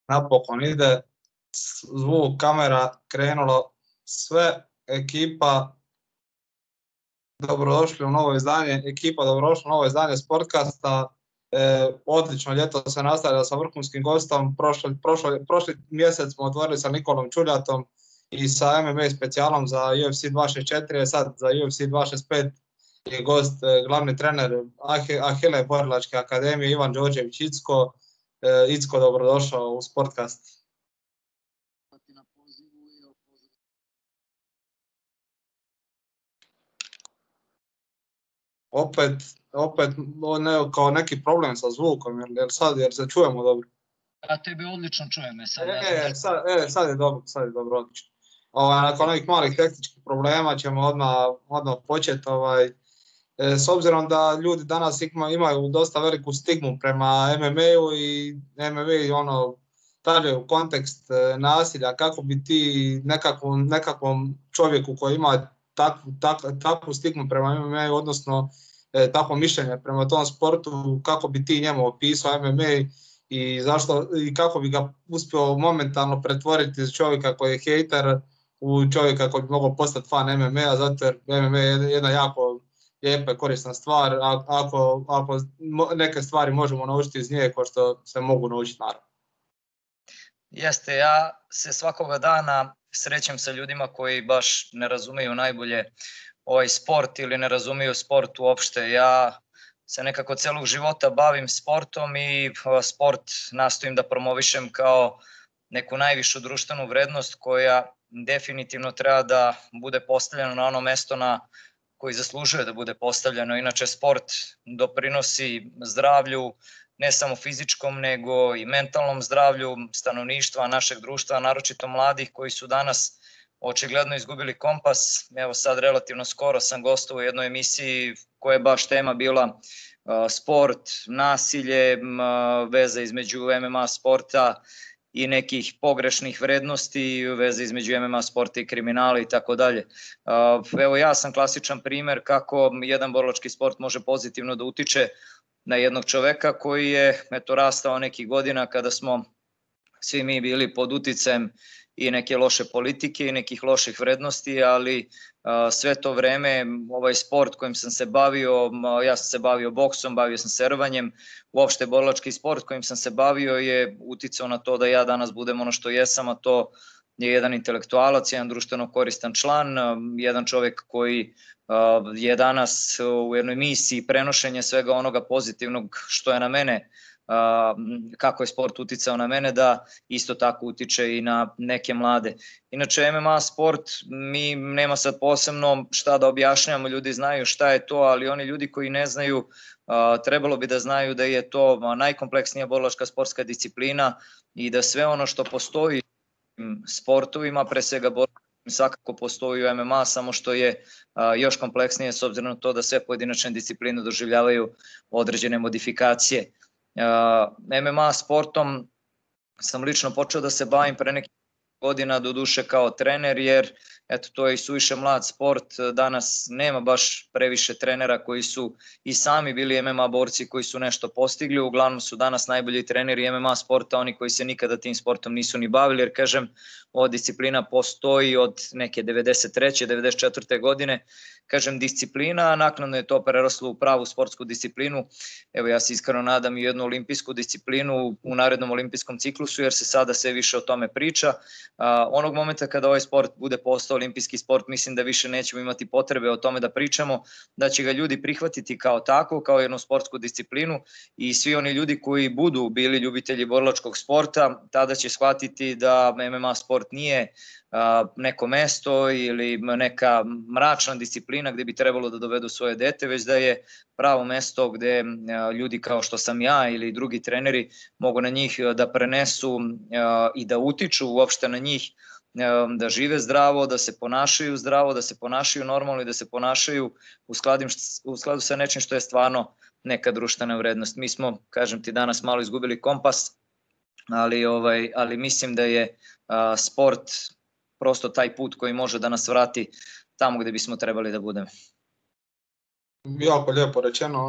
napokon ide, zvuk, kamera, krenulo sve, ekipa, dobrodošli u novo izdanje Sportkasta. Odlično ljeto se nastavlja sa vrhunskim gostom. Prošli mjesec smo otvorili sa Nikolom Čuljatom i sa MMA specijalom za UFC 264, sad za UFC 265 je gost glavni trener Ahile Borilačke akademije Ivan Đorđević Icko. Icko, dobrodošao u Sportkast. Opet kao neki problem sa zvukom, jer se čujemo dobro. Ja tebi odlično čujem. Sad je dobro, odlično. Nakon ovih malih tehničkih problema ćemo odmah početi. S obzirom da ljudi danas imaju dosta veliku stigmu prema MMA-u i MMA stavljaju kontekst nasilja, kako bi ti nekakvom čovjeku koji ima takvu stigmu prema MMA-u, odnosno takvo mišljenje prema tom sportu, kako bi ti njemu opisao MMA i kako bi ga uspio momentalno pretvoriti iz čovjeka koji je hejter u čovjeka koji bi mogao postati fan MMA-a, zato jer MMA je jedna jako lijepa i korisna stvar, ako neke stvari možemo naučiti iz nje, kao što se mogu naučiti naravno. Jeste, ja se svakoga dana srećem sa ljudima koji baš ne razumiju najbolje ovaj sport ili ne razumiju sport uopšte. Ja se nekako celog života bavim sportom i sport nastojim da promovišem kao neku najvišu društvenu vrednost koja definitivno treba da bude postavljena na ono mesto na koji zaslužuje da bude postavljeno. Inače, sport doprinosi zdravlju, ne samo fizičkom, nego i mentalnom zdravlju stanovništva našeg društva, naročito mladih koji su danas očigledno izgubili kompas. Evo sad relativno skoro sam gostovao u jednoj emisiji koja je baš tema bila sport, nasilje, veza između MMA sporta i nekih pogrešnih vrednosti, veze između MMA sporta i kriminala i tako dalje. Evo ja sam klasičan primer kako jedan borilački sport može pozitivno da utiče na jednog čoveka koji je rastao nekih godina kada smo svi mi bili pod uticajem i neke loše politike i nekih loših vrednosti, ali sve to vreme ovaj sport kojim sam se bavio, ja sam se bavio boksom, bavio sam se rvanjem, uopšte borilački sport kojim sam se bavio je uticao na to da ja danas budem ono što jesam, a to je jedan intelektualac, jedan društveno koristan član, jedan čovjek koji je danas u jednoj misiji prenošenja svega onoga pozitivnog što je na mene, kako je sport uticao na mene, da isto tako utiče i na neke mlade. Inače, MMA sport, mi nema sad posebno šta da objašnjamo, ljudi znaju šta je to, ali oni ljudi koji ne znaju, trebalo bi da znaju da je to najkompleksnija borilačka sportska disciplina i da sve ono što postoji u sportovima, pre svega svakako postoji u MMA, samo što je još kompleksnije s obzirom na to da sve pojedinačne discipline doživljavaju određene modifikacije. MMA sportom sam lično počeo da se bavim pre nekih godina, doduše kao trener, jer eto, to je i suviše mlad sport. Danas nema baš previše trenera koji su i sami bili MMA borci koji su nešto postigli. Uglavnom su danas najbolji treneri MMA sporta oni koji se nikada tim sportom nisu ni bavili, jer kažem, ova disciplina postoji od neke 93. 94. godine. Kažem disciplina, naknadno je to preraslo u pravu sportsku disciplinu. Evo ja se iskreno nadam i jednu olimpijsku disciplinu u narednom olimpijskom ciklusu, jer se sada sve više o tome priča. Onog momenta kada ovaj sport bude postao olimpijski sport, mislim da više nećemo imati potrebe o tome da pričamo, da će ga ljudi prihvatiti kao tako, kao jednu sportsku disciplinu i svi oni ljudi koji budu bili ljubitelji borilačkog sporta, tada će shvatiti da MMA sport nije neko mesto ili neka mračna disciplina gde bi trebalo da dovedu svoje dete, već da je pravo mesto gde ljudi kao što sam ja ili drugi treneri mogu na njih da prenesu i da utiču uopšte na njih, da žive zdravo, da se ponašaju zdravo, da se ponašaju normalno i da se ponašaju u skladu sa nečim što je stvarno neka društvena vrednost. Mi smo, kažem ti, danas malo izgubili kompas, ali mislim da je sport prosto taj put koji može da nas vrati tamo gde bismo trebali da budemo. Jako lijepo rečeno,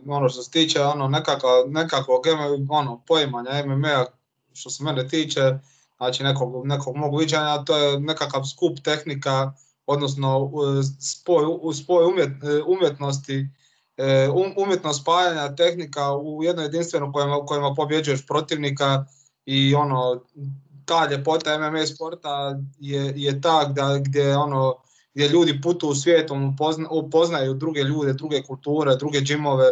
ono što se tiče nekakvog poimanja MMA-a, što se mene tiče, znači nekog mog viđanja, to je nekakav skup tehnika, odnosno spoj umjetnosti, umjetno spajanja tehnika u jedno jedinstveno kojima pobjeđuješ protivnika i ta ljepota MMA sporta je ta gdje ljudi putuju svijetom, upoznaju druge ljude, druge kulture, druge džimove,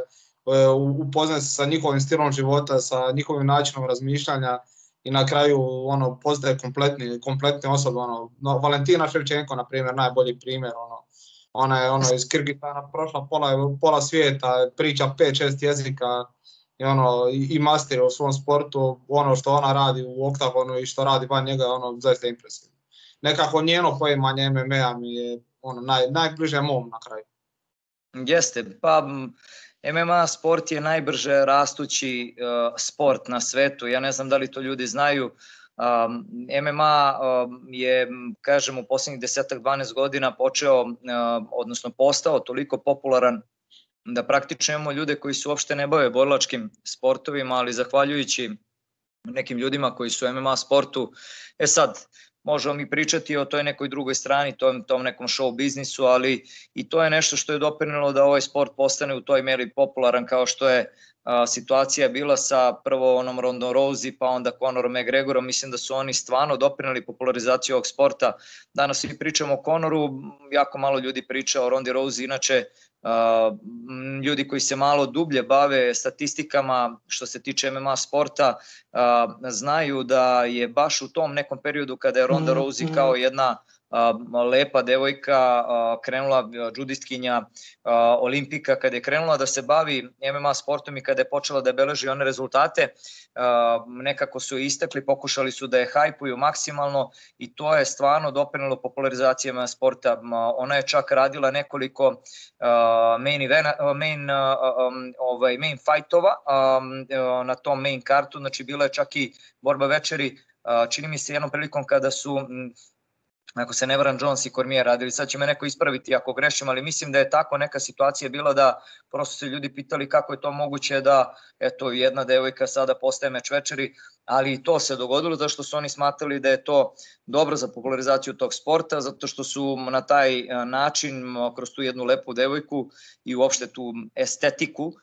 upoznaju se sa njihovim stilom života, sa njihovim načinom razmišljanja i na kraju postaje kompletne osobe. Valentina Ševčenko, na primjer, najbolji primjer. Ona je iz Kirgistana prošla pola svijeta, priča 5-6 jezika i masteri u svom sportu. Ono što ona radi u oktagonu i što radi van njega je zaista impresivno. Nekako njeno poimanje MMA mi je najbliže mom na kraju. Jeste, pa MMA sport je najbrže rastući sport na svetu. Ja ne znam da li to ljudi znaju. MMA je, kažem, u posljednjih 10-12 godina odnosno postao toliko popularan da praktično imamo ljude koji se uopšte ne bave borilačkim sportovima, ali zahvaljujući nekim ljudima koji su u MMA sportu. Sad, možemo mi pričati o toj nekoj drugoj strani, tom nekom show biznisu, ali i to je nešto što je doprinelo da ovaj sport postane u toj meri popularan, kao što je situacija bila sa prvo Ronda Rousey, pa onda Conor McGregorom. Mislim da su oni stvarno doprineli popularizaciju ovog sporta. Danas svi pričamo o Conoru, jako malo ljudi priča o Rondi Rousey, inače ljudi koji se malo dublje bave statistikama što se tiče MMA sporta znaju da je baš u tom nekom periodu kada je Ronda Rousey kao jedna lepa devojka krenula, džudistkinja, olimpika, kada je krenula da se bavi MMA sportom i kada je počela da beleži one rezultate, nekako su istakli, pokušali su da je hajpuju maksimalno i to je stvarno doprinelo popularizaciji MMA sporta. Ona je čak radila nekoliko main fightova na tom main kartu, znači bila je čak i borba večeri, čini mi se jednom prilikom kada su, ako se ne varam, Jones i Cormier radili, sad će me neko ispraviti ako grešim, ali mislim da je tako neka situacija bila da prosto se ljudi pitali kako je to moguće da jedna devojka sada postaje meč večeri, ali i to se dogodilo zato što su oni smatrali da je to dobro za popularizaciju tog sporta, zato što su na taj način, kroz tu jednu lepu devojku i uopšte tu estetiku,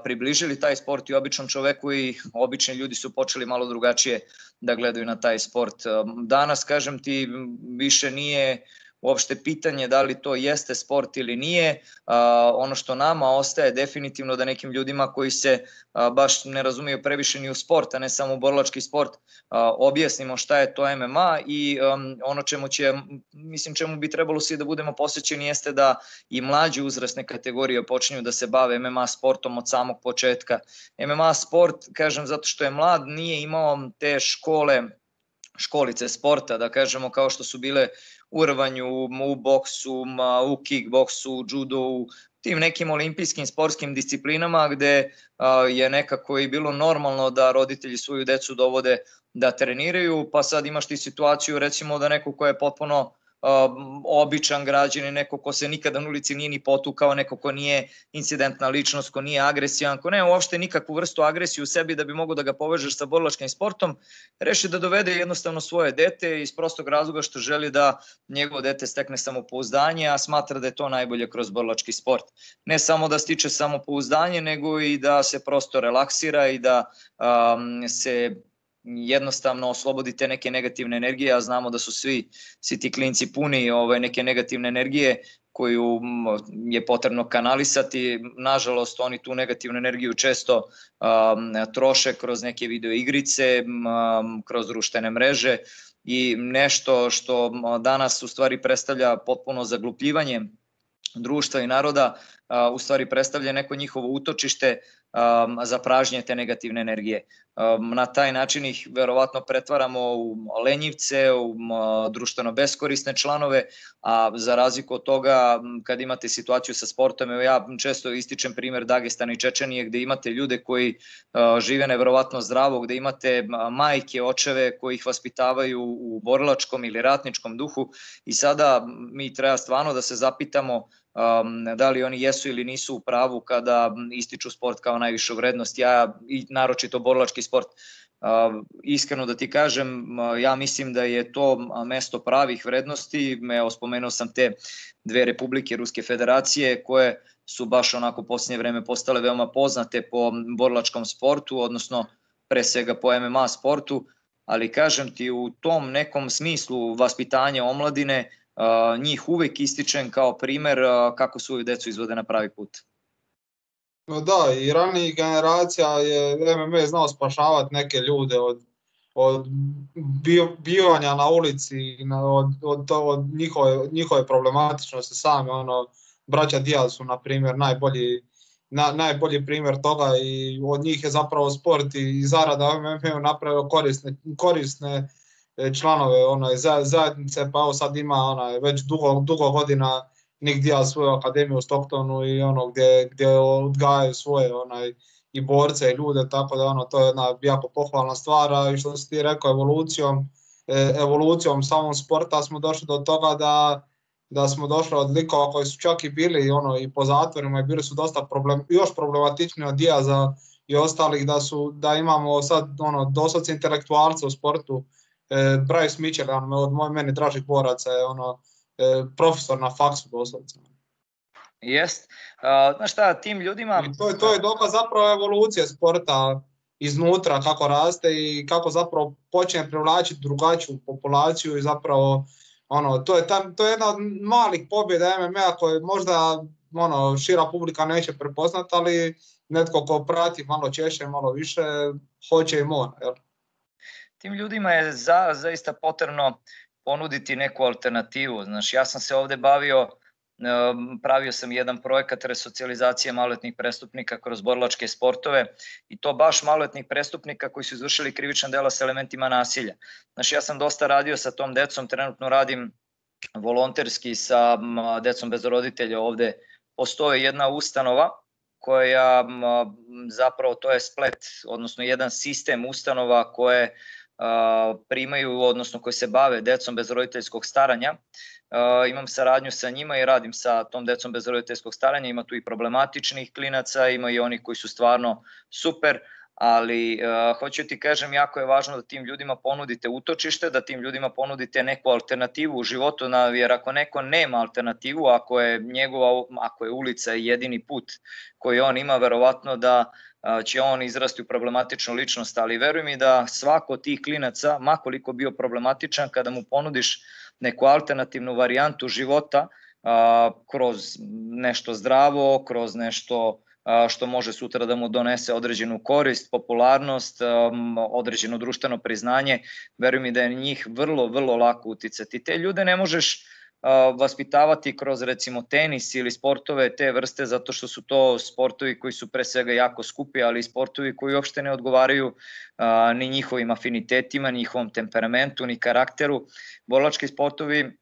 približili taj sport i običnom čoveku i obični ljudi su počeli malo drugačije da gledaju na taj sport. Danas, kažem ti, više nije uopšte pitanje da li to jeste sport ili nije. Ono što nama ostaje definitivno da nekim ljudima koji se baš ne razumiju previše ni u sport, a ne samo u borilački sport, objasnimo šta je to MMA i ono čemu bi trebalo svi da budemo posvećeni jeste da i mlađe uzrasne kategorije počinju da se bave MMA sportom od samog početka. MMA sport, kažem, zato što je mlad, nije imao te školice sporta, da kažemo, kao što su bile u rvanju, u boksu, u kickboksu, judo, u tim nekim olimpijskim sportskim disciplinama gde je nekako i bilo normalno da roditelji svoju decu dovode da treniraju, pa sad imaš ti situaciju recimo da neko ko je potpuno običan građanin, neko ko se nikada na ulici nije ni potukao, neko ko nije incidentna ličnost, ko nije agresivan, ko nema uopšte nikakvu vrstu agresije u sebi da bi mogo da ga povežeš sa borilačkim sportom, reši da dovede jednostavno svoje dete iz prostog razloga što želi da njegovo dete stekne samopouzdanje, a smatra da je to najbolje kroz borilački sport. Ne samo da stiče samopouzdanje, nego i da se prosto relaksira i da se jednostavno oslobodite neke negativne energije, a znamo da su svi ti klinci puni neke negativne energije koju je potrebno kanalisati. Nažalost, oni tu negativnu energiju često troše kroz neke video igrice, kroz društvene mreže i nešto što danas u stvari predstavlja potpuno zaglupljivanje društva i naroda, u stvari predstavlja neko njihovo utočište za pražnje te negativne energije. Na taj način ih verovatno pretvaramo u lenjivce, u društveno beskorisne članove, a za razliku od toga kad imate situaciju sa sportom, ja često ističem primer Dagestana i Čečenije gde imate ljude koji žive neverovatno zdravo, gde imate majke, očeve koji ih vaspitavaju u borilačkom ili ratničkom duhu i sada mi treba stvarno da se zapitamo da li oni jesu ili nisu u pravu kada ističu sport kao najvišu vrednost. Ja i naročito borilački sport. Iskreno da ti kažem, ja mislim da je to mesto pravih vrednosti. Spomenuo sam te dve republike Ruske federacije koje su baš onako u posljednje vreme postale veoma poznate po borilačkom sportu, odnosno pre svega po MMA sportu, ali kažem ti, u tom nekom smislu vaspitanja omladine njih uvek ističem kao primer kako svoju decu izvode na pravi put. No da, i ranijih generacija je MMA znao spašavati neke ljude od bivanja na ulici, od njihove problematičnosti same. Braća Diaz su, na primjer, najbolji primjer toga i od njih je zapravo sport i zarada MMA napravio korisne članove zajednice, pa evo sad ima već dugo godina Nick Diaz svoju akademiju u Stocktonu i gdje odgajaju svoje i borce i ljude, tako da to je jedna jako pohvalna stvar. I što si ti rekao, evolucijom samog sporta smo došli do toga da smo došli od likova koji su čak i bili i po zatvorima i bili su dosta još problematični od Diaza i ostalih, da imamo sad doslovce intelektualce u sportu. Bryce Mitchell, od meni dražih boraca, je profesor na faksu doslovce. Jest. Znaš šta, tim ljudima... I to je dokaz zapravo evolucije sporta iznutra, kako raste i kako zapravo počne privlačiti drugačiju populaciju i zapravo to je jedna od malih pobjeda MMA koje možda šira publika neće prepoznati, ali netko ko prati malo češće, malo više, hoće i mora. Jel? Tim ljudima je zaista potrebno ponuditi neku alternativu. Znaš, ja sam se ovde pravio sam jedan projekat resocijalizacije maloletnih prestupnika kroz borilačke sportove i to baš maloletnih prestupnika koji su izvršili krivična dela sa elementima nasilja. Znaš, ja sam dosta radio sa tom decom, trenutno radim volonterski sa decom bez roditelja ovde. Postoji jedna ustanova koja zapravo to je splet, odnosno jedan sistem ustanova koje primaju, odnosno koji se bave decom bez roditeljskog staranja. Imam saradnju sa njima i radim sa tom decom bez roditeljskog staranja, ima tu i problematičnih klinaca, ima i onih koji su stvarno super, ali hoću ti kažem, jako je važno da tim ljudima ponudite utočište, da tim ljudima ponudite neku alternativu u životu, jer ako neko nema alternativu, ako je ulica jedini put koji on ima, verovatno da će on izrasti u problematičnu ličnost, ali veruj mi da svako od tih klinaca, makoliko bio problematičan, kada mu ponudiš neku alternativnu varijantu života kroz nešto zdravo, kroz nešto što može sutra da mu donese određenu korist, popularnost, određeno društveno priznanje, veruj mi da je njih vrlo, vrlo lako uticati. Te ljude ne možeš vaspitavati kroz recimo tenis ili sportove te vrste, zato što su to sportovi koji su pre svega jako skupi, ali i sportovi koji uopšte ne odgovaraju ni njihovim afinitetima, ni njihovom temperamentu, ni karakteru. Borilački sportovi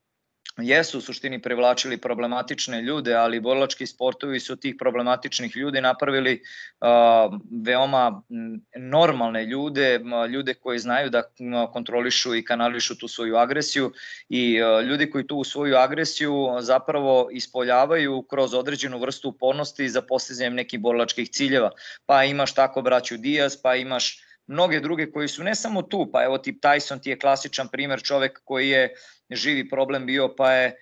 jesu u suštini privlačili problematične ljude, ali borilački sportovi su tih problematičnih ljudi napravili veoma normalne ljude, ljude koji znaju da kontrolišu i kanališu tu svoju agresiju i ljudi koji tu svoju agresiju zapravo ispoljavaju kroz određenu vrstu upornosti za postizanjem nekih borilačkih ciljeva. Pa imaš tako braću Diaz, pa imaš mnoge druge koji su ne samo tu, pa evo tip Tyson ti je klasičan primer, čovek koji je živi problem bio, pa je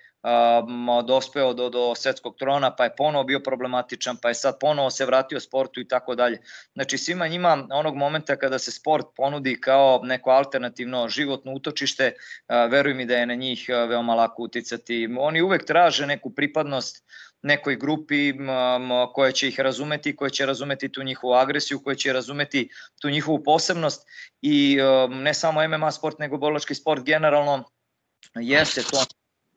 dospeo do svetskog trona, pa je ponovo bio problematičan, pa je sad ponovo se vratio sportu i tako dalje. Znači svima njima onog momenta kada se sport ponudi kao neko alternativno životno utočište, veruj mi da je na njih veoma lako uticati. Oni uvek traže neku pripadnost nekoj grupi koja će ih razumeti, koja će razumeti tu njihovu agresiju, koja će razumeti tu njihovu posebnost i ne samo MMA sport, nego borilački sport generalno jeste to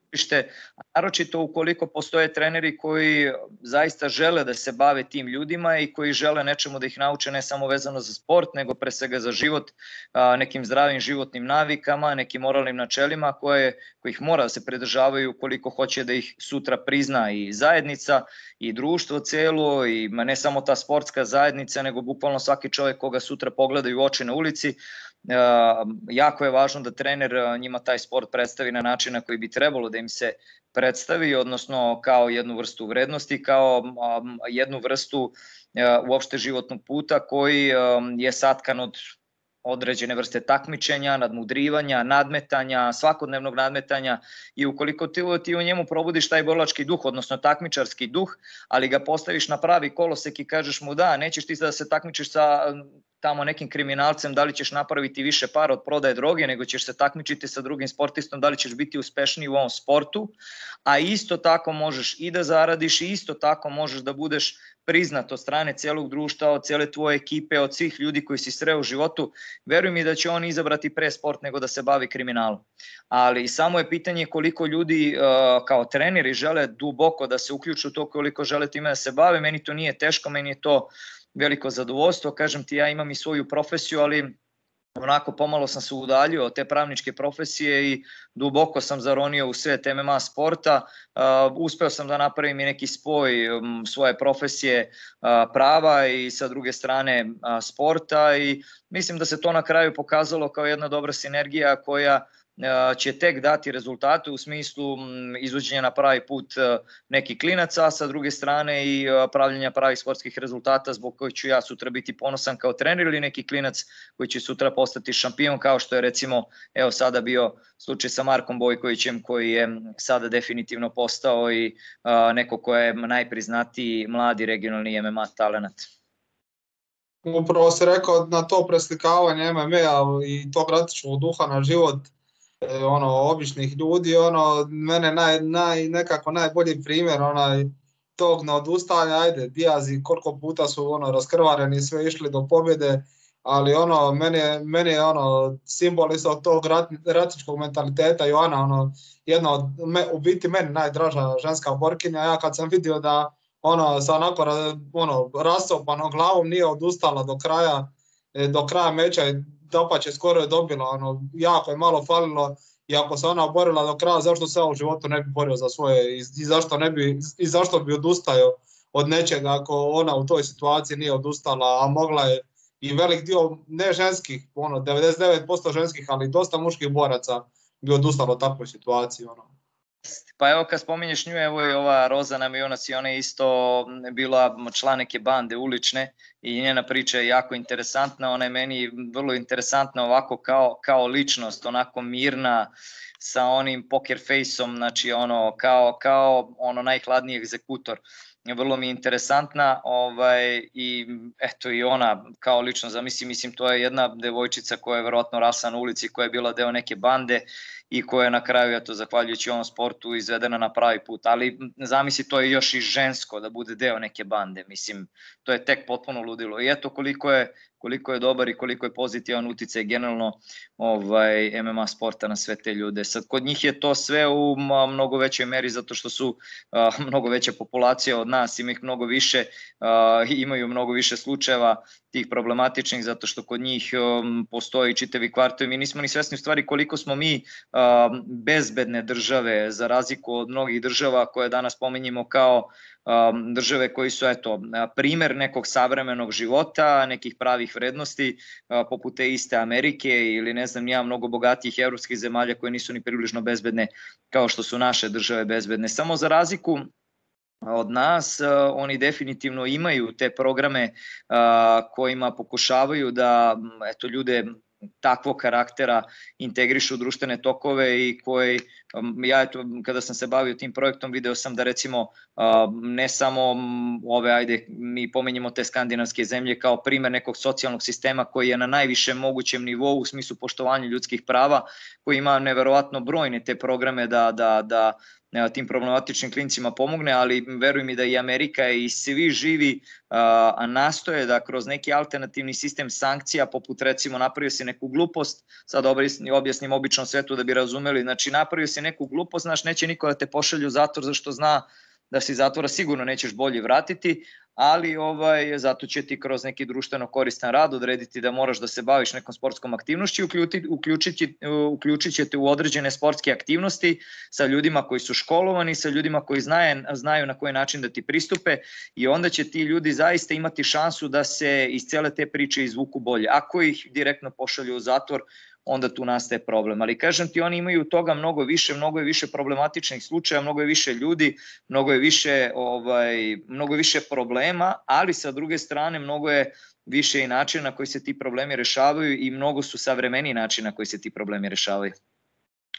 utočište, naročito ukoliko postoje treneri koji zaista žele da se bave tim ljudima i koji žele nečemu da ih nauče ne samo vezano za sport, nego pre svega za život, nekim zdravim životnim navikama, nekim moralnim načelima kojih mora da se pridržavaju ukoliko hoće da ih sutra prizna i zajednica i društvo celo i ne samo ta sportska zajednica, nego bukvalno svaki čovjek koga sutra pogledaju u oči na ulici. Jako je važno da trener njima taj sport predstavi na način na koji bi trebalo da im se predstavi, odnosno kao jednu vrstu vrednosti, kao jednu vrstu uopšte životnog puta koji je satkan od određene vrste takmičenja, nadmudrivanja, nadmetanja, svakodnevnog nadmetanja i ukoliko ti u njemu probudiš taj borilački duh, odnosno takmičarski duh, ali ga postaviš na pravi kolosek i kažeš mu da, nećeš ti da se takmičiš sa tamo nekim kriminalcem, da li ćeš napraviti više para od prodaje droge, nego ćeš se takmičiti sa drugim sportistom, da li ćeš biti uspešniji u ovom sportu, a isto tako možeš i da zaradiš i isto tako možeš da budeš priznat od strane celog društva, od cele tvoje ekipe, od svih ljudi koji si sreo u životu. Veruj mi da će on izabrati pre sport nego da se bavi kriminalom. Ali samo je pitanje koliko ljudi kao treneri žele duboko da se uključu u to, koliko žele time da se bave. Meni to nije teško, meni je to veliko zadovoljstvo. Kažem ti, ja imam i svoju profesiju, ali onako pomalo sam se udaljio od te pravničke profesije i duboko sam zaronio u svet MMA sporta. Uspeo sam da napravim i neki spoj svoje profesije prava i sa druge strane sporta i mislim da se to na kraju pokazalo kao jedna dobra sinergija koja će tek dati rezultate u smislu izvođenja na pravi put nekih klinaca, a sa druge strane i pravljenja pravih sportskih rezultata zbog kojih ću ja sutra biti ponosan kao trener ili neki klinac koji će sutra postati šampion, kao što je recimo evo sada bio slučaj sa Markom Bojkovićem koji je sada definitivno postao i neko ko je najpriznatiji mladi regionalni MMA talenat. Upravo si rekao na to preslikavanje MMA i tog ratičnog duha na život običnih ljudi, mene nekako najbolji primjer tog neodustajanja, ajde, Diazi koliko puta su raskrvareni, sve išli do pobjede, ali meni je simbol isto tog ratičkog mentaliteta Joana, jedna od, u biti meni najdraža ženska borkinja. Ja kad sam vidio da sa onako rasopanom glavom nije odustala do kraja meča, dapače skoro je dobila, jako je malo falilo i ako se ona borila do kraja, zašto se u životu ne bi borio za svoje i zašto bi odustajao od nečega ako ona u toj situaciji nije odustala, a mogla je i velik dio, ne ženskih, 99% ženskih, ali dosta muških boraca bi odustalo u takvoj situaciji. Pa evo kad spominješ nju, evo i ova Rozana Mionas i ona je isto bila član neke bande ulične i njena priča je jako interesantna, ona je meni vrlo interesantna ovako kao ličnost, onako mirna, sa onim poker face-om, znači kao najhladniji egzekutor. Vrlo mi je interesantna i eto i ona kao lično zamislim, to je jedna devojčica koja je verovatno rasla na ulici, koja je bila deo neke bande i koja je na kraju, eto, zahvaljujući ovom sportu izvedena na pravi put, ali zamisli to je još i žensko da bude deo neke bande, mislim, to je tek potpuno ludilo i eto koliko je dobar i koliko je pozitivan uticaj generalno MMA sporta na sve te ljude. Sad, kod njih je to sve u mnogo većoj meri zato što su mnogo veća populacija od nas, ima ih mnogo više, imaju mnogo više slučajeva tih problematičnih zato što kod njih postoji čitavi kvartovi. Mi nismo ni svesni u stvari koliko smo mi bezbedne države za razliku od mnogih država koje danas pominjemo kao države koji su primer nekog savremenog života, nekih pravih vrednosti, poput te iste Amerike ili ne znam ja, mnogo bogatijih evropskih zemalja koje nisu ni približno bezbedne kao što su naše države bezbedne. Samo za razliku od nas, oni definitivno imaju te programe kojima pokušavaju da ljude takvog karaktera integrišu u društvene tokove i koji, ja kada sam se bavio tim projektom video sam da recimo ne samo mi pomenjemo te skandinavske zemlje kao primer nekog socijalnog sistema koji je na najvišem mogućem nivou u smislu poštovanja ljudskih prava, koji ima neverovatno brojne te programe da tim problematičnim klincima pomogne, ali veruj mi da i Amerika i svi živi nastoje da kroz neki alternativni sistem sankcija, poput recimo napravio se neku glupost, sad objasnim običnom svetu da bi razumeli, znači napravio se neku glupost, znaš, neće niko da te pošalju u zatvor zašto zna da si zatvora sigurno nećeš bolje vratiti, ali zato će ti kroz neki društveno koristan rad odrediti da moraš da se baviš nekom sportskom aktivnošću i uključit će te u određene sportske aktivnosti sa ljudima koji su školovani, sa ljudima koji znaju na koji način da ti pristupe i onda će ti ljudi zaista imati šansu da se iz cele te priče izvuku bolje. Ako ih direktno pošalju u zatvor, onda tu nastaje problem. Ali kažem ti, oni imaju toga mnogo je više problematičnih slučaja, mnogo je više ljudi, mnogo je više problema, ali sa druge strane mnogo je više i načina na koji se ti problemi rešavaju i mnogo su savremeniji načina na koji se ti problemi rešavaju.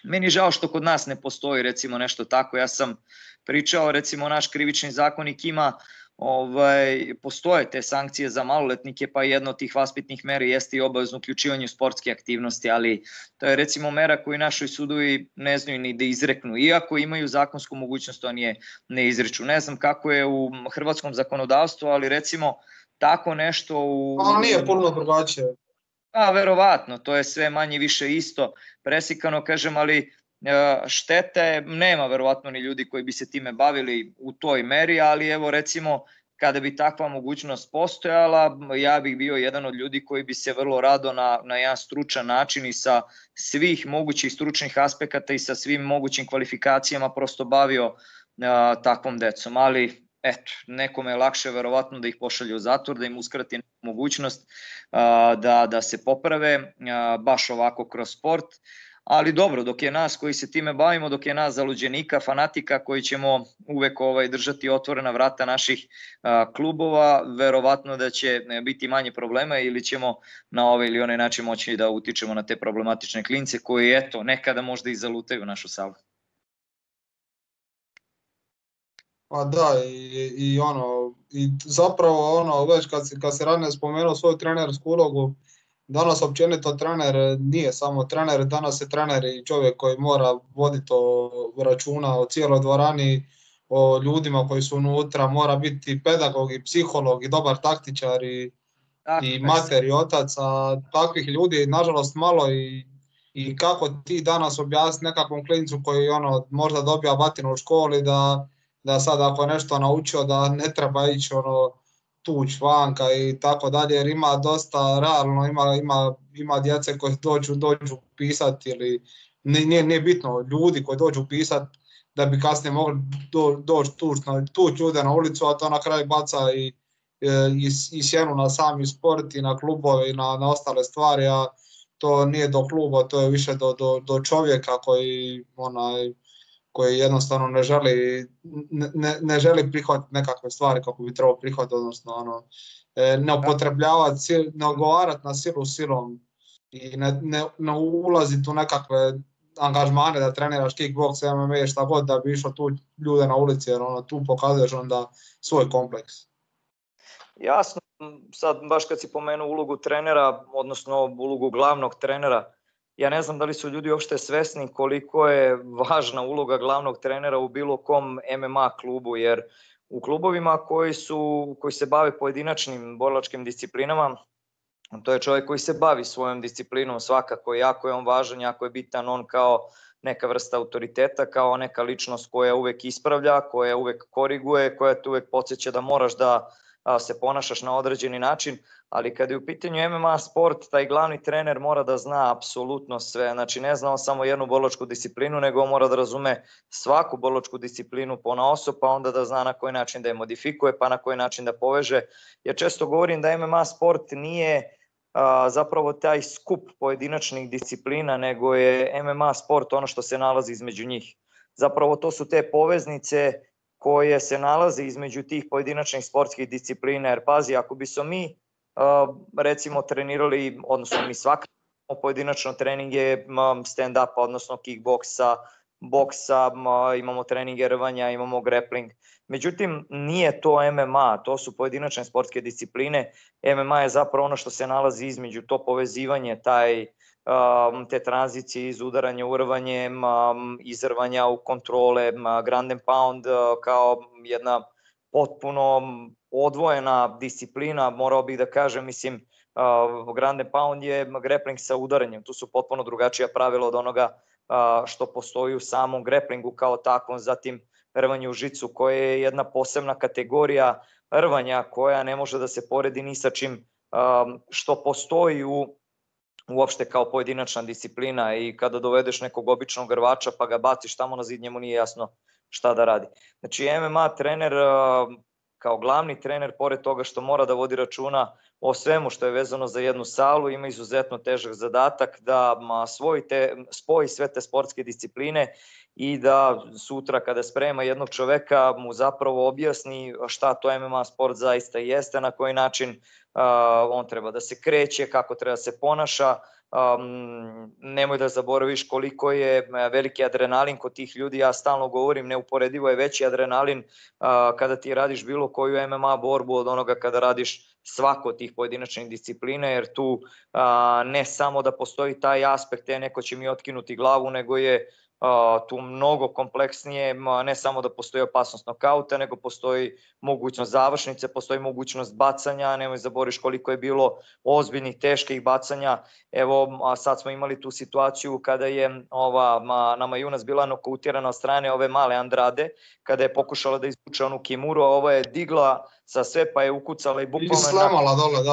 Meni je žao što kod nas ne postoji recimo nešto tako. Ja sam pričao, recimo naš krivični zakonik ima postoje te sankcije za maloletnike, pa jedna od tih vaspitnih mera jeste i obavezno uključivanje u sportske aktivnosti, ali to je recimo mera koju naši sudovi ne znaju ni da izreknu, iako imaju zakonsku mogućnost, to ne izreču. Ne znam kako je u hrvatskom zakonodavstvu, ali recimo tako nešto nije puno drugačije. Verovatno, to je sve manje više isto presikano, kažem, ali štete nema verovatno ni ljudi koji bi se time bavili u toj meri, ali evo recimo kada bi takva mogućnost postojala, ja bih bio jedan od ljudi koji bi se vrlo rado na jedan stručan način i sa svih mogućih stručnih aspekata i sa svim mogućim kvalifikacijama prosto bavio takvom decom, ali eto, nekome je lakše verovatno da ih pošalje u zatvor, da im uskrati mogućnost da se poprave baš ovako kroz sport. Ali dobro, dok je nas koji se time bavimo, dok je nas zaluđenika, fanatika koji ćemo uvek držati otvorena vrata naših klubova, verovatno da će biti manje problema ili ćemo na ovaj ili onaj način moći da utičemo na te problematične klince koji eto nekada možda i zalutaju našu salu. Pa da, i zapravo već kad se ranije spomenuo svoju trenersku ulogu, danas općenito trener nije samo trener, danas je trener i čovjek koji mora voditi računa o cijeloj dvorani, o ljudima koji su unutra, mora biti pedagog i psiholog i dobar taktičar i mater i otac, a takvih ljudi nažalost malo i kako ti danas objasniti nekakvom klincu koji možda dobija batinu u školi da sad ako je nešto naučio da ne treba ići tuć vanka i tako dalje, jer ima dosta realno, ima djece koji dođu pisati ili nije bitno, ljudi koji dođu pisati da bi kasnije mogli doći tuć ljude na ulicu, a to na kraju baca i sjenu na sami sport i na klubove i na ostale stvari, a to nije do kluba, to je više do čovjeka koji jednostavno ne želi prihvatiti nekakve stvari kako bi trebao prihvatiti, odnosno ne upotrebljavati, ne odgovarati na silu silom i ne ulaziti u nekakve angažmane da treniraš kickbox, MMA, šta god da bi išao tu ljude na ulici, jer tu pokazuješ onda svoj kompleks. Jasno, sad baš kad si pomenuo ulogu trenera, odnosno ulogu glavnog trenera, ja ne znam da li su ljudi uopšte svesni koliko je važna uloga glavnog trenera u bilo kom MMA klubu, jer u klubovima koji se bave pojedinačnim borilačkim disciplinama, to je čovjek koji se bavi svojom disciplinom svakako, jako je on važan, jako je bitan on kao neka vrsta autoriteta, kao neka ličnost koja uvek ispravlja, koja uvek koriguje, koja te uvek podsjeća da moraš da se ponašaš na određeni način, ali kada je u pitanju MMA sport, taj glavni trener mora da zna apsolutno sve, znači ne zna on samo jednu borilačku disciplinu, nego on mora da razume svaku borilačku disciplinu ponaosob, pa onda da zna na koji način da je modifikuje, pa na koji način da poveže, jer često govorim da MMA sport nije zapravo taj skup pojedinačnih disciplina, nego je MMA sport ono što se nalazi između njih. Zapravo to su te poveznice koje se nalaze između tih pojedinačnih sportskih disciplina, jer pazi, ako bi smo mi recimo trenirali, odnosno mi svakako pojedinačno treninge stand-upa, odnosno kickboksa, boksa, imamo treninge rvanja, imamo grappling. Međutim, nije to MMA, to su pojedinačne sportske discipline. MMA je zapravo ono što se nalazi između, to povezivanje, te tranzicije iz udaranja u rvanje, iz rvanja u kontrole, ground and pound kao jedna potpuno odvojena disciplina, morao bih da kažem, mislim, ground and pound je grappling sa udaranjem, tu su potpuno drugačija pravila od onoga što postoji u samom grapplingu kao takvom, zatim rvanje u žicu koje je jedna posebna kategorija rvanja koja ne može da se poredi ni sa čim što postoji uopšte kao pojedinačna disciplina, i kada dovedeš nekog običnog rvača pa ga baciš tamo na zid, njemu nije jasno šta da radi. Znači MMA trener kao glavni trener, pored toga što mora da vodi računa o svemu što je vezano za jednu salu, ima izuzetno težak zadatak da spoji sve te sportske discipline i da sutra kada sprema jednog čoveka mu zapravo objasni šta to MMA sport zaista jeste, na koji način on treba da se kreće, kako treba da se ponaša. Nemoj da zaboraviš koliko je veliki adrenalin kod tih ljudi, ja stalno govorim, neuporedivo je veći adrenalin kada ti radiš bilo koju MMA borbu od onoga kada radiš svako od tih pojedinačnih disciplina, jer tu ne samo da postoji taj aspekt, neko će mi otkinuti glavu, nego je tu mnogo kompleksnije, ne samo da postoji opasnost nokauta, nego postoji mogućnost završnice, postoji mogućnost bacanja, nemoj zaboraviš koliko je bilo ozbiljnih, teških bacanja. Evo, sad smo imali tu situaciju kada je nama Junas bila nokautirana od strane ove male Andrade, kada je pokušala da izvuče onu kimuru, a ova je digla sa sve pa je ukucala i bukvalno... I slemala dole,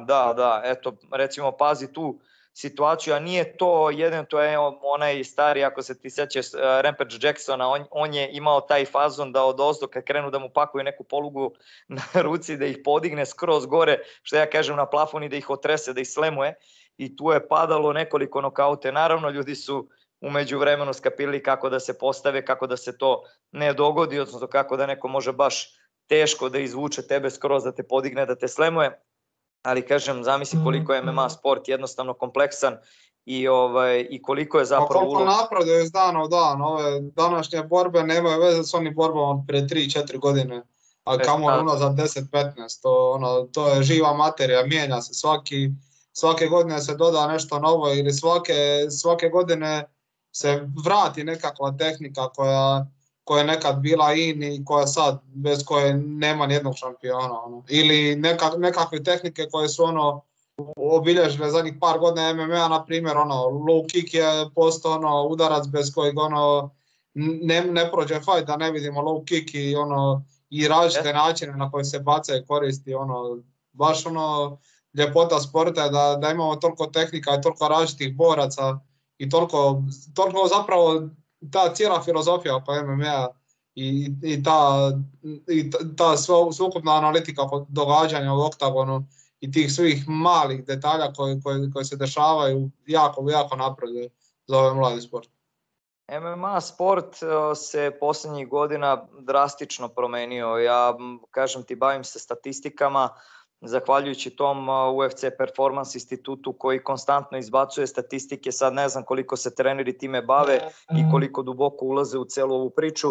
Da, eto, recimo, pazi tu situaciju, a nije to jedan, to je onaj stari, ako se ti sećaš, Rampage Jacksona, on je imao taj fazon da odozdo kad krenu da mu pakuju neku polugu na ruci, da ih podigne skroz gore, što ja kažem, na plafon i da ih otrese, da ih slemuje, i tu je padalo nekoliko nokaute. Naravno, ljudi su umeđu vremenu skapirali kako da se postave, kako da se to ne dogodi, odnosno kako da neko može baš teško da izvuče tebe skroz, da te podigne, da te slemuje. Ali kažem, zamisli koliko je MMA sport jednostavno kompleksan i koliko je zapravo ulog. Koliko napreduje iz dana u dan, ove današnje borbe nemaju veze s onim borbama pre 3-4 godine, a kamo unazad 10-15, to je živa materija, mijenja se, svake godine se doda nešto novo ili svake godine se vrati nekakva tehnika koja je nekad bila in i koja sad, bez koje nema nijednog šampiona. Ili nekakve tehnike koje su obilježile zadnjih par godina MMA, na primjer, low kick je postao udarac bez kojeg ne prođe fight da ne vidimo low kick i različite načine na koje se baca i koristi. Baš ljepota sporta je da imamo toliko tehnika i toliko različitih boraca i toliko zapravo ta cijela filozofija oko MMA i ta sveukupna analitika događanja u oktagonu i tih svih malih detalja koji se dešavaju jako napreduje za ovaj mladi sport. MMA sport se posljednjih godina drastično promenio. Ja, kažem ti, bavim se statistikama, zahvaljujući tom UFC Performance institutu koji konstantno izbacuje statistike. Sad ne znam koliko se treneri time bave i koliko duboko ulaze u celu ovu priču,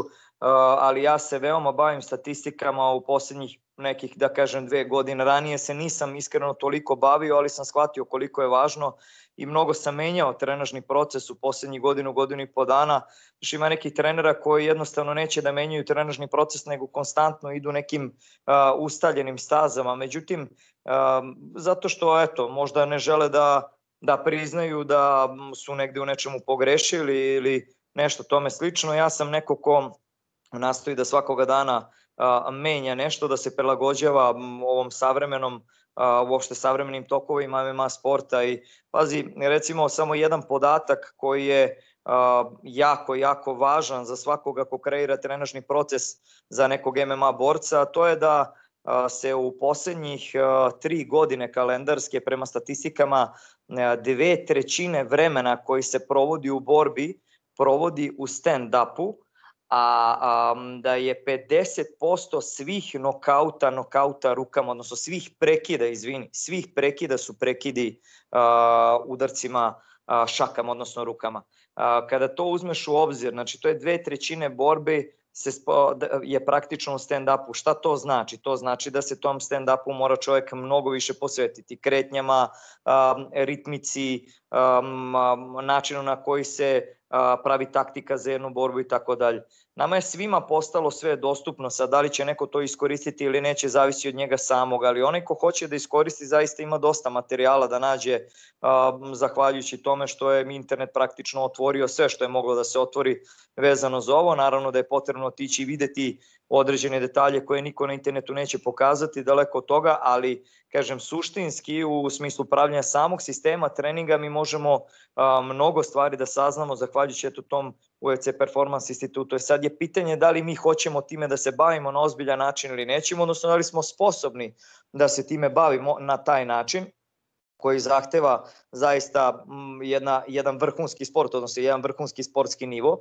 ali ja se veoma bavim statistikama u posljednjih nekih, da kažem, 2 godine. Ranije se nisam iskreno toliko bavio, ali sam shvatio koliko je važno i mnogo sam menjao trenažni proces u posljednjih godinu i po dana. Znači, ima nekih trenera koji jednostavno neće da menjaju trenažni proces, nego konstantno idu nekim ustaljenim stazama. Međutim, zato što, eto, možda ne žele da priznaju da su negde u nečemu pogrešili ili nešto tome slično. Ja sam neko ko nastoji da svakoga dana menja nešto, da se prilagođava ovom uopšte savremenim tokovima MMA sporta. I pazi, recimo samo jedan podatak koji je jako važan za svakoga ko kreira trenažni proces za nekog MMA borca, to je da se u posljednjih 3 godine kalendarske prema statistikama 2/3 vremena koji se provodi u borbi provodi u stand-upu, a da je 50% svih nokauta rukama, odnosno svih prekida su prekidi udarcima šakama, odnosno rukama. Kada to uzmeš u obzir, znači to je 2/3 borbe je praktično u stand-upu. Šta to znači? To znači da se tom stand-upu mora čovjek mnogo više posvetiti kretnjama, ritmici, načinu na koji se pravi taktika za jednu borbu i tako dalje. Nama je svima postalo sve dostupno, sad da li će neko to iskoristiti ili neće, zavisi od njega samog, ali onaj ko hoće da iskoristi zaista ima dosta materijala da nađe, zahvaljujući tome što je internet praktično otvorio sve što je moglo da se otvori vezano za ovo. Naravno da je potrebno otići i videti određene detalje koje niko na internetu neće pokazati, daleko od toga, ali kažem suštinski u smislu pravljanja samog sistema treninga mi možemo mnogo stvari da saznamo zahvaljujući tom UFC Performance institutu. Sad je pitanje da li mi hoćemo time da se bavimo na ozbiljan način ili nećemo, odnosno da li smo sposobni da se time bavimo na taj način koji zahteva zaista jedan vrhunski sport, odnosno jedan vrhunski sportski nivo.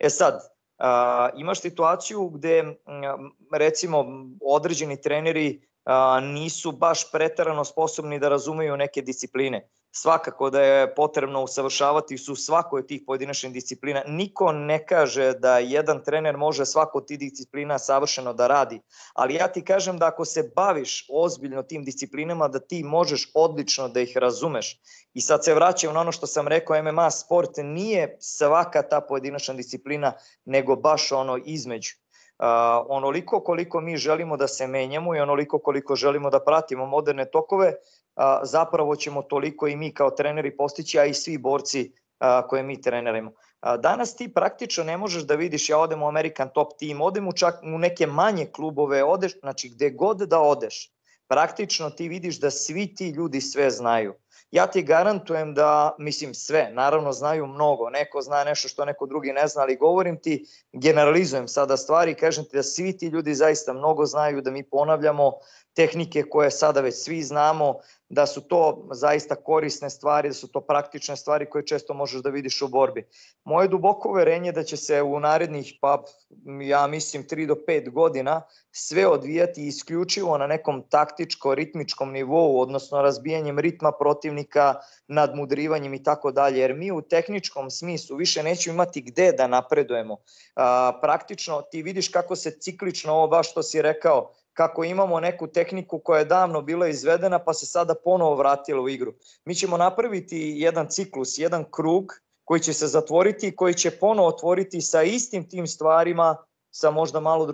Sad, imaš situaciju gde recimo određeni treneri nisu baš preterano sposobni da razumeju neke discipline. Svakako da je potrebno usavršavati su svakoj od tih pojedinačnih disciplina. Niko ne kaže da jedan trener može svako od tih disciplina savršeno da radi, ali ja ti kažem da ako se baviš ozbiljno tim disciplinama, da ti možeš odlično da ih razumeš. I sad se vraćam na ono što sam rekao, MMA sport nije svaka ta pojedinačna disciplina, nego baš ono između. Onoliko koliko mi želimo da se menjamo i onoliko koliko želimo da pratimo moderne tokove, zapravo ćemo toliko i mi kao treneri postići, a i svi borci koje mi trenerimo. Danas ti praktično ne možeš da vidiš, ja odem u American Top Team, odem čak u neke manje klubove, odeš, znači gde god da odeš, praktično ti vidiš da svi ti ljudi sve znaju. Ja ti garantujem da, mislim sve, naravno znaju mnogo, neko zna nešto što neko drugi ne zna, ali govorim ti, generalizujem sada stvari i kažem ti da svi ti ljudi zaista mnogo znaju, da mi ponavljamo tehnike koje sada već svi znamo, da su to zaista korisne stvari, da su to praktične stvari koje često možeš da vidiš u borbi. Moje duboko uverenje da će se u narednih, pa ja mislim 3 do 5 godina sve odvijati isključivo na nekom taktičko-ritmičkom nivou, odnosno razbijanjem ritma protivnika, nadmudrivanjem i tako dalje, jer mi u tehničkom smislu više nećemo imati gde da napredujemo. Praktično ti vidiš kako se ciklično, ovo baš što si rekao, kako imamo neku tehniku koja je davno bila izvedena pa se sada ponovo vratila u igru. Mi ćemo napraviti jedan ciklus, jedan krug koji će se zatvoriti i koji će ponovo otvoriti sa istim tim stvarima, sa možda malo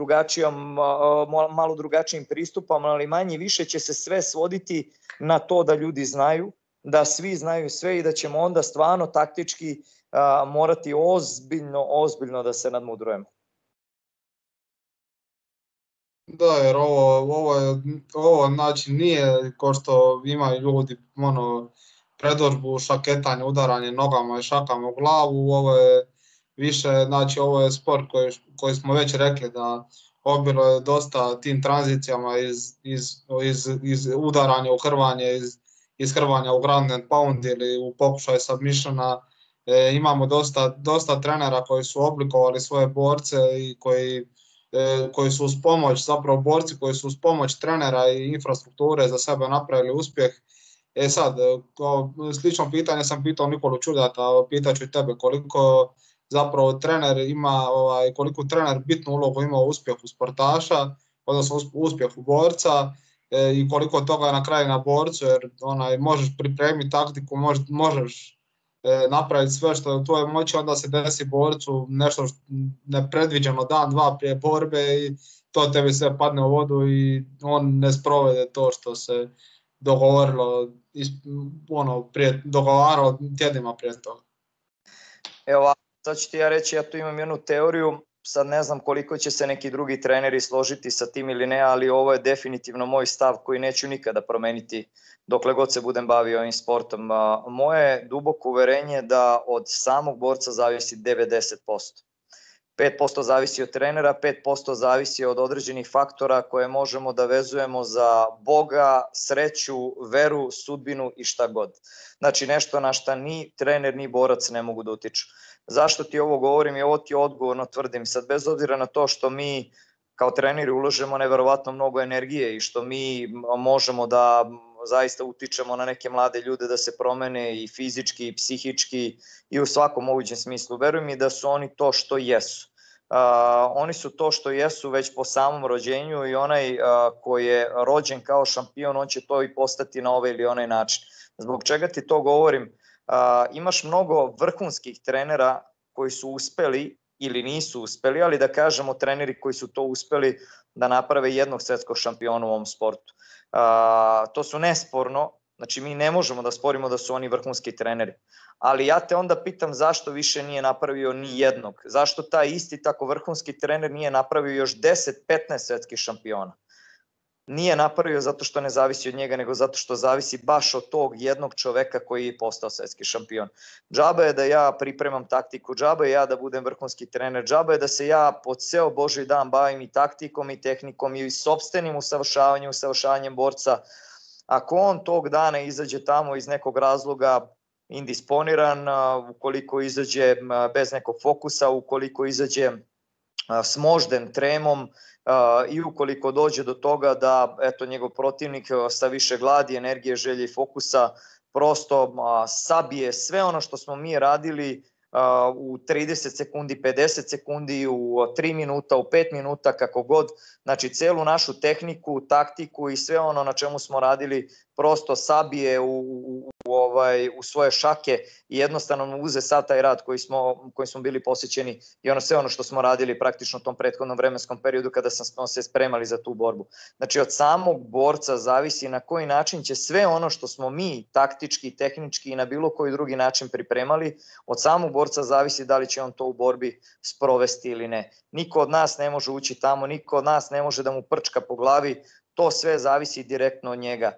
drugačijim pristupom, ali manje više će se sve svoditi na to da ljudi znaju, da svi znaju sve i da ćemo onda stvarno taktički morati ozbiljno da se nadmudrujemo. Da, jer ovo znači nije ko što imaju ljudi predodžbu šaketanje, udaranje nogama i šakama u glavu, ovo je više, znači ovo je sport koji smo već rekli da obilo je dosta tim tranzicijama iz udaranja u hrvanje, iz hrvanja u ground and pound ili u pokušaj submissiona. Imamo dosta trenera koji su oblikovali svoje borce i koji su uz pomoć, zapravo borci koji su uz pomoć trenera i infrastrukture za sebe napravili uspjeh. Sad, slično pitanje sam pitao Nikolu Čudata, pitaću i tebe koliko zapravo trener ima, koliko trener bitnu ulogu ima u uspjehu sportaša, odnosno uspjehu borca i koliko toga na kraju na borcu, jer možeš pripremiti taktiku, možeš napraviti sve što je u tvojoj moći, onda se desi borcu nešto nepredviđeno dan, dva prije borbe i to tebi sve padne u vodu i on ne sprovede to što se dogovaralo tjednima prije toga. Evo, sad ću ti ja reći, ja tu imam jednu teoriju, sad ne znam koliko će se neki drugi treneri složiti sa tim ili ne, ali ovo je definitivno moj stav koji neću nikada promeniti dokle god se budem bavio ovim sportom. Moje duboko uverenje da od samog borca zavisi 90%. 5% zavisi od trenera, 5% zavisi od određenih faktora koje možemo da vezujemo za Boga, sreću, veru, sudbinu i šta god. Znači nešto na šta ni trener ni borac ne mogu da utiču. Zašto ti ovo govorim i ovo ti odgovorno tvrdim? Sad bez obzira na to što mi kao treneri uložemo neverovatno mnogo energije i što mi možemo da zaista utičemo na neke mlade ljude da se promene i fizički i psihički i u svakom mogućem smislu. Veruj mi da su oni to što jesu. Oni su to što jesu već po samom rođenju i onaj koji je rođen kao šampion, on će to i postati na ovaj ili onaj način. Zbog čega ti to govorim? Imaš mnogo vrhunskih trenera koji su uspeli ili nisu uspeli, ali da kažemo treneri koji su to uspeli da naprave jednog svetskog šampiona u ovom sportu. To su nesporno, znači mi ne možemo da sporimo da su oni vrhunski treneri, ali ja te onda pitam zašto više nije napravio ni jednog, zašto taj isti tako vrhunski trener nije napravio još 10-15 svetskih šampiona. nije napravio zato što ne zavisi od njega, nego zato što zavisi baš od tog jednog čoveka koji je postao svetski šampion. Džaba je da ja pripremam taktiku, džaba je ja da budem vrhunski trener, džaba je da se ja po ceo Božji dan bavim i taktikom i tehnikom i sopstvenim usavršavanjem borca. Ako on tog dana izađe tamo iz nekog razloga indisponiran, ukoliko izađe bez nekog fokusa, ukoliko izađe smožden tremom i ukoliko dođe do toga da njegov protivnik sa više gladi, energije, želje i fokusa prosto sabije sve ono što smo mi radili u 30 sekundi, 50 sekundi, u 3 minuta, u 5 minuta, kako god. Znači, celu našu tehniku, taktiku i sve ono na čemu smo radili prosto sabije u svoje šake i jednostavno uze sad taj rad koji smo bili posjećeni i sve ono što smo radili praktično u tom prethodnom vremenskom periodu kada smo se spremali za tu borbu. Znači, od samog borca zavisi na koji način će sve ono što smo mi taktički, tehnički i na bilo koji drugi način pripremali, od samog borca zavisi da li će on to u borbi sprovesti ili ne. Niko od nas ne može ući tamo, niko od nas ne može da mu prčka po glavi, to sve zavisi direktno od njega.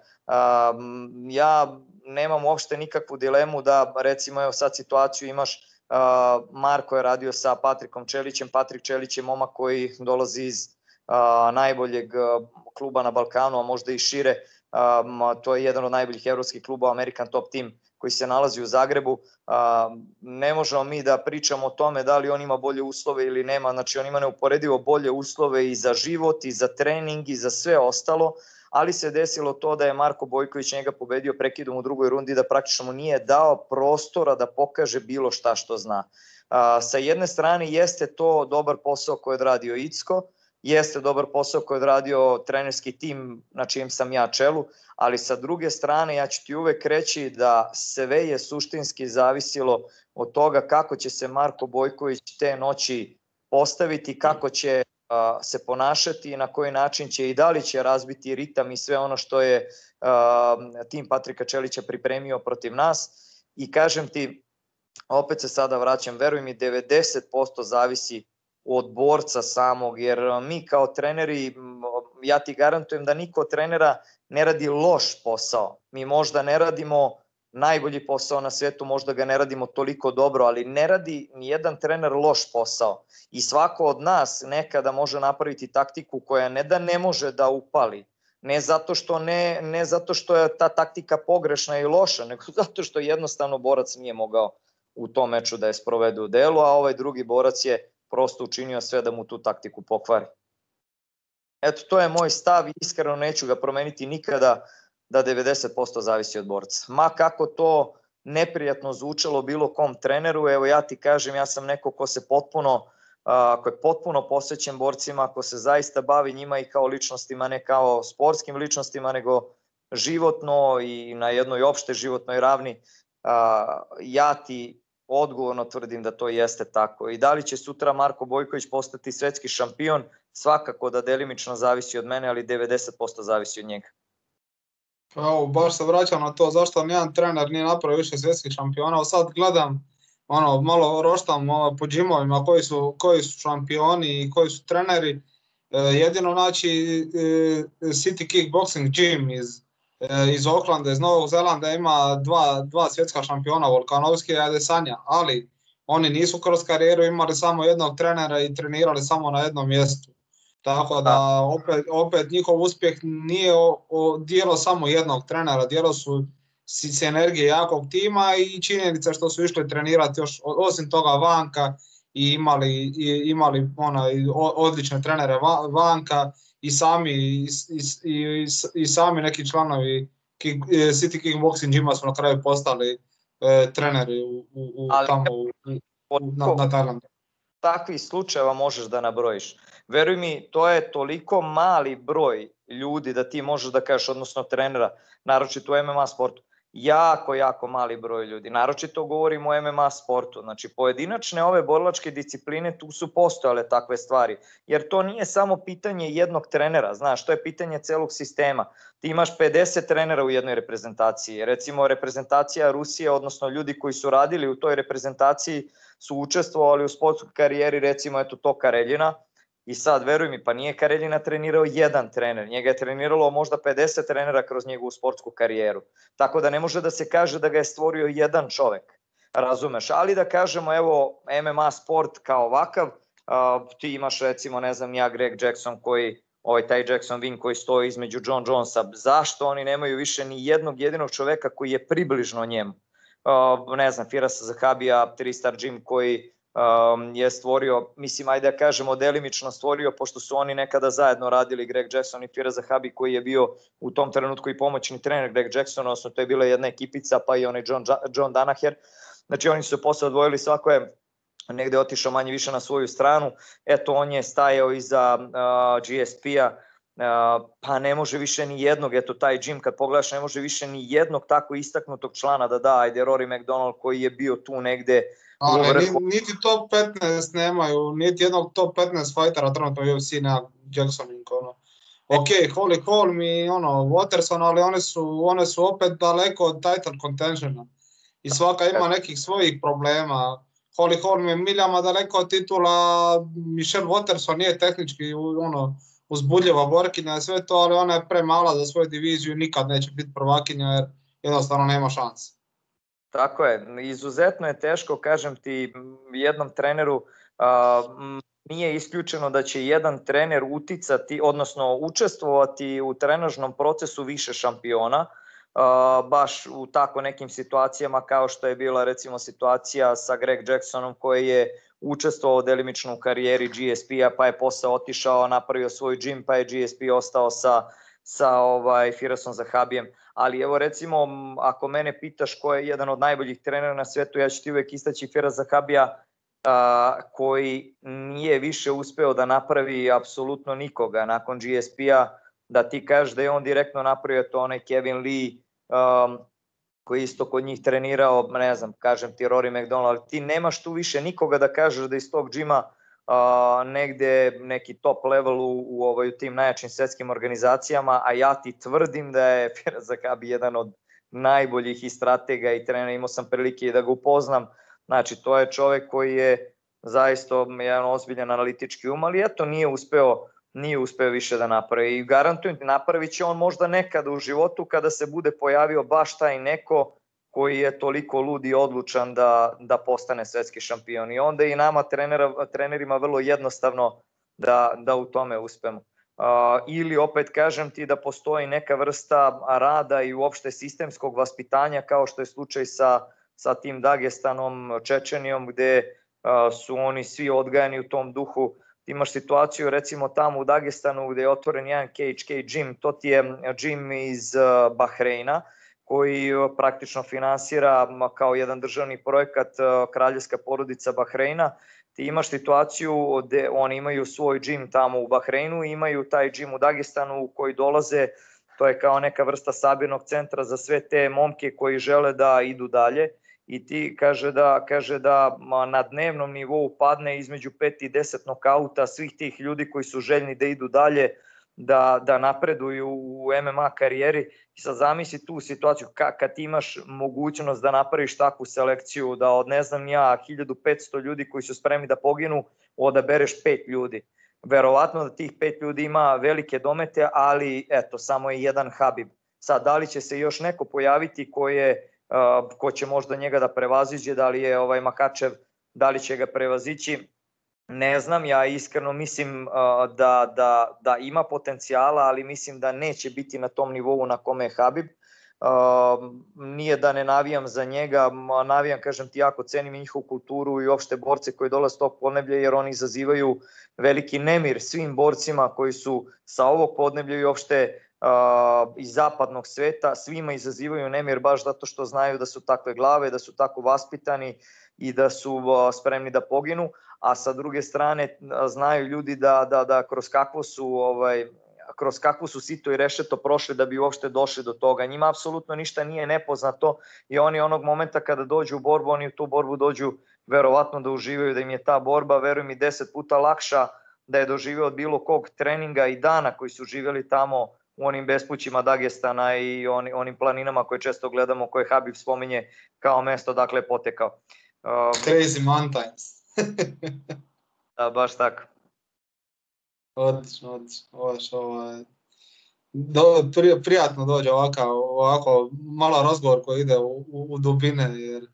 Ja nemam uopšte nikakvu dilemu da, recimo, evo sad situaciju imaš, Marko je radio sa Patrikom Čelićem, Patrik Čelić je momak koji dolazi iz najboljeg kluba na Balkanu, a možda i šire, to je jedan od najboljih evropskih klubova, American Top Team, koji se nalazi u Zagrebu. Ne možemo mi da pričamo o tome da li on ima bolje uslove ili nema, znači on ima neuporedivo bolje uslove i za život i za trening i za sve ostalo, ali se desilo to da je Marko Bojković njega pobedio prekidom u drugoj rundi, da praktično mu nije dao prostora da pokaže bilo šta što zna. Sa jedne strane jeste to dobar posao koji je odradio Icko, jeste dobar posao koji je odradio trenerski tim na čijem sam ja čelu, ali sa druge strane ja ću ti uvek reći da sve je suštinski zavisilo od toga kako će se Marko Bojković te noći postaviti, kako će se ponašati i na koji način će i da li će razbiti ritam i sve ono što je tim Patrika Čelića pripremio protiv nas. I kažem ti, opet se sada vraćam, veruj mi, 90% zavisi od borca samog, jer mi kao treneri, ja ti garantujem da niko od trenera ne radi loš posao. Mi možda ne radimo najbolji posao na svetu, možda ga ne radimo toliko dobro, ali ne radi ni jedan trener loš posao. I svako od nas nekada može napraviti taktiku koja ne da ne može da upali, ne zato što je ta taktika pogrešna i loša, nego zato što jednostavno borac nije mogao u tom meču da je sprovede u delu, a ovaj drugi borac je prosto učinio sve da mu tu taktiku pokvari. Eto, to je moj stav i iskreno neću ga promeniti nikada, da 90% zavisi od borca. Ma kako to neprijatno zvučalo bilo kom treneru, evo ja ti kažem, ja sam neko ko je potpuno posvećen borcima, ko se zaista bavi njima i kao ličnostima, ne kao sportskim ličnostima, nego životno i na jednoj opšte životnoj ravni. Ja ti odgovorno tvrdim da to jeste tako. I da li će sutra Marko Bojković postati svetski šampion, svakako da delimično zavisi od mene, ali 90% zavisi od njega. Evo, baš se vraćam na to zašto nijedan trener nije napravio više svjetskih šampiona. Sad gledam, malo roštam po džimovima koji su šampioni i koji su treneri. Jedino znači City Kickboxing Gym iz Aucklanda, iz Novog Zelanda ima dva svjetska šampiona, Volkanovski i Adesanya, ali oni nisu kroz karijeru imali samo jednog trenera i trenirali samo na jednom mjestu. Tako da opet njihov uspjeh nije djelo samo jednog trenera, djelo su sinergije jakog tima i činjenica što su išli trenirati još osim toga vanka i imali odlične trenere vanka i sami neki članovi City Kickboxing Gyma su na kraju postali treneri na Tajlandu. Takvih slučajeva možeš da nabrojiš. Veruj mi, to je toliko mali broj ljudi da ti možeš da kažeš, odnosno trenera, naročito u MMA sportu. Jako mali broj ljudi, naročito govorimo o MMA sportu. Znači, pojedinačne ove borilačke discipline, tu su postojale takve stvari, jer to nije samo pitanje jednog trenera, znaš, to je pitanje celog sistema. Ti imaš 50 trenera u jednoj reprezentaciji, recimo reprezentacija Rusije, odnosno ljudi koji su radili u toj reprezentaciji su učestvovali u sportskoj karijeri, recimo Toka Reljina, I sad, veruj mi, pa nije Kareljina trenirao jedan trener, njega je treniralo možda 50 trenera kroz njegovu sportsku karijeru. Tako da ne može da se kaže da ga je stvorio jedan čovek, razumeš? Ali da kažemo, evo, MMA sport kao ovakav, ti imaš recimo, ne znam, Greg Jackson koji, taj Jackson Wing koji stoji između John Jonesa, zašto oni nemaju više ni jednog jedinog čoveka koji je približno njemu? Ne znam, Firasa Zahabija, 3-star gym koji je stvorio, mislim, ajde da kažemo, delimično stvorio, pošto su oni nekada zajedno radili, Greg Jackson i Firas Zahabi, koji je bio u tom trenutku i pomoćni trener Greg Jackson, odnosno to je bila jedna ekipica, pa i onaj John Danaher. Znači oni su se posle odvojili, svako je negde otišao manje više na svoju stranu, eto on je stajao iza GSP-a, pa ne može više ni jednog, eto taj Jim kad pogledaš ne može više ni jednog tako istaknutog člana da da, ajde Rory McDonald koji je bio tu negde u vrhu. Niti top 15 nemaju, niti jednog top 15 fightera trenutno u UFC na Jackson Wing, ok, Holly Holm i Watterson, ali one su opet daleko od title contentiona i svaka ima nekih svojih problema. Holly Holm je miljama daleko od titula, Michelle Watterson nije tehnički uzbudljiva borkinja i sve to, ali ona je premala za svoju diviziju i nikad neće biti prvakinja jer jednostavno nema šanse. Tako je, izuzetno je teško, kažem ti, jednom treneru, nije isključeno da će jedan trener uticati, odnosno učestvovati u trenažnom procesu više šampiona, baš u tako nekim situacijama kao što je bila recimo situacija sa Greg Jacksonom koji je učestvovao delimično u karijeri GSP-a, pa je posle otišao, napravio svoj gym, pa je GSP ostao sa Firasom Zahabijem. Ali evo recimo, ako mene pitaš ko je jedan od najboljih trenera na svetu, ja ću ti uvek istaći Firas Zahabija, koji nije više uspeo da napravi apsolutno nikoga nakon GSP-a, da ti kažeš da je on direktno napravio to, onaj Kevin Lee, koji isto kod njih trenirao, ne znam, kažem ti Rory McDonald, ti nemaš tu više nikoga da kažeš da iz tog džima negde neki top level u tim najjačim svetskim organizacijama, a ja ti tvrdim da je Firas Zahabi jedan od najboljih i stratega i trenera, imao sam prilike da ga upoznam, znači to je čovek koji je zaista jedan ozbiljan analitički um, ali eto nije uspeo više da napravi i garantujem ti napravit će on možda nekada u životu kada se bude pojavio baš taj neko koji je toliko lud i odlučan da postane svetski šampion i onda i nama trenerima vrlo jednostavno da u tome uspemo. Ili opet kažem ti da postoji neka vrsta rada i uopšte sistemskog vaspitanja kao što je slučaj sa tim Dagestanom, Čečenijom gde su oni svi odgajani u tom duhu. Ti imaš situaciju recimo tamo u Dagestanu gde je otvoren jedan KHK gym, to ti je gym iz Bahreina koji praktično finansira kao jedan državni projekat kraljevska porodica Bahreina. Ti imaš situaciju gde oni imaju svoj gym tamo u Bahreinu, imaju taj gym u Dagestanu u koji dolaze, to je kao neka vrsta sabirnog centra za sve te momke koji žele da idu dalje. I ti kaže da na dnevnom nivou padne između 5 i 10 nokauta svih tih ljudi koji su željni da idu dalje, da napreduju u MMA karijeri. I sad zamisli tu situaciju kad ti imaš mogućnost da napraviš takvu selekciju, da od 1500 ljudi koji su spremni da poginu, odabereš 5 ljudi. Verovatno da tih 5 ljudi ima velike domete, ali eto, samo je jedan Habib. Sad, da li će se još neko pojaviti ko će možda njega da prevaziđe, da li je Makačev, da li će ga prevazići, ne znam, ja iskreno mislim da ima potencijala, ali mislim da neće biti na tom nivou na kome je Habib. Nije da ne navijam za njega, navijam, kažem ti, jako cenim njihovu kulturu i uopšte borce koji dolaze s tog podneblja, jer oni izazivaju veliki nemir svim borcima koji su sa ovog podneblja i uopšte iz zapadnog sveta, svima izazivaju nemir baš zato što znaju da su takve glave, da su tako vaspitani i da su spremni da poginu, a sa druge strane znaju ljudi da kroz kakvo su sito i rešeto prošli da bi uopšte došli do toga. Njima apsolutno ništa nije nepoznato i oni onog momenta kada dođu u borbu, oni u tu borbu dođu verovatno da uživaju, da im je ta borba, verujem i 10 puta lakša da je doživeo od bilo kog treninga i dana koji su živjeli tamo u onim bespućima Dagestana i onim planinama koje često gledamo, koje Habib spominje kao mesto odakle je potekao. Crazy mountains. Da, baš tako. Odlično. Prijatno dođe ovako malo razgovor koji ide u dubine, jer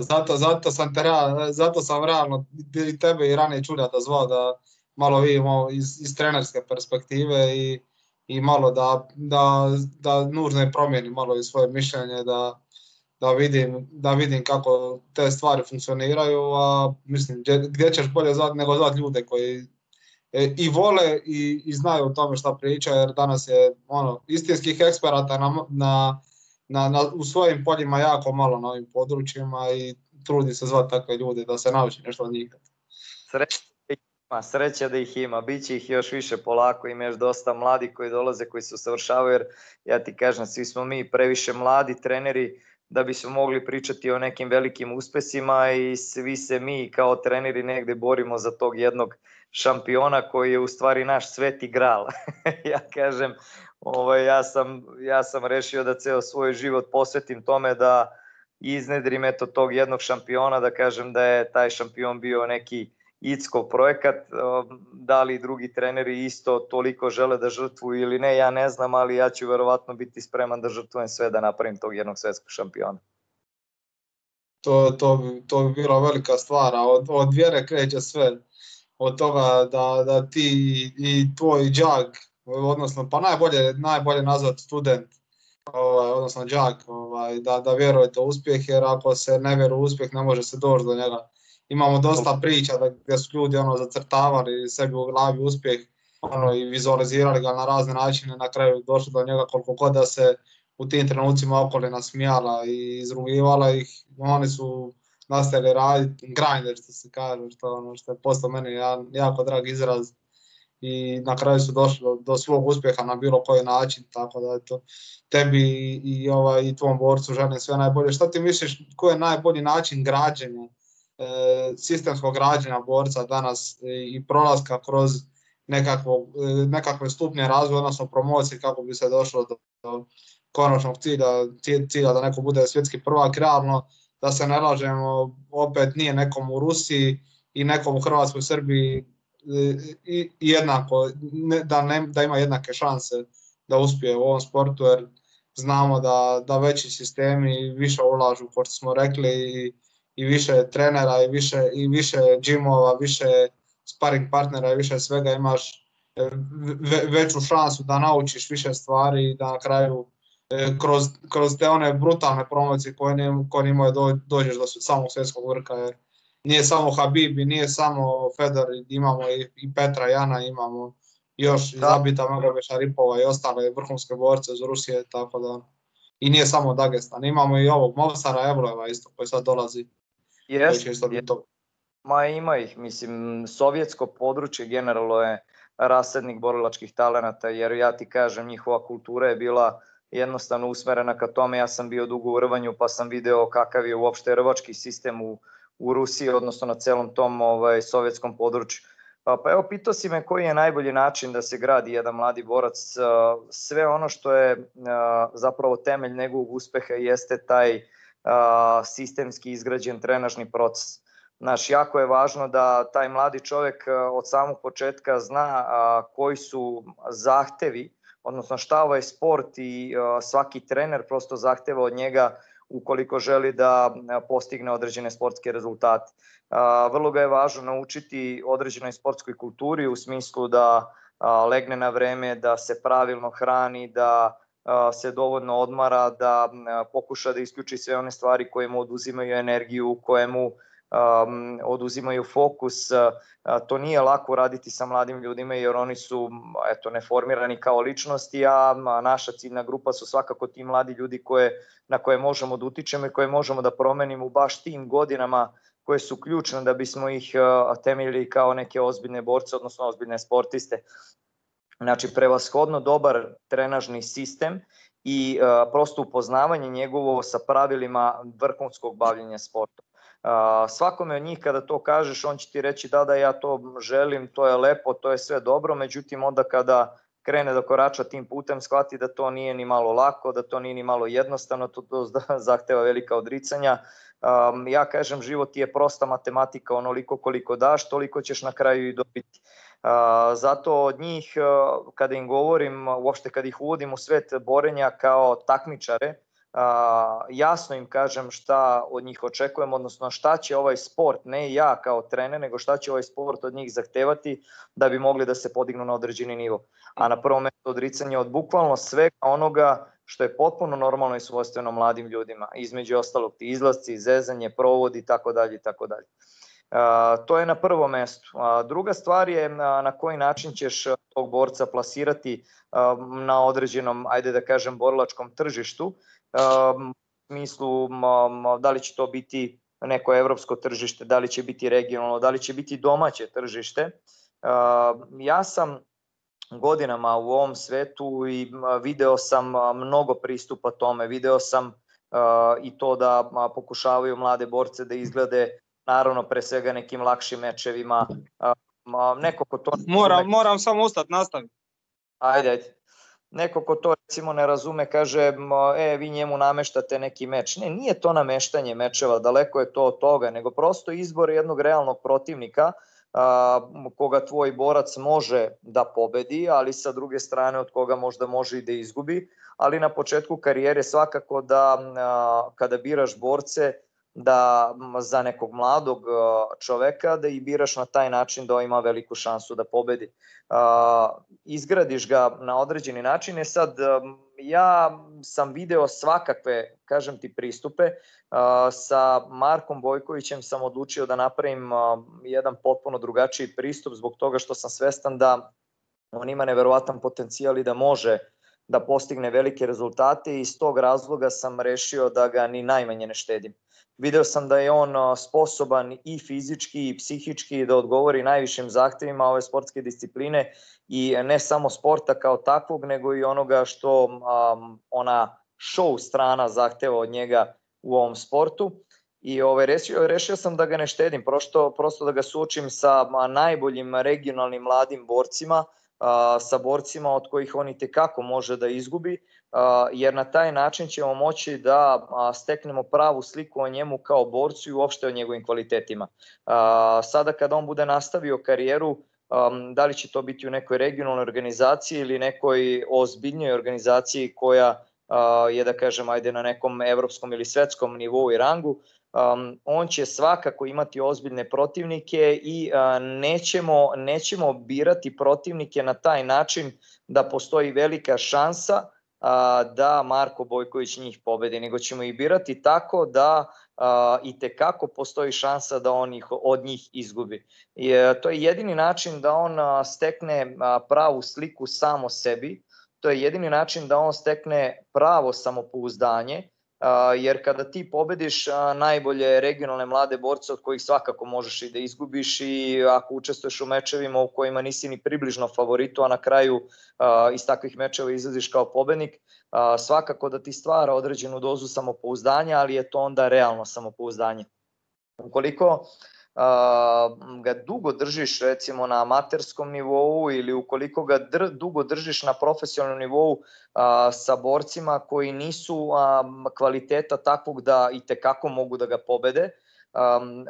zato sam realno i tebe i ranije Čuljata zvao da malo vidimo iz trenerske perspektive i malo da nužno je promijeni malo i svoje mišljenje, da vidim kako te stvari funkcioniraju, a mislim gdje ćeš bolje zvati nego zvati ljude koji i vole i znaju o tome šta pričaju, jer danas je istinskih eksperata u svojim poljima jako malo na ovim područjima i trudi se zvati takve ljude da se nauči nešto od njih. Sreća da ih ima, bit će ih još više polako, ima još dosta mladi koji dolaze, koji se usavršavaju, jer ja ti kažem, svi smo mi previše mladi treneri da bismo mogli pričati o nekim velikim uspesima i svi se mi kao treneri negde borimo za tog jednog šampiona koji je u stvari naš sveti gral. Ja kažem, ja sam rešio da ceo svoj život posvetim tome da iznedrim eto tog jednog šampiona, da kažem da je taj šampion bio neki Ickov projekat, da li drugi treneri isto toliko žele da žrtvuju ili ne, ja ne znam, ali ja ću verovatno biti spreman da žrtvujem sve da napravim tog jednog svetskog šampiona. To bi bila velika stvar, a od vjere kreće sve. Od toga da ti i tvoj đak, odnosno pa najbolje nazvati student, odnosno đak, da vjerujete u uspjeh, jer ako se ne vjeruje u uspjeh ne može se doći do njega. Imamo dosta priča gdje su ljudi zacrtavali sebi u glavi uspjeh i vizualizirali ga na razne načine, na kraju došli do njega koliko god da se u tim trenucima okolina smijala i izrugivala ih, oni su nastavili raditi, grinder što se kaže, što je postao meni jako drag izraz i na kraju su došli do svog uspjeha na bilo koji način, tako da eto, tebi i tvom borcu želim sve najbolje. Šta ti misliš, koji je najbolji način građenja, sistemskog građenja borca danas i prolaska kroz nekakve stupnje razvoja, odnosno promocije kako bi se došlo do konačnog cilja da neko bude svjetski prvak, realno, da se ne lažemo, opet nije nekom u Rusiji i nekom u Hrvatskoj, Srbiji jednako, da ima jednake šanse da uspije u ovom sportu, jer znamo da veći sistemi više ulažu, kao što smo rekli, i više trenera i više džimova, više sparring partnera i više svega, imaš veću šansu da naučiš više stvari i da na kraju kroz te one brutalne promocije koje imaju dođeš do samog svjetskog vrha, jer nije samo Habib i nije samo Fedor, imamo i Petra Jana, imamo još i Zabita Magomeša Ripova i ostale vrhunske borce iz Rusije, tako da i nije samo Dagestan, imamo i ovog Movsara Evlojeva isto koji sad dolazi. Ma ima ih, mislim, sovjetsko područje generalno je rasadnik borilačkih talenata, jer ja ti kažem, njihova kultura je bila jednostavno usmerena ka tome. Ja sam bio dugo u rvanju, pa sam video kakav je uopšte rvački sistem u Rusiji, odnosno na celom tom sovjetskom području. Pa evo, pitao si me koji je najbolji način da se gradi jedan mladi borac. Sve ono što je zapravo temelj njegovog uspeha jeste taj sistemski izgrađen trenažni proces. Znaš, jako je važno da taj mladi čovjek od samog početka zna koji su zahtevi, odnosno šta ovaj sport i svaki trener prosto zahteva od njega ukoliko želi da postigne određene sportske rezultate. Vrlo ga je važno naučiti određenoj sportskoj kulturi u smislu da legne na vreme, da se pravilno hrani, da se dovoljno odmara, da pokuša da isključi sve one stvari koje mu oduzimaju energiju, koje mu oduzimaju fokus. To nije lako raditi sa mladim ljudima jer oni su neformirani kao ličnosti, a naša ciljna grupa su svakako ti mladi ljudi na koje možemo da utičemo i koje možemo da promenimo u baš tim godinama koje su ključne da bismo ih temeljili kao neke ozbiljne borce, odnosno ozbiljne sportiste. Znači, prevashodno dobar trenažni sistem i prosto upoznavanje njegovo sa pravilima vrhunskog bavljenja sportom. Svakome od njih kada to kažeš, on će ti reći da ja to želim, to je lepo, to je sve dobro, međutim onda kada krene da korača tim putem, shvati da to nije ni malo lako, da to nije ni malo jednostavno, to zahteva velika odricanja. Ja kažem, život je prosta matematika, onoliko koliko daš, toliko ćeš na kraju i dobiti. Zato od njih, kada im govorim, uopšte kada ih uvodim u svet borenja kao takmičare, jasno im kažem šta od njih očekujem, odnosno šta će ovaj sport, ne ja kao trener, nego šta će ovaj sport od njih zahtevati da bi mogli da se podignu na određeni nivo. A na prvom mestu odricanje od bukvalno svega onoga što je potpuno normalno i svojstveno mladim ljudima, između ostalog ti izlasci, zezanje, provodi itd. To je na prvom mestu. Druga stvar je na koji način ćeš tog borca plasirati na određenom, ajde da kažem, borilačkom tržištu. U smislu da li će to biti neko evropsko tržište, da li će biti regionalno, da li će biti domaće tržište. Ja sam godinama u ovom svetu i video sam mnogo pristupa tome, video sam i to da pokušavaju mlade borce da izglede, naravno pre svega nekim lakšim mečevima. Neko ko to... Moram samo ustati, nastaviti. Ajde. Neko ko to recimo ne razume kaže vi njemu nameštate neki meč. Ne, nije to nameštanje mečeva, daleko je to od toga, nego prosto izbor jednog realnog protivnika koga tvoj borac može da pobedi, ali sa druge strane od koga možda može i da izgubi. Ali na početku karijere svakako da kada biraš borce, da za nekog mladog čoveka da i biraš na taj način da ima veliku šansu da pobedi. Izgradiš ga na određeni način. Sad, ja sam video svakakve, kažem ti, pristupe. Sa Markom Bojkovićem sam odlučio da napravim jedan potpuno drugačiji pristup zbog toga što sam svestan da on ima neverovatan potencijal i da može da postigne velike rezultate i iz tog razloga sam rešio da ga ni najmanje ne štedim. Video sam da je on sposoban i fizički i psihički da odgovori najvišim zahtevima ove sportske discipline i ne samo sporta kao takvog, nego i onoga što ona show strana zahteva od njega u ovom sportu. I rešio sam da ga ne štedim, prosto da ga suočim sa najboljim regionalnim mladim borcima, sa borcima od kojih on itekako može da izgubi, jer na taj način ćemo moći da steknemo pravu sliku o njemu kao borcu i uopšte o njegovim kvalitetima. Sada kada on bude nastavio karijeru, da li će to biti u nekoj regionalnoj organizaciji ili nekoj ozbiljnoj organizaciji koja je, da kažem, ajde na nekom evropskom ili svetskom nivou i rangu, on će svakako imati ozbiljne protivnike i nećemo birati protivnike na taj način da postoji velika šansa da Marko Bojković njih pobedi, nego ćemo ih birati tako da itekako postoji šansa da on od njih izgubi. To je jedini način da on stekne pravu sliku samo sebi, to je jedini način da on stekne pravo samopouzdanje, jer kada ti pobediš najbolje regionalne mlade borce od kojih svakako možeš i da izgubiš i ako učestvuješ u mečevima u kojima nisi ni približno favoritu, a na kraju iz takvih mečeva izlaziš kao pobednik, svakako da ti stvara određenu dozu samopouzdanja, ali je to onda realno samopouzdanje. Ukoliko ga dugo držiš recimo na amaterskom nivou ili ukoliko ga dugo držiš na profesionalnom nivou sa borcima koji nisu kvaliteta takvog da itekako mogu da ga pobede,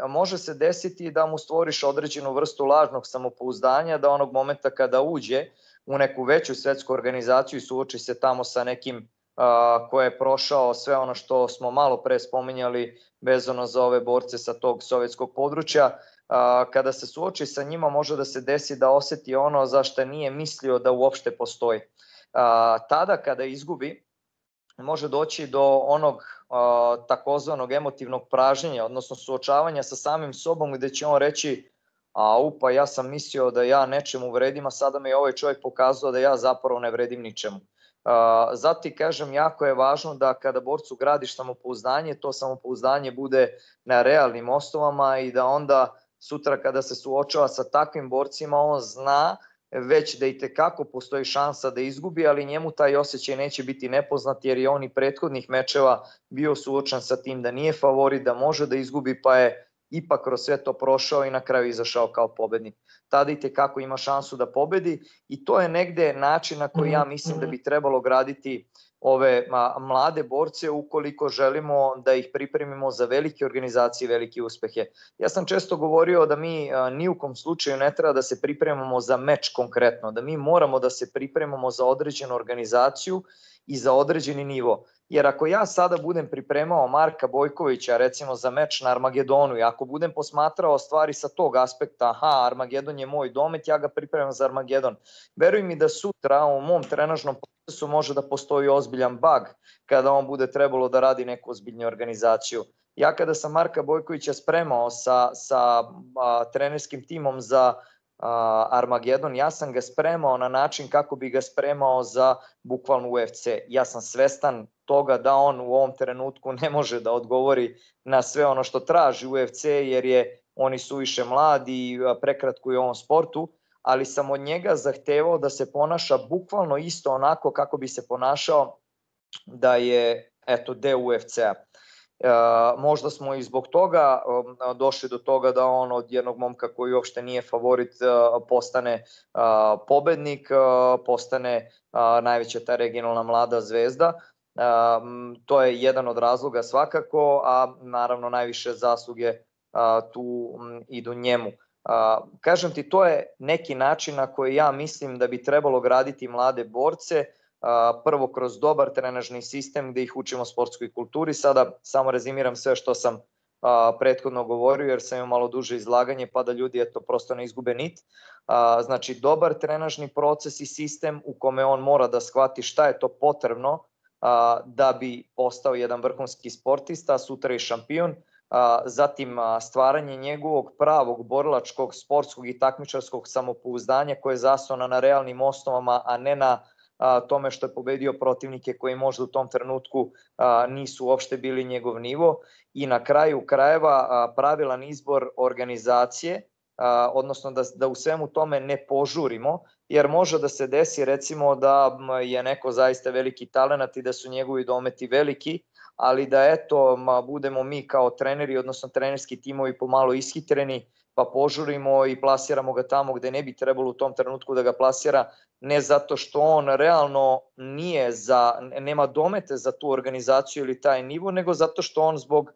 može se desiti da mu stvoriš određenu vrstu lažnog samopouzdanja, da onog momenta kada uđe u neku veću svetsku organizaciju i suoči se tamo sa nekim ko je prošao sve ono što smo malo pre spominjali vezano za ove borce sa tog sovjetskog područja, kada se suoči sa njima može da se desi da oseti ono za što nije mislio da uopšte postoji. Tada kada izgubi može doći do onog takozvanog emotivnog pražnjenja, odnosno suočavanja sa samim sobom gde će on reći pa ja sam mislio da ja nečemu vredim, a sada mi je ovaj čovjek pokazao da ja zapravo ne vredim ničemu. Zato ti kažem, jako je važno da kada borcu gradiš samopouzdanje, to samopouzdanje bude na realnim osnovama i da onda sutra kada se suočava sa takvim borcima on zna već da itekako postoji šansa da izgubi, ali njemu taj osjećaj neće biti nepoznat jer je on i prethodnih mečeva bio suočen sa tim da nije favorit, da može da izgubi, pa je ipak kroz sve to prošao i na kraju izašao kao pobednik. Tada itekako ima šansu da pobedi i to je negde način na koji ja mislim da bi trebalo graditi ove mlade borce ukoliko želimo da ih pripremimo za velike organizacije i velike uspehe. Ja sam često govorio da mi ni u kom slučaju ne treba da se pripremamo za meč konkretno, da mi moramo da se pripremamo za određenu organizaciju i za određeni nivo. Jer ako ja sada budem pripremao Marka Bojkovića recimo za meč na Armagedonu i ako budem posmatrao stvari sa tog aspekta, aha, Armagedon je moj domet, ja ga pripremam za Armagedon. Veruj mi da sutra u mom trenažnom procesu može da postoji ozbiljan bug kada on bude trebalo da radi neku ozbiljnu organizaciju. Ja kada sam Marka Bojkovića spremao sa trenerskim timom za Armagedon, ja sam ga spremao na način kako bi ga spremao za bukvalno UFC. Ja sam svestan toga da on u ovom trenutku ne može da odgovori na sve ono što traži UFC jer on je suviše mlad i prekratko je u ovom sportu, ali sam od njega zahtevao da se ponaša bukvalno isto onako kako bi se ponašao da je deo UFC-a. Možda smo i zbog toga došli do toga da on od jednog momka koji uopšte nije favorit postane pobednik, postane najveća ta regionalna mlada zvezda. To je jedan od razloga svakako, a naravno najviše zasluge tu idu njemu. Kažem ti, to je neki način na koji ja mislim da bi trebalo graditi mlade borce, prvo kroz dobar trenažni sistem gde ih učimo sportskoj kulturi. Sada samo rezimiram sve što sam prethodno govorio jer sam imao malo duže izlaganje pa da ljudi prosto ne izgube nit. Znači dobar trenažni proces i sistem u kome on mora da shvati šta je to potrebno da bi postao jedan vrhunski sportista, sutra i šampion. Zatim stvaranje njegovog pravog borilačkog, sportskog i takmičarskog samopouzdanja koje je zasnovano na realnim osnovama, a ne na tome što je pobedio protivnike koji možda u tom trenutku nisu uopšte bili njegov nivo. I na kraju krajeva pravilan izbor organizacije, odnosno da u svemu tome ne požurimo, jer može da se desi recimo da je neko zaista veliki talenat i da su njegovi dometi veliki, ali da budemo mi kao treneri, odnosno trenerski timovi pomalo ishitreni, pa požurimo i plasiramo ga tamo gde ne bi trebalo u tom trenutku da ga plasira, ne zato što on realno nema domete za tu organizaciju ili taj nivo, nego zato što on zbog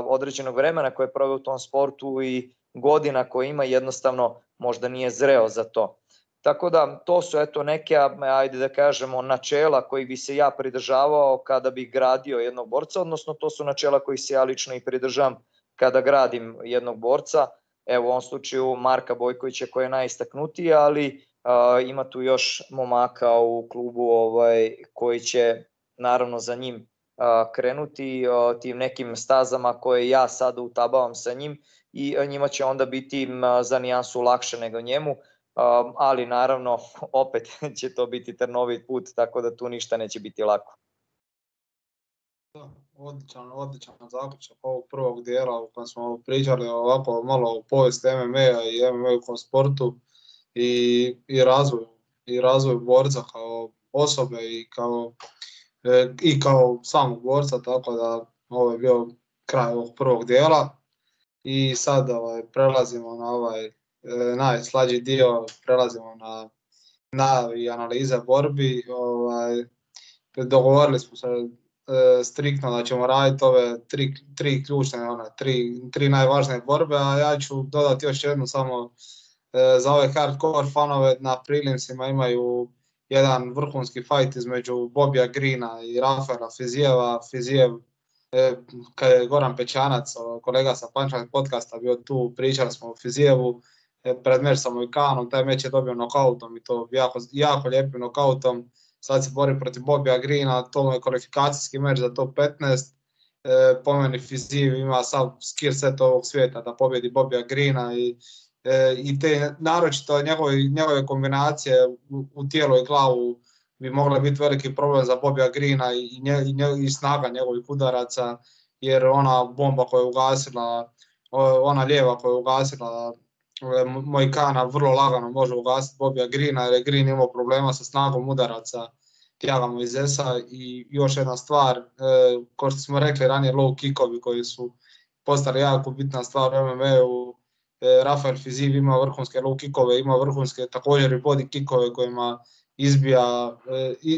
određenog vremena koje je proveo u tom sportu i godina koje ima jednostavno možda nije zreo za to. Tako da to su neke, ajde da kažemo, načela koji bi se ja pridržavao kada bi gradio jednog borca, odnosno to su načela koji se ja lično i pridržavam kada gradim jednog borca. Evo u ovom slučaju Marka Bojkovića koji je najistaknutiji, ali ima tu još momaka u klubu koji će naravno za njim krenuti tim nekim stazama koje ja sada utabavam sa njim i njima će onda biti za nijansu lakše nego njemu, ali naravno opet će to biti trnovit put, tako da tu ništa neće biti lako. Odličan zaključak ovog prvog dijela u kojem smo pričali ovako malo o povijesti MMA-a i MMA-u sportu i razvoju borca kao osobe i kao samog borca, tako da ovo je bio kraj ovog prvog dijela i sad prelazimo na ovaj najslađi dio, prelazimo na analize borbi. Dogovorili smo se striktno da ćemo raditi ove tri ključne, tri najvažnije borbe, a ja ću dodati još jednu samo za ove hardcore fanove. Na prilimsima imaju jedan vrhunski fight između Bobija Greena i Rafaela Fizijeva. Fizijev, kad je Goran Pećanac, kolega sa Punchline podcasta, bio tu, pričali smo o Fizijevu pred meč sa Mojkanom, taj meč je dobio nokautom i to jako lijepim nokautom. Sad se bori protiv Bobija Greena, to je kvalifikacijski meč za top 15. Po meni Fizijev ima sav skill set ovog svijeta da pobjedi Bobija Greena i te naročito njegove kombinacije u tijelo i glavu bi mogle biti veliki problem za Bobija Greena i snaga njegovih udaraca, jer ona bomba koja je ugasila, ona lijeva koja je ugasila Mojkana vrlo lagano može ugasiti Bobija Greena, jer je Green imao problema sa snagom udaraca Thiaga Moisesa. I još jedna stvar, kao što smo rekli ranije, low kickovi koji su postali jako bitna stvar u MMA-u. Rafael Fiziev ima vrhunske low kickove, ima vrhunske također i body kickove kojima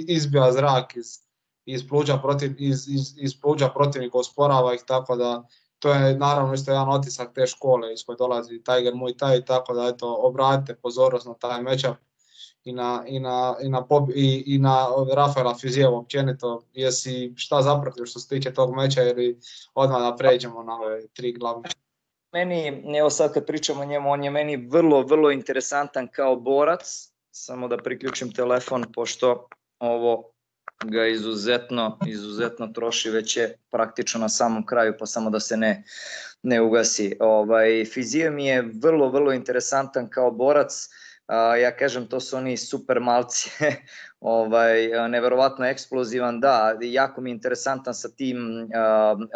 izbija zrak iz pluća protivnika, osporava ih, tako da to je naravno isto jedan otisak te škole iz koje dolazi Tiger Muay Thai, tako da eto, obratite pozornost na taj matchup i na Rafaela Fizieva općenito. Jesi šta zapratio što se tiče tog meča ili odmah da pređemo na ove tri glavne? Meni, evo sad kad pričamo o njemu, on je meni vrlo, vrlo interesantan kao borac. Samo da priključim telefon, pošto ovo ga izuzetno troši, već je praktično na samom kraju, pa samo da se ne ugasi. Fiziev mi je vrlo, vrlo interesantan kao borac. Ja kažem, to su oni super malci, neverovatno eksplozivan, da, jako mi je interesantan sa tim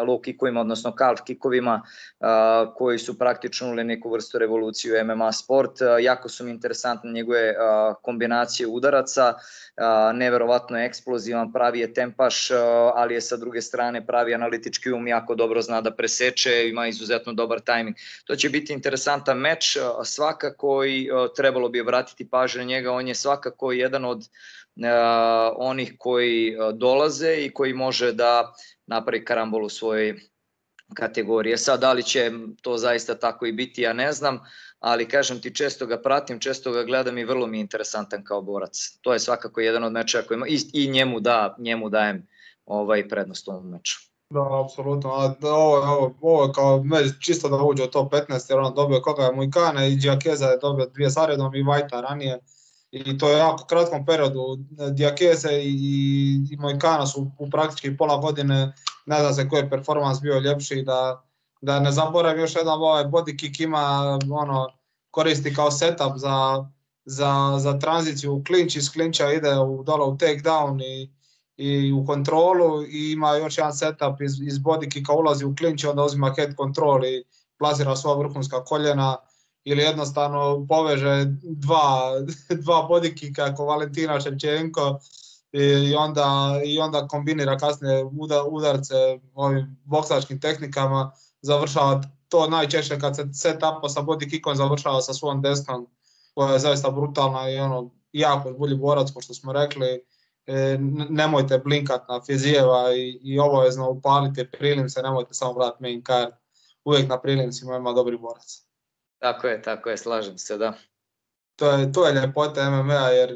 low kickovima, odnosno calf kickovima koji su praktično uveli neku vrstu revoluciju MMA sport. Jako su mi interesantne njegove kombinacije udaraca, neverovatno je eksplozivan, pravi je tempaš, ali je sa druge strane pravi analitički jako dobro zna da preseče, ima izuzetno dobar tajming. To će biti interesantan meč, svakako i trebalo bi obratiti pažnju na njega, on je svakako jedan od onih koji dolaze i koji može da napravi karambol u svojoj kategoriji. Sad, da li će to zaista tako i biti, ja ne znam, ali kažem ti, često ga pratim, često ga gledam i vrlo mi je interesantan kao borac. To je svakako jedan od meča koji ima i njemu dajem prednost u ovom meču. Da, apsolutno. Ovo je kao meč čisto da uđe u top 15, jer on dobio koga je Moicana i Diakeza je dobio 2 zaredom i Vajta ranije. I to je jako kratkom periodu. Diakeze i Moicana su u praktički pola godine, ne znam se koji je performans bio ljepši, da ne zaboravim još jedan body kick ima, koristi kao setup za tranziciju u klinč, iz klinča ide dole u takedown i u kontrolu i ima još jedan setup iz body kicka, ulazi u klinč i onda uzima head control i plasira svoja vrhunska koljena ili jednostavno poveže dva body kicka ako Valentina Ševčenko i onda kombinira kasnije udarce ovim boksačkim tehnikama, završava to najčešće kad se setupa sa body kickom završava sa svom desnom koja je zaista brutalna i jako bolji borac, ko što smo rekli. Nemojte blinkat na Fizieva i obavezno upalite prilimse, nemojte samo gledati main card, uvijek na prilimsima ima dobri borac. Tako je, slažem se, da. To je ljepota MMA, jer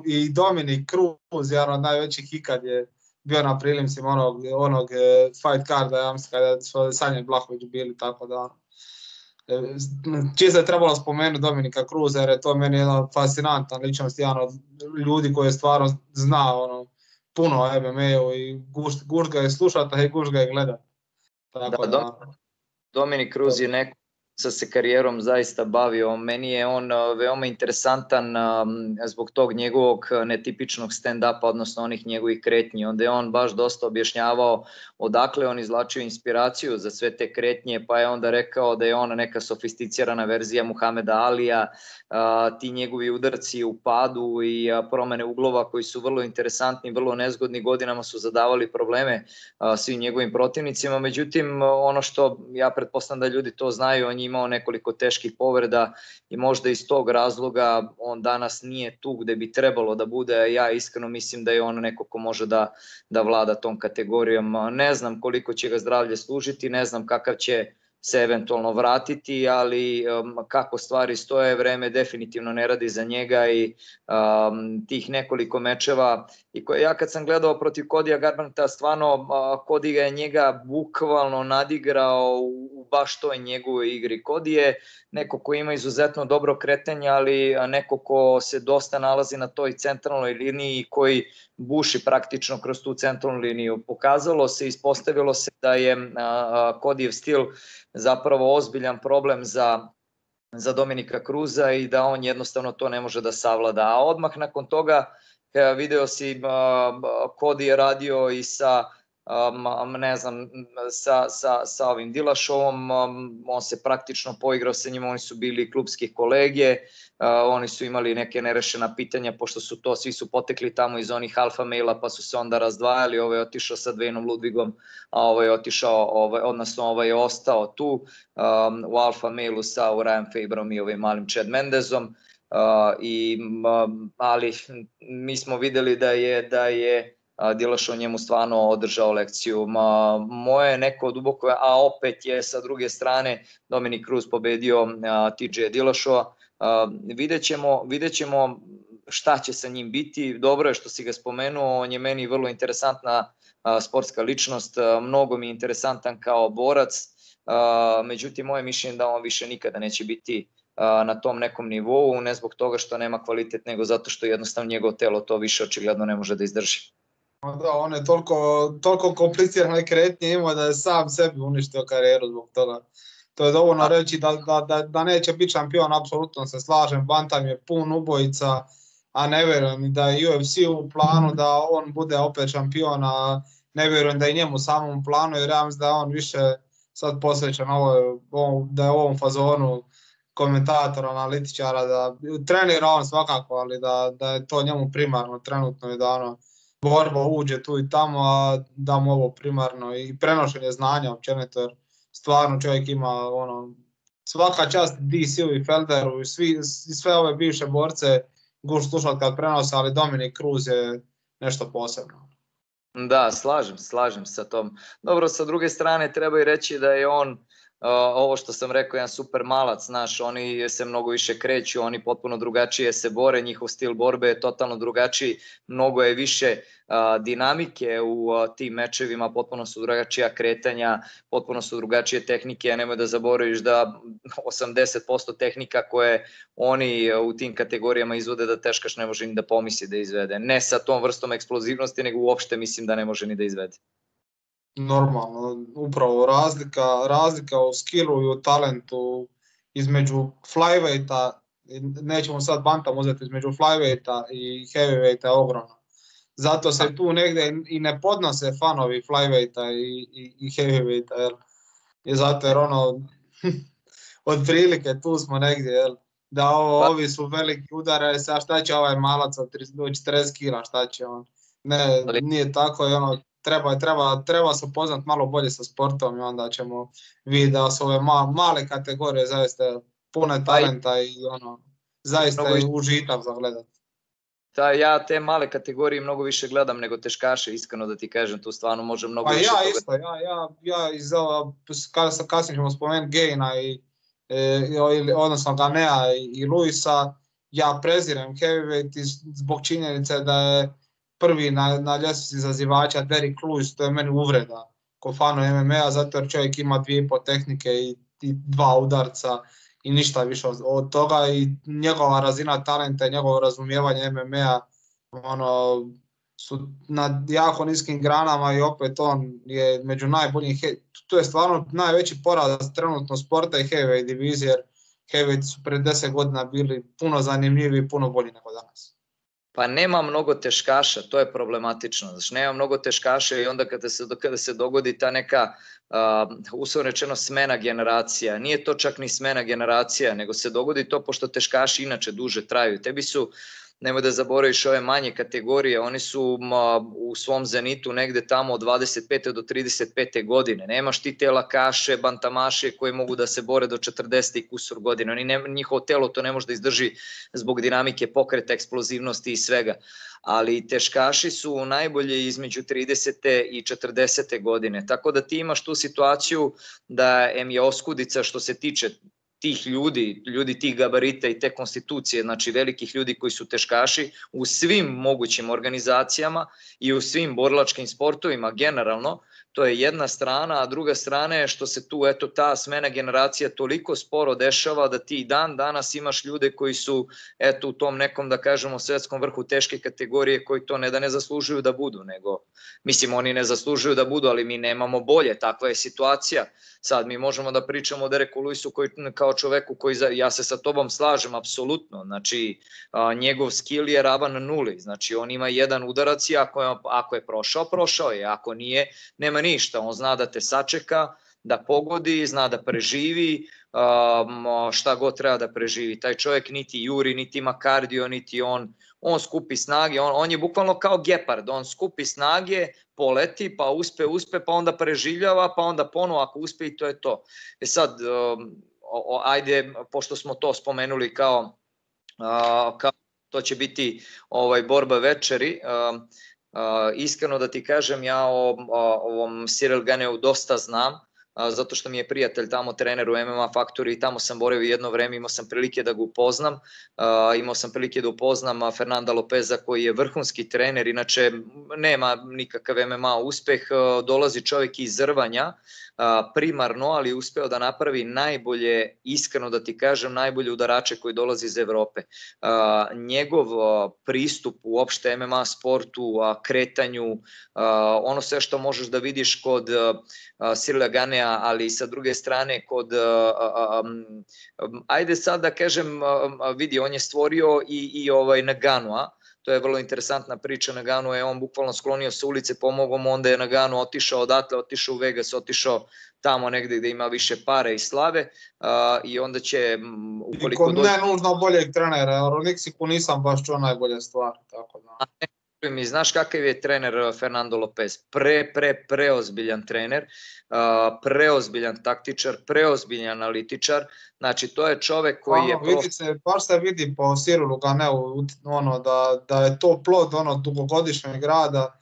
i Dominic Cruz, jedan od najvećih ikad je bio na prilimsima onog fight carda, ja mislim kada su Sanja Blahović bili, tako da čisto je trebalo spomenuti Dominika Cruza, jer je to meni jedan fascinantan ličnost, jedan od ljudi koji stvarno zna puno o MMA-u i gušt ga je slušati i gušt ga je gledati. Dominik Cruz je neko sa se karijerom zaista bavio. Meni je on veoma interesantan zbog tog njegovog netipičnog stand-upa, odnosno onih njegovih kretnji. Onda je on baš dosta objašnjavao odakle on izvlačio inspiraciju za sve te kretnje, pa je onda rekao da je on neka sofisticirana verzija Muhameda Alija, ti njegovi udarci u padu i promene uglova koji su vrlo interesantni, vrlo nezgodni, godinama su zadavali probleme svim njegovim protivnicima. Međutim, ono što ja pretpostavljam da ljudi to znaju, on je imao nekoliko teških povreda i možda iz tog razloga on danas nije tu gde bi trebalo da bude. Ja iskreno mislim da je on neko ko može da vlada tom kategorijom. Ne znam koliko će ga zdravlje služiti, ne znam kakav će se eventualno vratiti, ali kako stvari stoje, vreme definitivno ne radi za njega i tih nekoliko mečeva. I ja kad sam gledao protiv Codya Garbrandta, stvarno Cody je njega bukvalno nadigrao u baš toj njegovoj igri. Cody je neko ko ima izuzetno dobro kretanje, ali neko ko se dosta nalazi na toj centralnoj liniji i koji buši praktično kroz tu centralnu liniju. Pokazalo se, ispostavilo se da je Codyjev stil zapravo ozbiljan problem za Dominika Cruza i da on jednostavno to ne može da savlada. A odmah nakon toga video si Cody je radio i sa ne znam, sa ovim Dilašovom, on se praktično poigrao sa njima, oni su bili klubski kolege, oni su imali neke nerešena pitanja, pošto su to, svi su potekli tamo iz onih alfa maila, pa su se onda razdvajali, ovaj je otišao sa Dwayneom Ludwigom, a ovaj je otišao, odnosno ovaj je ostao tu u alfa mailu sa Ryan Faberom i ovim malim Chad Mendezom, ali mi smo videli da je Dilašo njemu stvarno održao lekciju. Moje neko duboko, a opet je sa druge strane Dominic Cruz pobedio TJ Dilašova. Vidjet ćemo šta će sa njim biti. Dobro je što si ga spomenuo, on je meni vrlo interesantna sportska ličnost, mnogo mi je interesantan kao borac, međutim moje mišljenje da on više nikada neće biti na tom nekom nivou, ne zbog toga što nema kvalitet, nego zato što jednostavno njegovo telo to više očigledno ne može da izdrži. Da, on je toliko komplicirane kretnje imao da je sam sebi uništio karijeru zbog toga. To je dovoljno reći da neće biti šampion, apsolutno se slažem, bantam je pun ubojica, a ne vjerujem da je UFC u planu da on bude opet šampion, a ne vjerujem da je njemu samom planu, jer ja mislim da je on više sad posvećen da je u ovom fazonu komentatora, analitičara, da trenira on svakako, ali da je to njemu primarno trenutno i da borba uđe tu i tamo, a da mu ovo primarno i prenošenje znanja općenito, jer stvarno čovjek ima svaka čast DC-u i Felderu i sve ove bivše borce guš slušati kad prenose, ali Dominic Cruz je nešto posebno. Da, slažem sa tom. Dobro, sa druge strane treba i reći da je on, ovo što sam rekao, jedan super malac, znaš, oni se mnogo više kreću, oni potpuno drugačije se bore, njihov stil borbe je totalno drugačiji, mnogo je više dinamike u tim mečevima, potpuno su drugačija kretanja, potpuno su drugačije tehnike, a nemoj da zaboraviš da 80% tehnika koje oni u tim kategorijama izvode da teškaš ne može ni da pomisli da izvede. Ne sa tom vrstom eksplozivnosti, nego uopšte mislim da ne može ni da izvede. Normalno, upravo razlika u skillu i u talentu između flyweighta, nećemo sad bantam uzeti, između flyweighta i heavyweighta je ogromno. Zato se tu negdje i ne podnose fanovi flyweighta i heavyweighta, zato jer otprilike tu smo negdje, da ovi su veliki udare, a šta će ovaj malac od 40 kila, šta će on? Ne, nije tako i treba se upoznat malo bolje sa sportom i onda ćemo vidjeti da su ove male kategorije zaista pune talenta i zaista je užitak za gledat. Ja te male kategorije mnogo više gledam nego teškaše, iskreno da ti kažem, tu stvarno može mnogo više toga. Ja kasnije ćemo spomenuti Gaina odnosno Ganea i Luisa, ja prezirem heavyweight zbog činjenice da je prvi na ljestvici izazivača Derrick Lewis, to je meni uvreda ko fanu MMA-a, zato jer čovjek ima 2,5 tehnike i 2 udarca i ništa više od toga i njegova razina talenta i njegovo razumijevanje MMA-a su na jako niskim granama i opet on je među najboljim. To je stvarno najveći poraz trenutno sporta i heavyweight divizije, jer heavyweight su pred 10 godina bili puno zanimljiviji i puno bolji nego danas. Pa nema mnogo teškaša, to je problematično. Znači, nema mnogo teškaša i onda kada se dogodi ta neka, uslovno rečeno, smena generacija, nije to čak ni smena generacija, nego se dogodi to pošto teškaši inače duže traju. Tebi su, nemoj da zaboraviš ove manje kategorije, oni su u svom zenitu negde tamo od 25. do 35. godine. Nemaš ti te lakaše, bantamaše koji mogu da se bore do 40. i kusur godine. Njihovo telo to ne može da izdrži zbog dinamike pokreta, eksplozivnosti i svega. Ali teškaši su najbolje između 30. i 40. godine. Tako da ti imaš tu situaciju da je oskudica što se tiče tih ljudi tih gabarita i te konstitucije, znači velikih ljudi koji su teškaši u svim mogućim organizacijama i u svim borilačkim sportovima generalno, to je jedna strana, a druga strana je što se tu ta smena generacija toliko sporo dešava da ti dan danas imaš ljude koji su u tom nekom, da kažemo, svetskom vrhu teške kategorije koji to ne da ne zaslužuju da budu, nego, mislim, oni ne zaslužuju da budu, ali mi nemamo bolje, takva je situacija. Sad mi možemo da pričamo o Derricku Lewisu koji kao čoveku koji, ja se sa tobom slažem apsolutno, znači njegov skill je ravan nuli, znači on ima jedan udarac i ako je prošao, prošao je, ako nije, nema ništa, on zna da te sačeka, da pogodi, zna da preživi, šta god treba da preživi. Taj čovjek niti juri, niti ima kardio, niti on skupi snage, on je bukvalno kao gepard, on skupi snage, poleti, pa uspe, pa onda preživljava, pa onda ponovo ako uspe i to je to. Sad, ajde, pošto smo to spomenuli kao to će biti borba večeri, iskreno da ti kažem, ja o ovom Cyril Ganeu dosta znam, zato što mi je prijatelj tamo, trener u MMA Factory i tamo sam boravio jedno vreme, imao sam prilike da ga upoznam, imao sam prilike da upoznam Fernanda Lopeza koji je vrhunski trener, inače nema nikakav MMA uspeh, dolazi čovjek iz Zrvanja, primarno, ali uspeo da napravi najbolje, iskreno da ti kažem, najbolje udarače koji dolazi iz Evrope. Njegov pristup uopšte MMA sportu, kretanju, ono sve što možeš da vidiš kod Cyrila Ganea, ali sa druge strane kod, ajde sad da kažem, vidi, on je stvorio i Ngannou, to je vrlo interesantna priča. Ngannou je on bukvalno sklonio sa ulice, pomogao mu, onda je Ngannou otišao odatle, otišao u Vegas, otišao tamo negde gde ima više pare i slave i onda će ukoliko dođe... Ne nužno boljeg trenera, o Nixiku nisam baš čuo najbolje stvari, tako da... Mi znaš kakav je trener Fernando Lopez, preozbiljan trener, preozbiljan taktičar, preozbiljan analitičar, znači to je čovek koji je... Baš se vidi po Cyrilu Ganeu da je to plod dugogodišnjeg rada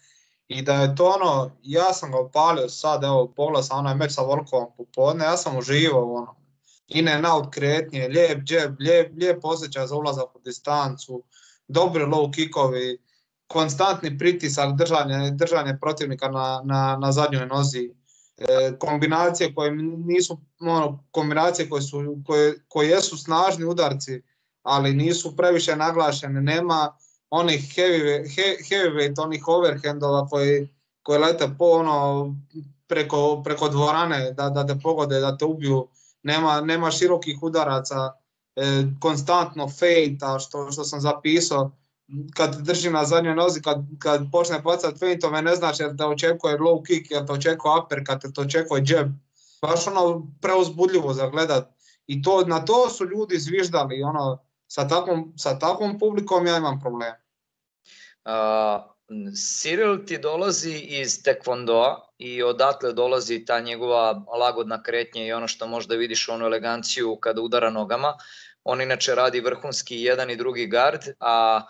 i da je to ja sam ga opalio sad, evo pogledao sam onaj meč sa Volkovom popodne, ja sam uživao in and out kretnje, lijep džeb, lijep osjećaj za ulazak u distancu, dobri low kickovi, konstantni pritisak, držanje protivnika na zadnjoj nozi, kombinacije koje nisu kombinacije koje jesu snažni udarci, ali nisu previše naglašene, nema onih heavyweight, onih overhandova koji lete preko dvorane da te pogode, da te ubiju, nema širokih udaraca, konstantno fejta, što sam zapisao, kad drži na zadnjoj nozi, kad počne bacati feintove, ne znači da očekuje low kick, da te očekuje uppercut, da te očekuje jab. Baš preuzbudljivo za gledat. I na to su ljudi zviždali, sa takvom publikom ja imam problem. Cyril ti dolazi iz Taekwondoa i odatle dolazi ta njegova lagodna kretnja i ono što možda vidiš onu eleganciju kada udara nogama. On inače radi vrhunski jedan i drugi gard, a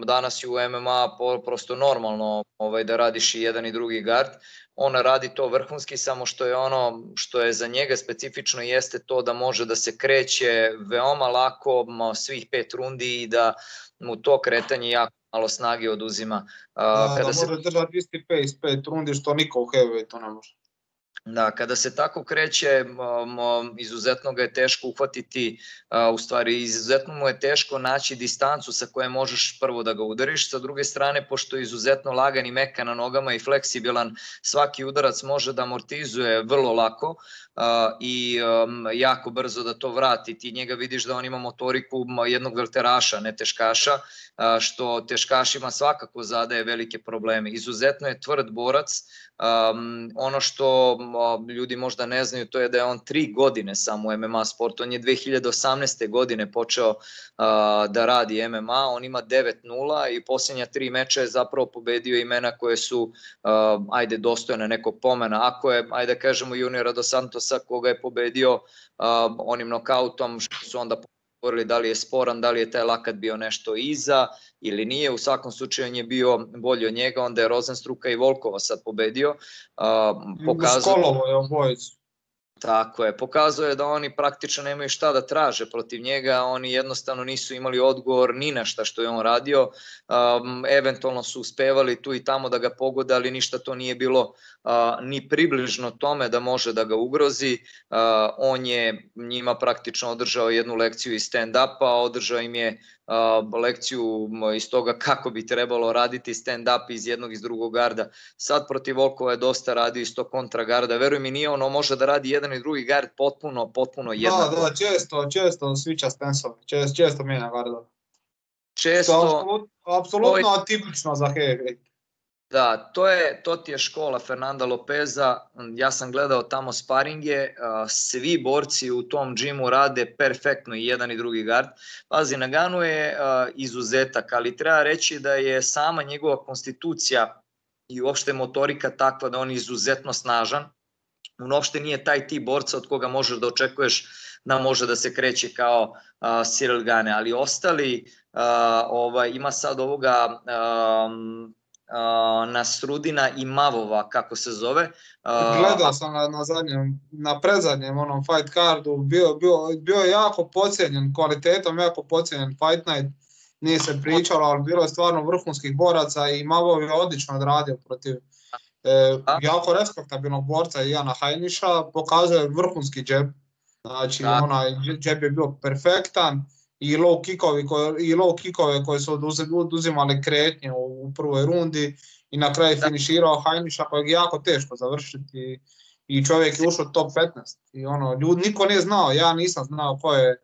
danas je u MMA prosto normalno da radiš i jedan i drugi gard. On radi to vrhunski, samo što je ono što je za njega specifično jeste to da može da se kreće veoma lako svih 5 rundi i da mu to kretanje jako malo snage oduzima. Da može držati isti pace 5 rundi što niko u heavyweightu ne može. Da, kada se tako kreće, izuzetno ga je teško uhvatiti, u stvari izuzetno mu je teško naći distancu sa koje možeš prvo da ga udariš, sa druge strane, pošto je izuzetno lagan i mekan na nogama i fleksibilan, svaki udarac može da amortizuje vrlo lako i jako brzo da to vrati. Ti njega vidiš da on ima motoriku jednog velteraša, ne teškaša, što teškašima svakako zadaje velike probleme. Izuzetno je tvrd borac. Ono što ljudi možda ne znaju, to je da je on 3 godine samo u MMA sportu. On je 2018. godine počeo da radi MMA, on ima 9-0 i posljednja 3 meča je zapravo pobedio imena koje su, ajde, dostojne nekog pomena. Ako je, ajde kažemo, Juniora dos Santosa koga je pobedio onim nokautom, što su onda govorili da li je sporan, da li je taj lakat bio nešto iza ili nije, u svakom slučaju on je bio bolji od njega, onda je Rozenstruka i Volkova sad pobedio. Skolovo je obojicu. Tako je, pokazuje je da oni praktično nemaju šta da traže protiv njega, oni jednostavno nisu imali odgovor ni na šta što je on radio, eventualno su uspevali tu i tamo da ga pogode, ali ništa to nije bilo ni približno tome da može da ga ugrozi. On je njima praktično održao jednu lekciju iz stand-upa, održao im je lekciju iz toga kako bi trebalo raditi stand-up iz jednog i iz drugog garda. Sad protiv Volkova je dosta radio iz tog kontra garda. Veruj mi, nije ono može da radi jedan i drugi gard potpuno jednako. Da, često switcha stansove, često mijenja garda. Često. Apsolutno atipično za heavyweight. Da, to ti je škola Fernanda Lopeza, ja sam gledao tamo sparinge, svi borci u tom džimu rade perfektno i jedan i drugi gard. Pazi, Nagano je izuzetak, ali treba reći da je sama njegova konstitucija i uopšte motorika takva da on je izuzetno snažan. On uopšte nije taj tip borca od koga možeš da očekuješ da može da se kreće kao Ciryl Gane, ali ostali, ima sad ovoga Nasrudina i Mavova, kako se zove. Gledao sam na predzadnjem onom fight cardu, bio je jako podcijenjen kvalitetom, jako podcijenjen fight night, nije se pričalo, ali bilo je stvarno vrhunskih boraca i Mavov je odlično odradio protiv jako respektabilnog borca Iana Heiniša, pokazuje vrhunski džeb, znači onaj džeb je bio perfektan. I low kickove koje su oduzimali kretnje u prvoj rundi i na kraju finiširao Heiniša kojeg je jako teško završiti i čovjek je ušao top 15 i niko nije znao, ja nisam znao ko je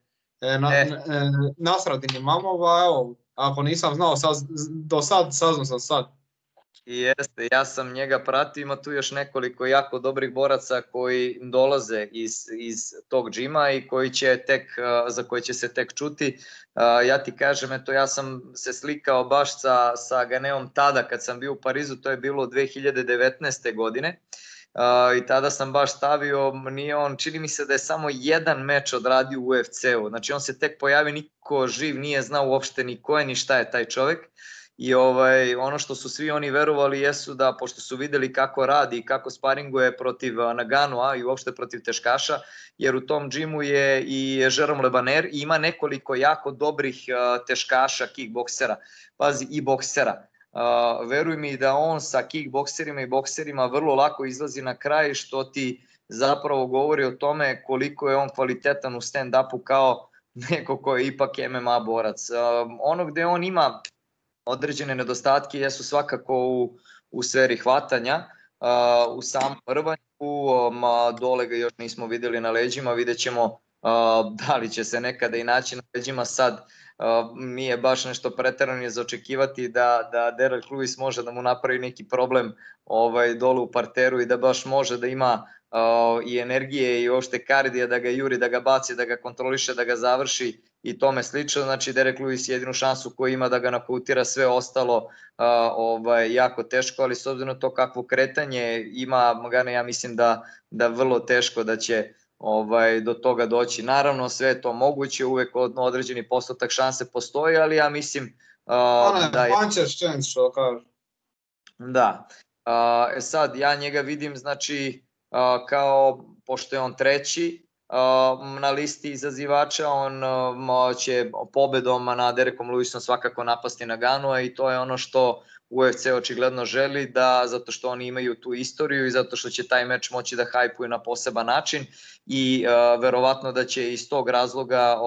Nasradin Imamova, evo, ako nisam znao do sad, saznao sam sad. Jeste, ja sam njega pratio, ima tu još nekoliko jako dobrih boraca koji dolaze iz tog džima i za koje će se tek čuti. Ja ti kažem, eto, ja sam se slikao baš sa Ganeom tada kad sam bio u Parizu, to je bilo 2019. godine. I tada sam baš stavio, čini mi se da je samo jedan meč odradio u UFC-u, znači on se tek pojavio, niko živ nije znao uopšte ni ko je ni šta je taj čovjek. I ono što su svi oni verovali jesu da, pošto su videli kako radi i kako sparinguje protiv Naganoa i uopšte protiv teškaša, jer u tom džimu je i Jerome Le Banner i ima nekoliko jako dobrih teškaša, kickboksera, pazi, i boksera. Veruj mi da on sa kickbokserima i bokserima vrlo lako izlazi na kraj, što ti zapravo govori o tome koliko je on kvalitetan u stand-upu kao neko ko je ipak MMA borac. Ono gde on ima određene nedostatke jesu svakako u sferi hvatanja, u samom rvanju, dole ga još nismo vidjeli na leđima, vidjet ćemo da li će se nekada i naći na leđima. Sad nije baš nešto preterano za očekivati da Derek Lewis može da mu napravi neki problem dole u parteru i da baš može da ima i energije i uopšte kardija da ga juri, da ga baci, da ga kontroliše, da ga završi i tome slično. Znači Derek Lewis jedinu šansu koju ima da ga nokautira, sve ostalo jako teško, ali s obzirom na to kakvo kretanje ima Magana, ja mislim da vrlo teško da će do toga doći. Naravno sve je to moguće, uvek određeni postotak šanse postoji, ali ja mislim da je puncher's chance, što kaže. Da. Sad ja njega vidim, znači kao, pošto je on treći na listi izazivača, on će pobedom na Derekom Lewisom svakako napasti Naganoa i to je ono što UFC očigledno želi, zato što oni imaju tu istoriju i zato što će taj meč moći da hajpuju na poseban način i verovatno da će iz tog razloga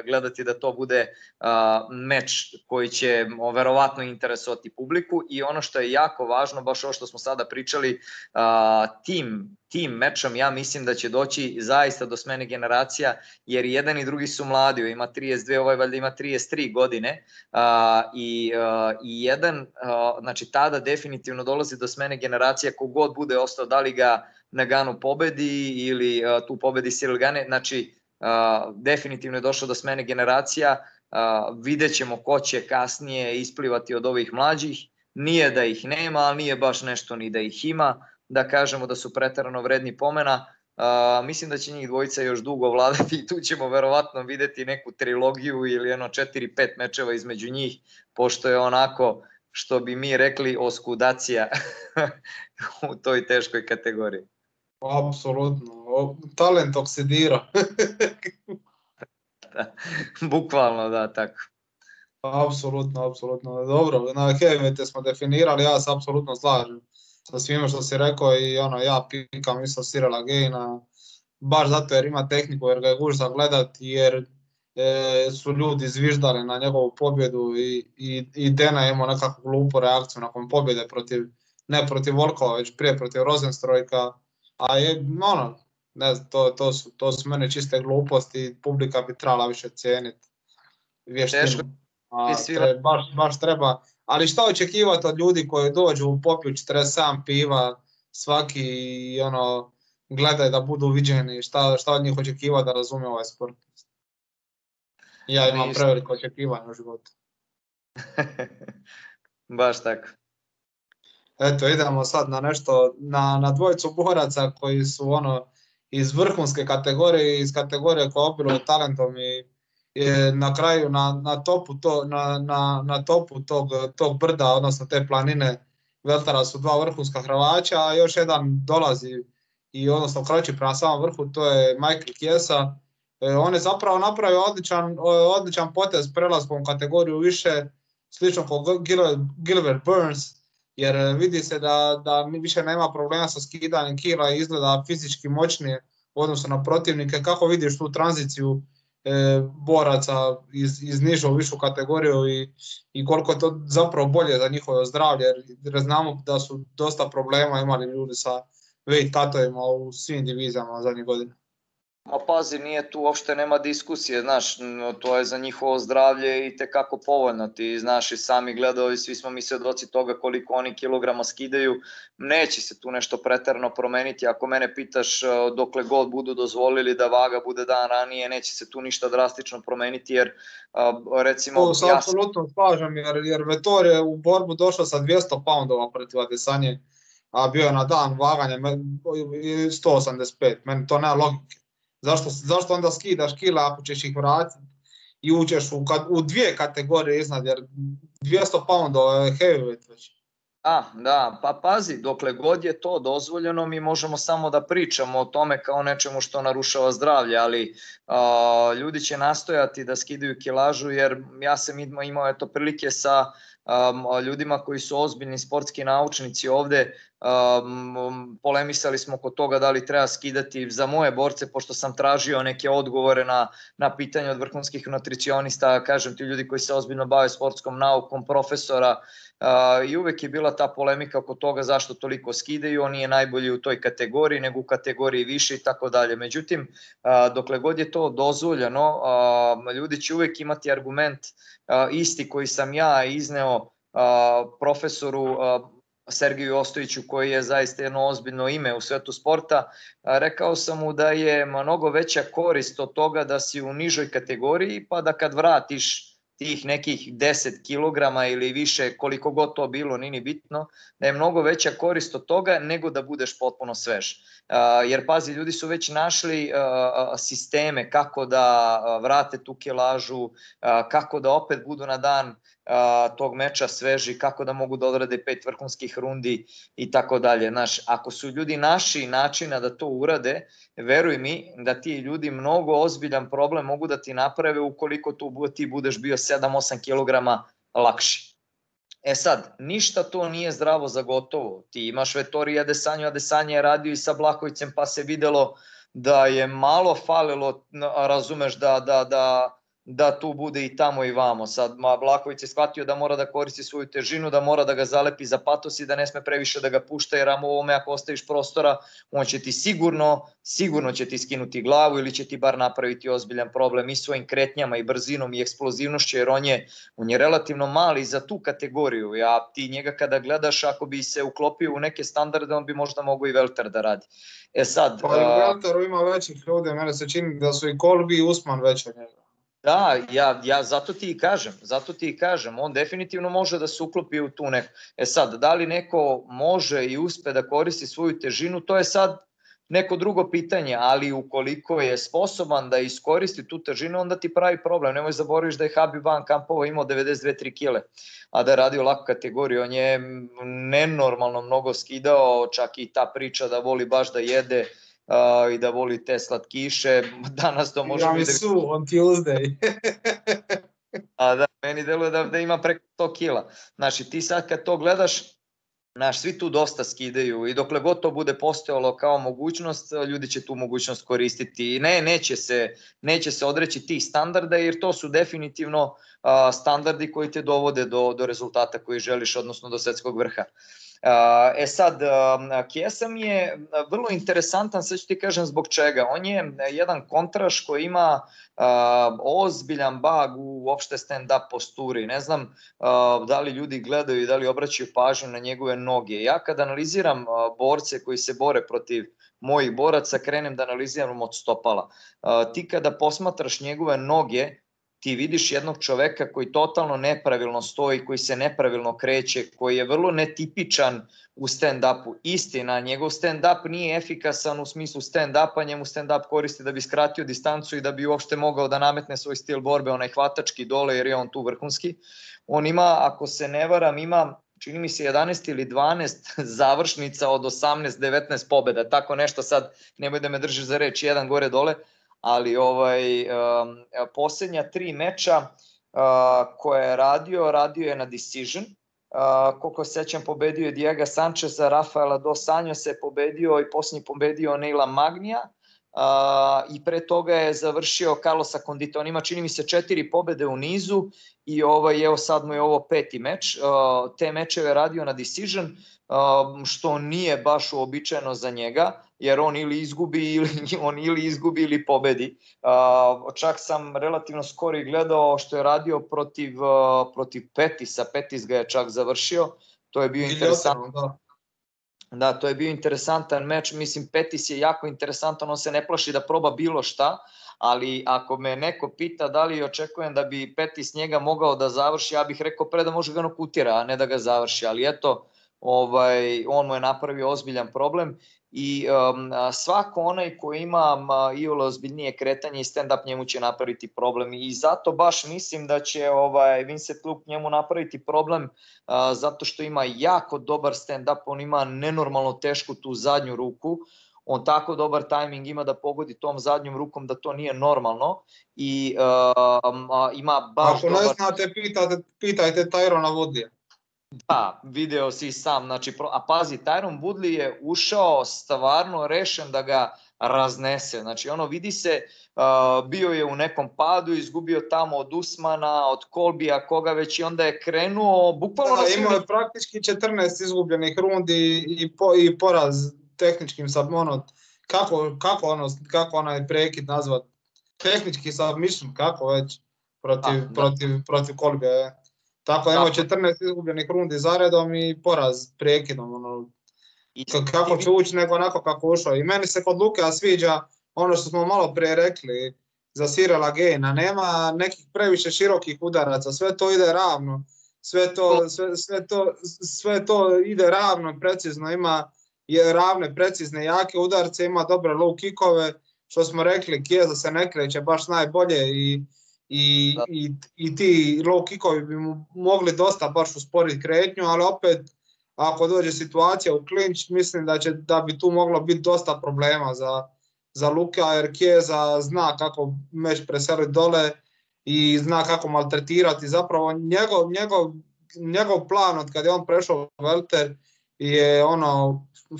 gledati da to bude meč koji će verovatno interesovati publiku. I ono što je jako važno, baš ovo što smo sada pričali, tim mečom ja mislim da će doći zaista do smene generacija, jer jedan i drugi su mladi, ima 32, ovaj valjda ima 33 godine i jedan, znači tada definitivno dolazi do smene generacija, kogod bude ostao, da li ga Nagano pobedi ili tu pobedi Ciryl Gane, znači definitivno je došlo do smene generacija, vidjet ćemo ko će kasnije isplivati od ovih mlađih, nije da ih nema, ali nije baš nešto ni da ih ima, da kažemo da su preterano vredni pomena. Mislim da će njih dvojica još dugo vladati i tu ćemo verovatno videti neku trilogiju ili 4-5 mečeva između njih, pošto je onako, što bi mi rekli, oskudacija u toj teškoj kategoriji. Apsolutno, talent oksidira. Bukvalno, da, tako. Apsolutno. Dobro, na heavyweighte smo definirali, ja se apsolutno slažem sa svime što si rekao i ja pikam isto Cyryla Gaina, baš zato jer ima tehniku, jer ga je gušta gledati, jer su ljudi zviždali na njegovu pobjedu i Dena imao nekakvu glupu reakciju nakon pobjede ne protiv Volkova, već prije protiv Rosenstrojka, a ne znam, to su mene čiste gluposti, publika bi trebala više cijeniti vještinu. Baš treba, ali šta očekivati od ljudi koji dođu popiju 47 piva svaki i gledaju da budu viđeni, šta od njih očekivati da razumije ovaj sport? Ja imam preveliko očekivanje u životu. Baš tako. Eto, idemo sad na nešto, na dvojicu boraca koji su iz vrhunske kategorije, iz kategorije koja obiluje talentom i na kraju na topu tog brda, odnosno te planine Veltara su dva vrhunska Hrvaća, a još jedan dolazi i odnosno kroči prema samom vrhu, to je Michael Chiesa. On je zapravo napravio odličan potez prelaskom u kategoriju više, slično kao Gilbert Burns, jer vidi se da više nema problema sa skidanjem kila i izgleda fizički moćnije u odnosu na protivnike. Kako vidiš tu tranziciju boraca iz nižu u višu kategoriju i koliko je to zapravo bolje za njihovo zdravlje, jer znamo da su dosta problema imali ljudi sa weight cutovima u svim divizijama zadnjih godina. Ma pazi, nije tu, uopšte nema diskusije, znaš, to je za njihovo zdravlje i tekako povoljno, ti znaš i sami gledali, svi smo mi svedoci toga koliko oni kilograma skidaju, neće se tu nešto preterano promeniti, ako mene pitaš dokle god budu dozvolili da vaga bude dan ranije, neće se tu ništa drastično promeniti, jer recimo... To se apsolutno slažem, jer Vettor je u borbu došao sa 200 poundova protiv Adesanje, a bio je na dan vaganja 185, meni to nema logike. Zašto onda skidaš kila ako ćeš ih vratiti i uđeš u dvije kategorije iznad, jer 200 poundova je heavyweight već. Da, pa pazi, dokle god je to dozvoljeno mi možemo samo da pričamo o tome kao nečemu što narušava zdravlje, ali ljudi će nastojati da skidaju kilažu, jer ja sam imao prilike sa ljudima koji su ozbiljni sportski naučnici ovde, polemisali smo oko toga da li treba skidati za moje borce, pošto sam tražio neke odgovore na pitanje od vrhunskih nutricionista, kažem ti ljudi koji se ozbiljno bave sportskom naukom, profesora, i uvek je bila ta polemika oko toga zašto toliko skidaju, on nije najbolji u toj kategoriji nego u kategoriji više i tako dalje. Međutim, dokle god je to dozvoljeno, ljudi će uvek imati argument isti koji sam ja izneo profesoru Sergeju Ostojiću, koji je zaista jedno ozbiljno ime u svetu sporta. Rekao sam mu da je mnogo veća korist od toga da si u nižoj kategoriji, pa da kad vratiš tih nekih 10 kilograma ili više, koliko god to bilo, nije bitno, da je mnogo veća korist od toga nego da budeš potpuno svež. Jer pazi, ljudi su već našli sisteme kako da vrate tu kilažu, kako da opet budu na dan tog meča sveži, kako da mogu da odrade 5 vrhunskih rundi i tako dalje. Znaš, ako su ljudi naši načina da to urade, veruj mi da ti ljudi mnogo ozbiljan problem mogu da ti naprave ukoliko ti budeš bio 7-8 kilograma lakši. E sad, ništa to nije zdravo za gotovo. Ti imaš Vettori Adesanju, Adesanja je radio i sa Blakovicem, pa se videlo da je malo falilo, razumeš, da tu bude i tamo i vamo. Sad Blaković je shvatio da mora da koristi svoju težinu, da mora da ga zalepi za patos i da ne sme previše da ga pušta, jer ovome ako ostaviš prostora, on će ti sigurno će ti skinuti glavu ili će ti bar napraviti ozbiljan problem i svojim kretnjama i brzinom i eksplozivnošću, jer on je relativno mali za tu kategoriju. Ti njega kada gledaš, ako bi se uklopio u neke standarde, on bi možda mogao i Velter da radi. E sad... Pa u Velteru ima većih ljudi, mene se čini da su i Kolbi i Usman veći od njega. Da, ja zato ti i kažem, on definitivno može da se uklopi u tu neku. E sad, da li neko može i uspe da koristi svoju težinu, to je sad neko drugo pitanje, ali ukoliko je sposoban da iskoristi tu težinu, onda ti pravi problem. Nemoj zaboraviš da je Habib van Kampova imao 92-3 kile, a da je radio laku kategoriju. On je nenormalno mnogo skidao, čak i ta priča da voli baš da jede i da voli te slatkiše. Danas to možemo vidjeti. Su on Tuesday. A da, meni deluje da ima preko 100 kila. Znači, ti sad kad to gledaš, svi tu dosta skidaju i dokle god to bude postojalo kao mogućnost, ljudi će tu mogućnost koristiti i neće se odreći tih standarda, jer to su definitivno standardi koji te dovode do rezultata koji želiš, odnosno do svetskog vrha. Sad, Chiesa mi je vrlo interesantan, sad ću ti kažem zbog čega. On je jedan kontraš koji ima ozbiljan bag u uopšte stand-up posturi. Ne znam da li ljudi gledaju i da li obraćaju pažnju na njegove noge. Ja kad analiziram borce koji se bore protiv mojih boraca, krenem da analiziram od stopala. Ti kada posmatraš njegove noge, ti vidiš jednog čoveka koji totalno nepravilno stoji, koji se nepravilno kreće, koji je vrlo netipičan u stand-upu. Istina, njegov stand-up nije efikasan u smislu stand-upa, njemu stand-up koristi da bi skratio distancu i da bi uopšte mogao da nametne svoj stil borbe, onaj hvatački dole, jer je on tu vrhunski. On ima, ako se ne varam, čini mi se 11 ili 12 završnica od 18-19 pobjeda, tako nešto, sad nemoj da me držiš za reč, jedan gore dole, ali posljednja 3 meča koje je radio je na decision. Koliko se sećam, pobedio je Diego Sancheza, Rafaela dos Anjose pobedio i posljednji pobedio Neila Magnija i pre toga je završio Carlosa Condita. On ima, čini mi se, 4 pobede u nizu i evo sad mu je ovo 5. meč. Te mečeve radio na decision, što nije baš uobičajeno za njega, jer on ili izgubi ili pobedi. Čak sam relativno skoro i gledao što je radio protiv Petisa. Petis ga je čak završio. To je bio interesantno. Da, to je bio interesantan meč. Mislim, Petis je jako interesantan, on se ne plaši da proba bilo šta, ali ako me neko pita da li očekujem da bi Petis njega mogao da završi, ja bih rekao pre da može ga nokutira, a ne da ga završi, ali eto, on mu je napravio ozbiljan problem i svako onaj koji ima iole ozbiljnije kretanje i stand-up njemu će napraviti problem i zato baš mislim da će Vincent Luke njemu napraviti problem zato što ima jako dobar stand-up, on ima nenormalno tešku tu zadnju ruku, on tako dobar tajming ima da pogodi tom zadnjom rukom da to nije normalno i ima baš dobar... Ako ne znate, pitajte Tyrona Woodleya. Da, video si sam, znači, a pazi, Tyron Woodley je ušao stvarno rešen da ga raznese, znači vidi se, bio je u nekom padu, izgubio tamo od Usmana, od Kolbija, koga već i onda je krenuo, bukvalno... Da, imao je praktički 14 izgubljenih rundi i poraz tehničkim kako onaj prekid nazvat, tehnički submission, kako već, protiv Kolbija, Tako imao 14 izgubljenih rundi zaredom i poraz prekidom. Kako će ući nego onako kako ušao. I meni se kod Lukea sviđa ono što smo malo prije rekli za Cyrila Gayna. Nema nekih previše širokih udaraca, sve to ide ravno. Sve to ide ravno, precizno, ima ravne, precizne, jake udarce, ima dobre low kickove. Što smo rekli, Chiesa se ne kreće baš najbolje i ti low kickovi bi mu mogli dosta baš usporiti kretnju, ali opet ako dođe situacija u klinč, mislim da bi tu moglo biti dosta problema za Lukea, jer Chiesa zna kako meč preseliti dole i zna kako maltretirati. Zapravo njegov plan od kada je on prešao u welter je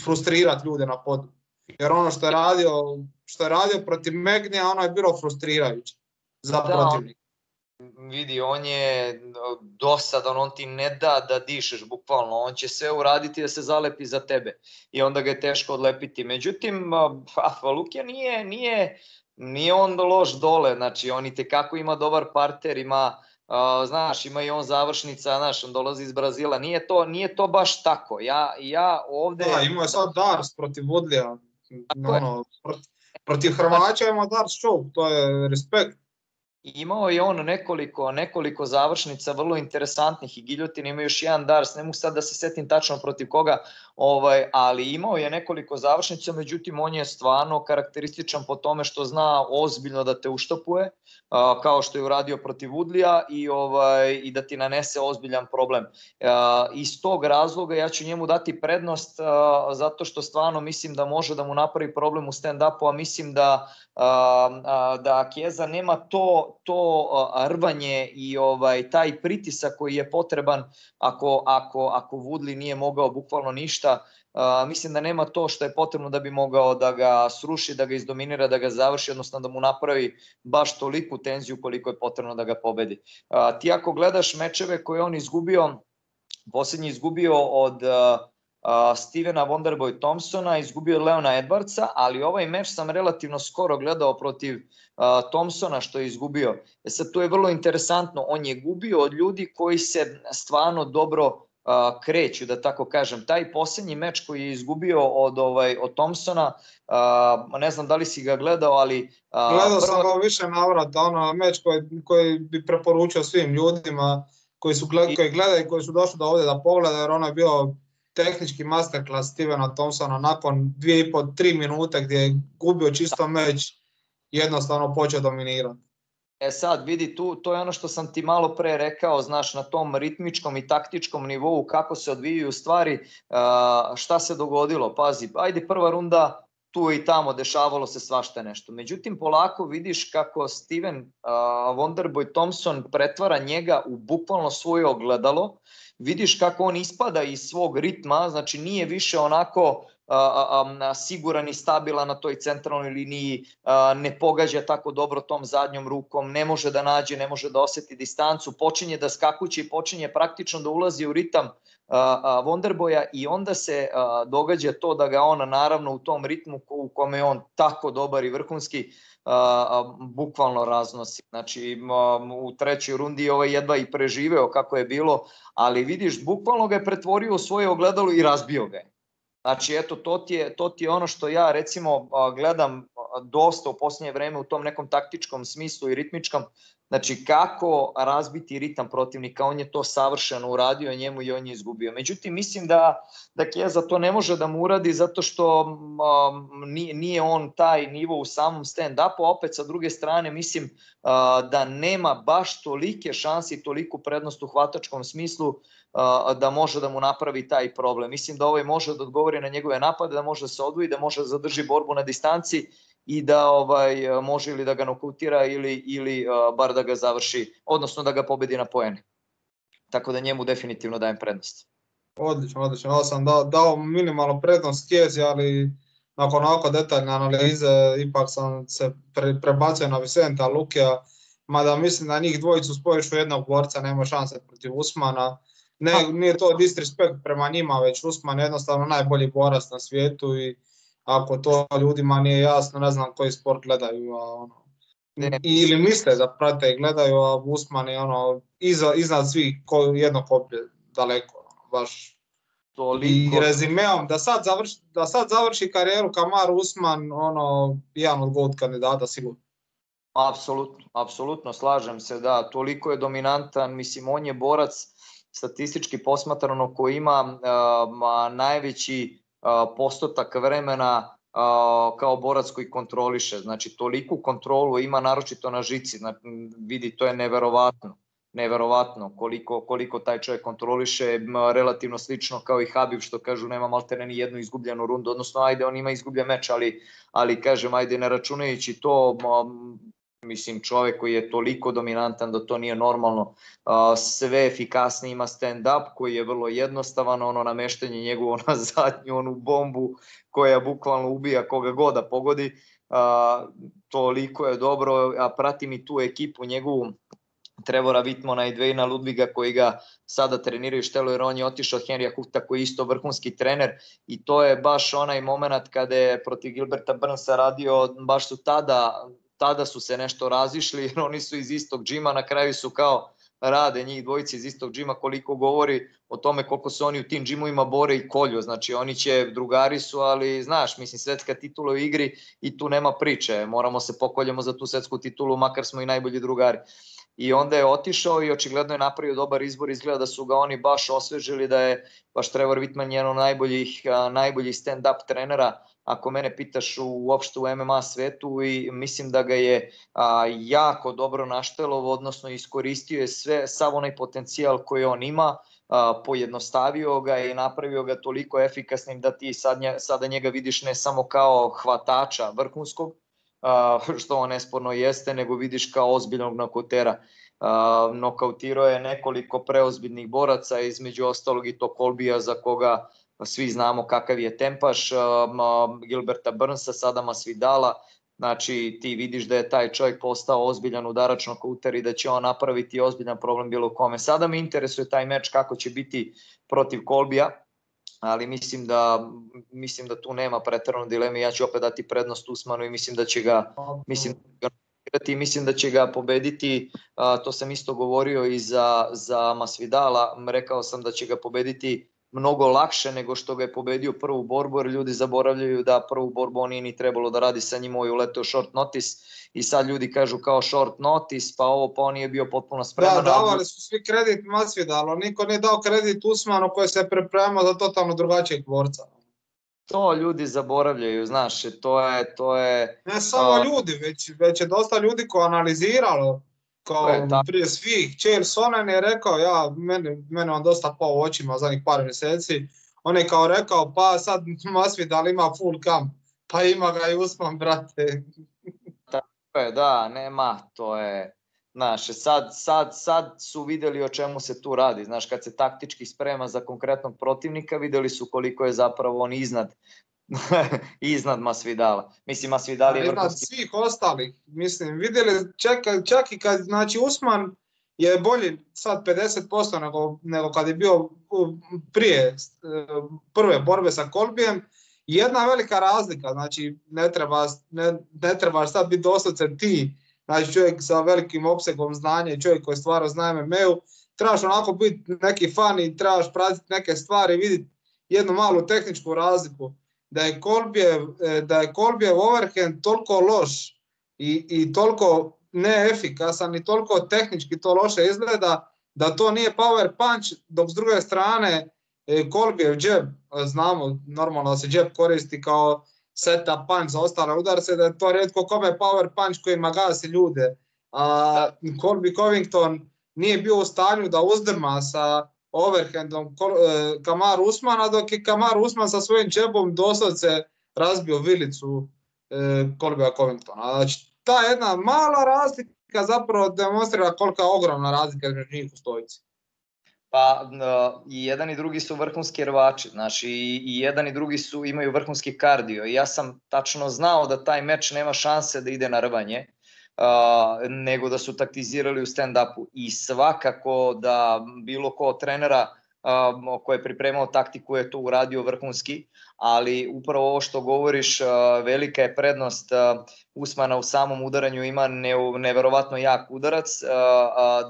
frustrirati ljude na podu. Jer ono što je radio protiv Magnija, ono je bilo frustrirajuće za protivnika. Vidi, on je dosadan, on ti ne da da dišeš bukvalno, on će sve uraditi da se zalepi za tebe i onda ga je teško odlepiti. Međutim, Lukija nije on loš dole, znači on i tekako ima dobar parter, ima i on završnica, on dolazi iz Brazila, nije to baš tako. Ja ovde... Da, imao je sad Dars protiv Woodleya, protiv Hrvaća ima Dars show, to je respekt. Imao je on nekoliko završnica vrlo interesantnih i Giljotin ima još jedan Dars, ne mogu sad da se setim tačno protiv koga, ali imao je nekoliko završnica, međutim on je stvarno karakterističan po tome što zna ozbiljno da te uštopuje, kao što je uradio protiv Woodleya i da ti nanese ozbiljan problem. Iz tog razloga ja ću njemu dati prednost zato što stvarno mislim da može da mu napravi problem u stand-upu, a mislim da Chiesa nema to rvanje i taj pritisak koji je potreban ako Woodley nije mogao bukvalno ništa. Mislim da nema to što je potrebno da bi mogao da ga sruši, da ga izdominira, da ga završi, odnosno da mu napravi baš toliku tenziju koliko je potrebno da ga pobedi. Ti ako gledaš mečeve koje on izgubio, posljednji izgubio od Stevena Wonderboy Thompsona, izgubio od Leona Edwardsa, ali ovaj meč sam relativno skoro gledao protiv Thompsona što je izgubio. Sad tu je vrlo interesantno, on je gubio od ljudi koji se stvarno dobro kreću, da tako kažem. Taj posljednji meč koji je izgubio od Thompsona, ne znam da li si ga gledao, ali... Gledao sam ga više navrata, meč koji bi preporučio svim ljudima koji gledaju i koji su došli do ovdje da pogledaju, jer ono je bio tehnički masterclass Stevena Thompsona nakon 2,5-3 minute gdje je gubio čisto meč, jednostavno počeo dominirati. Sad vidi, to je ono što sam ti malo pre rekao, znaš, na tom ritmičkom i taktičkom nivou kako se odvijaju stvari, šta se dogodilo, pazi, ajde prva runda, tu i tamo dešavalo se svašta nešto. Međutim, polako vidiš kako Steven Wonderboy Thompson pretvara njega u bukvalno svoje ogledalo, vidiš kako on ispada iz svog ritma, znači nije više onako siguran i stabilan na toj centralnoj liniji, ne pogađa tako dobro tom zadnjom rukom, ne može da nađe, ne može da osjeti distancu, počinje da skakuće i počinje praktično da ulazi u ritam Wonderboya i onda se događa to da ga on naravno u tom ritmu u kome je on tako dobar i vrhunski bukvalno raznosi. Znači u trećoj rundi jedva i preživeo kako je bilo, ali vidiš bukvalno ga je pretvorio u svoje ogledalo i razbio ga je. Znači eto to ti je ono što ja recimo gledam dosta u posljednje vreme u tom nekom taktičkom smislu i ritmičkom, znači kako razbiti ritam protivnika, on je to savršeno uradio njemu i on je izgubio. Međutim, mislim da Chiesa to ne može da mu uradi zato što nije on taj nivo u samom stand-upu, a opet sa druge strane mislim da nema baš tolike šanse i toliku prednost u hvatačkom smislu da može da mu napravi taj problem. Mislim da ovaj može da odgovori na njegove napade, da može da se odvoji, da može da zadrži borbu na distanci i da može ili da ga nokautira ili bar da ga završi, odnosno da ga pobedi na poene. Tako da njemu definitivno dajem prednost. Odlično. Ja sam dao minimalnu prednost Chiesi, ali nakon ovako detaljne analize ipak sam se prebacio na Vicenta Lukija, mada mislim da njih dvojicu spojiš u jednog borca, nema šanse protiv Usmana. Nije to disrespekt prema njima, već Usman je jednostavno najbolji borac na svijetu i ako to ljudima nije jasno, ne znam koji sport gledaju, ili misle da prate i gledaju, a Usman je iznad svih jedno koplje daleko, baš. I rezimeom, da sad završi karijeru Kamaru Usman, jedan od GOAT kandidata sigurno. Apsolutno, slažem se, da, toliko je dominantan, mislim, on je borac statistički posmatrano koji ima najveći postotak vremena kao borac koji kontroliše, znači toliku kontrolu ima naročito na žici, vidi, to je neverovatno koliko taj čovjek kontroliše, relativno slično kao i Habib što kažu nema maltene ni jednu izgubljenu rundu, odnosno ajde on ima izgubljen meč, ali kažem ajde ne računajući to, mislim čovjek koji je toliko dominantan da to nije normalno, sve efikasnije ima stand-up koji je vrlo jednostavan, nameštanje njegovo na zadnju onu bombu koja bukvalno ubija koga god da pogodi, toliko je dobro, a pratim i tu ekipu njegovu, Trevora Wittmana i Dwayna Ludwiga koji ga sada treniraju štelo jer on je otišao od Henrya Hooft'a koji je isto vrhunski trener i to je baš onaj moment kada je protiv Gilberta Burnsa radio, baš su tada su se nešto razišli jer oni su iz istog džima, na kraju su kao rade njih dvojice iz istog džima, koliko govori o tome koliko se oni u tim džimovima bore i kolju, znači oni drugari su, ali znaš, mislim svetska titula u igri i tu nema priče, moramo se pokoljemo za tu svetsku titulu, makar smo i najbolji drugari. I onda je otišao i očigledno je napravio dobar izbor, izgleda da su ga oni baš osvežili, da je baš Trevor Wittman jedan od najboljih stand-up trenera, ako mene pitaš uopšte u MMA svetu, i mislim da ga je jako dobro naštelovo, odnosno iskoristio je sav onaj potencijal koji on ima, pojednostavio ga i napravio ga toliko efikasnim da ti sada njega vidiš ne samo kao hvatača vrhunskog, što on nesporno jeste, nego vidiš kao ozbiljnog nokautera. Nokautirao je nekoliko preozbiljnih boraca, između ostalog i to Colbya za koga svi znamo kakav je tempaš, Gilberta Burnsa, sada Masvidala. Znači ti vidiš da je taj čovjek postao ozbiljan udarač nokauter i da će on napraviti ozbiljan problem bilo kome. Sada me interesuje taj meč kako će biti protiv Colbya, ali mislim da tu nema preterano dileme. Ja ću opet dati prednost Usmanu i mislim da će ga pobediti. To sam isto govorio i za Masvidala. Rekao sam da će ga pobediti mnogo lakše nego što ga je pobedio prvu borbu, jer ljudi zaboravljaju da prvu borbu on nije ni trebalo da radi sa njim, je uleteo short notice i sad ljudi kažu kao short notice, pa on nije bio potpuno spreman. Da, davali su svi kredit Masvidalu, niko nije dao kredit Usmanu koji se pripremao za totalno drugačijeg borca. To ljudi zaboravljaju, znaš, to je... Ne samo ljudi, već je dosta ljudi koji analiziralo, kao prije svih. Chael Sonnen je rekao, mene on dosta pao u očima zadnjih par mjeseci, on je kao rekao, pa sad Masvidal ima full camp, pa ima ga i Usman, brate. Tako je, da, nema, to je... Znaš, sad su vidjeli o čemu se tu radi. Znaš, kad se taktički sprema za konkretnog protivnika, vidjeli su koliko je zapravo on iznad Masvidala. Mislim, Masvidal je vrhunski... Iznad svih ostalih. Mislim, vidjeli, čak i kad, znači, Usman je bolji sad 50% nego kad je bio prije prve borbe sa Colbyem. Jedna velika razlika, znači, ne trebaš sad biti doslovce ti, znači čovjek sa velikim opsegom znanja i čovjek koji stvara zna MMA-u, trebaš onako biti neki fan i trebaš pratiti neke stvari i vidjeti jednu malu tehničku razliku. Da je Colbyev overhand toliko loš i toliko neefikasan i toliko tehnički to loše izgleda, da to nije power punch, dok s druge strane Colbyev jab, znamo normalno da se jab koristi kao setup punch za ostale udarce, da je to rijetko kome power punch kojima gasi ljude. Colby Covington nije bio u stanju da uzdrma sa overhandom Kamaru Usmana, dok je Kamaru Usman sa svojim džebom doslovce razbio vilicu Colbya Covingtona. Znači, ta jedna mala razlika zapravo demonstrira kolika je ogromna razlika između njih u stojici. Pa i jedan i drugi su vrhunski rvači, znači i jedan i drugi imaju vrhunski kardio i ja sam tačno znao da taj meč nema šanse da ide na rvanje, nego da su taktizirali u stand-upu i svakako da bilo ko od trenera koji je pripremao taktiku je to uradio vrhunski, ali upravo ovo što govoriš, velika je prednost Usmana u samom udaranju, ima neverovatno jak udarac,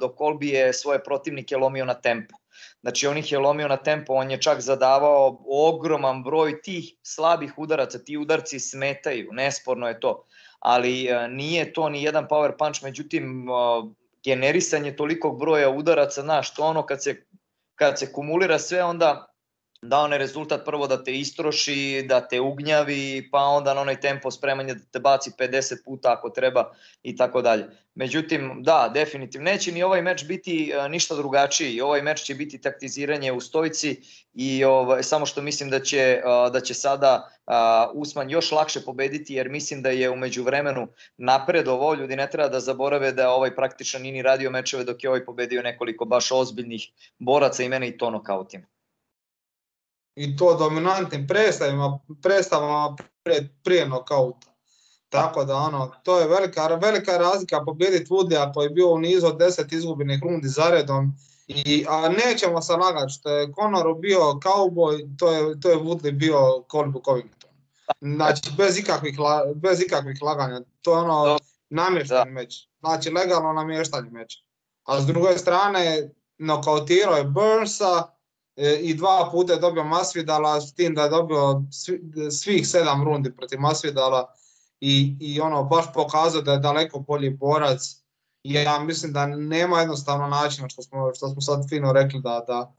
dok Colby je svoje protivnike lomio na tempo. Znači on ih je lomio na tempo, on je čak zadavao ogroman broj tih slabih udaraca, ti udarci smetaju, nesporno je to, ali nije to ni jedan power punch, međutim generisanje tolikog broja udaraca, znaš, to ono kad se kumulira sve, onda da onaj rezultat prvo da te istroši, da te ugnjavi, pa onda na onaj tempo spremanja da te baci 50 puta ako treba i tako dalje. Međutim, da, definitivno neće ni ovaj meč biti ništa drugačiji. Ovaj meč će biti taktiziranje u stojici i samo što mislim da će sada Usman još lakše pobediti, jer mislim da je u međuvremenu napredovao. Ljudi ne treba da zaborave da ovaj praktično nije ni radio mečeve dok je ovaj pobedio nekoliko baš ozbiljnih boraca i mene i to nokautima. I to dominantnim predstavama prije nokauta. Tako da to je velika razlika pobijediti Woodleya koji je bio u nizu od 10 izgubljenih rundi zaredom. A nećemo se lagati, što je Conoru bio cowboy, to je Woodley bio Colby Covington. Znači bez ikakvih laganja, to je namješteni meč, znači legalno namještanje meča. A s druge strane nokautirao je Burnsa, i 2 puta je dobio Masvidala, s tim da je dobio svih 7 rundi protiv Masvidala i baš pokazao da je daleko bolji borac. I ja mislim da nema jednostavno načina, što smo sad fino rekli, da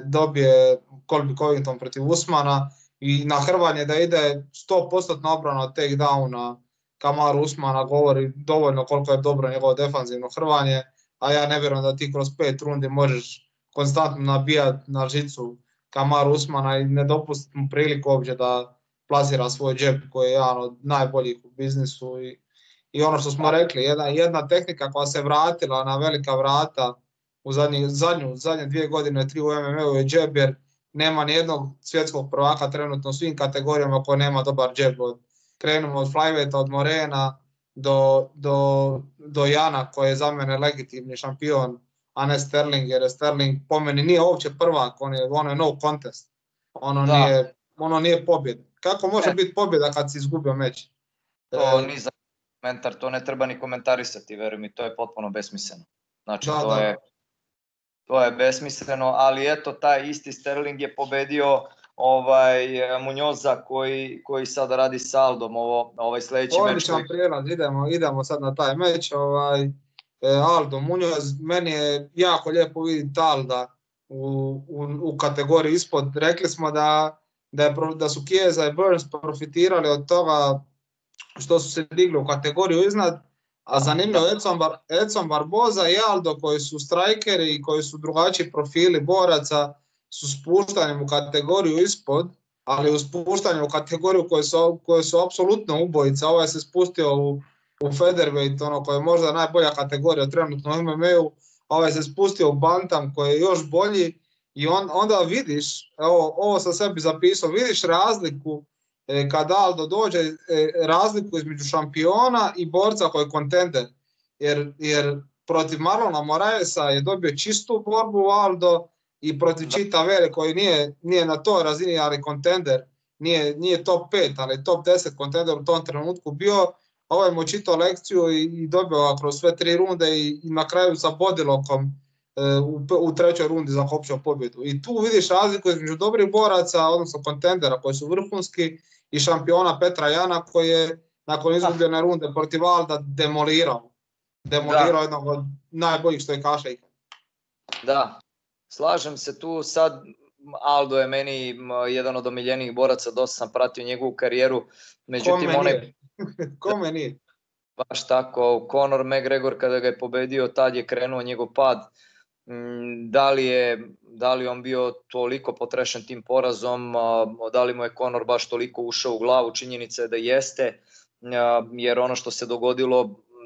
dobije Colby Covington protiv Usmana i na hrvanje da ide 100% obrana od takedowna Kamaru Usmana govori dovoljno koliko je dobro njegovo defanzivno hrvanje, a ja ne vjerujem da ti kroz 5 rundi možeš konstantno nabijati na žicu Kamaru Usmana i ne dopustiti mu priliku uopće plasira svoj džep koji je jedan od najboljih u biznisu i ono što smo rekli, jedna tehnika koja se vratila na velika vrata u zadnje 2 godine, 3 u MMA-u je džep, jer nema nijednog svjetskog prvaka trenutno u svim kategorijama koji nema dobar džep. Krenemo od flyweighta, od Morena do Jana koji je za mene legitimni šampion, a ne Sterling, jer Sterling po meni nije uopće prvak, ono je no contest, ono nije pobjeda. Kako može biti pobjeda kad si izgubio meč? To ni za komentar, to ne treba ni komentarisati, veruj mi, to je potpuno besmisleno. Znači, to je besmisleno, ali eto, taj isti Sterling je pobedio Munjoza koji sada radi s Aldom, ovaj sledeći meč. Odličan prijelaz, idemo sad na taj meč. Aldo Munjoz, meni je jako lijepo vidjeti Alda u kategoriji ispod. Rekli smo da su Chiesa i Burns profitirali od toga što su se digli u kategoriju iznad, a zanimljivo Edson Barboza i Aldo koji su strajkeri i koji su drugačiji profili boraca su spuštanjem u kategoriju ispod, ali u spuštanju u kategoriju koje su apsolutno ubojica. Ovaj se spustio u featherweight, koja je možda najbolja kategorija trenutno u MMA-u, ovaj se spustio u bantam koji je još bolji i onda vidiš, ovo sam sebi zapisao, vidiš razliku kad Aldo dođe, razliku između šampiona i borca koji je kontender, jer protiv Marlona Moraesa je dobio čistu borbu Aldo i protiv Chita Vere koji nije na toj razini, ali kontender, nije top 5, ali top 10 kontender u tom trenutku bio. Ovaj mu čitao lekciju i dobio kroz sve 3 runde i na kraju sa bodilokom u 3. rundi zakopčao pobjedu. I tu vidiš razliku između dobrih boraca, odnosno kontendera koji su vrhunski, i šampiona Petra Jana koji je nakon izgubljene runde protiv Alda demolirao jednog od najboljih što je kaša ikad. Da, slažem se tu sad. Aldo je meni jedan od omiljenijih boraca, dosta sam pratio njegovu karijeru, međutim Kome nije? Baš tako, Conor McGregor kada ga je pobedio, tad je krenuo njegov pad. Da li on bio toliko potrešen tim porazom, da li mu je Conor baš toliko ušao u glavu, činjenica je da jeste, jer ono što se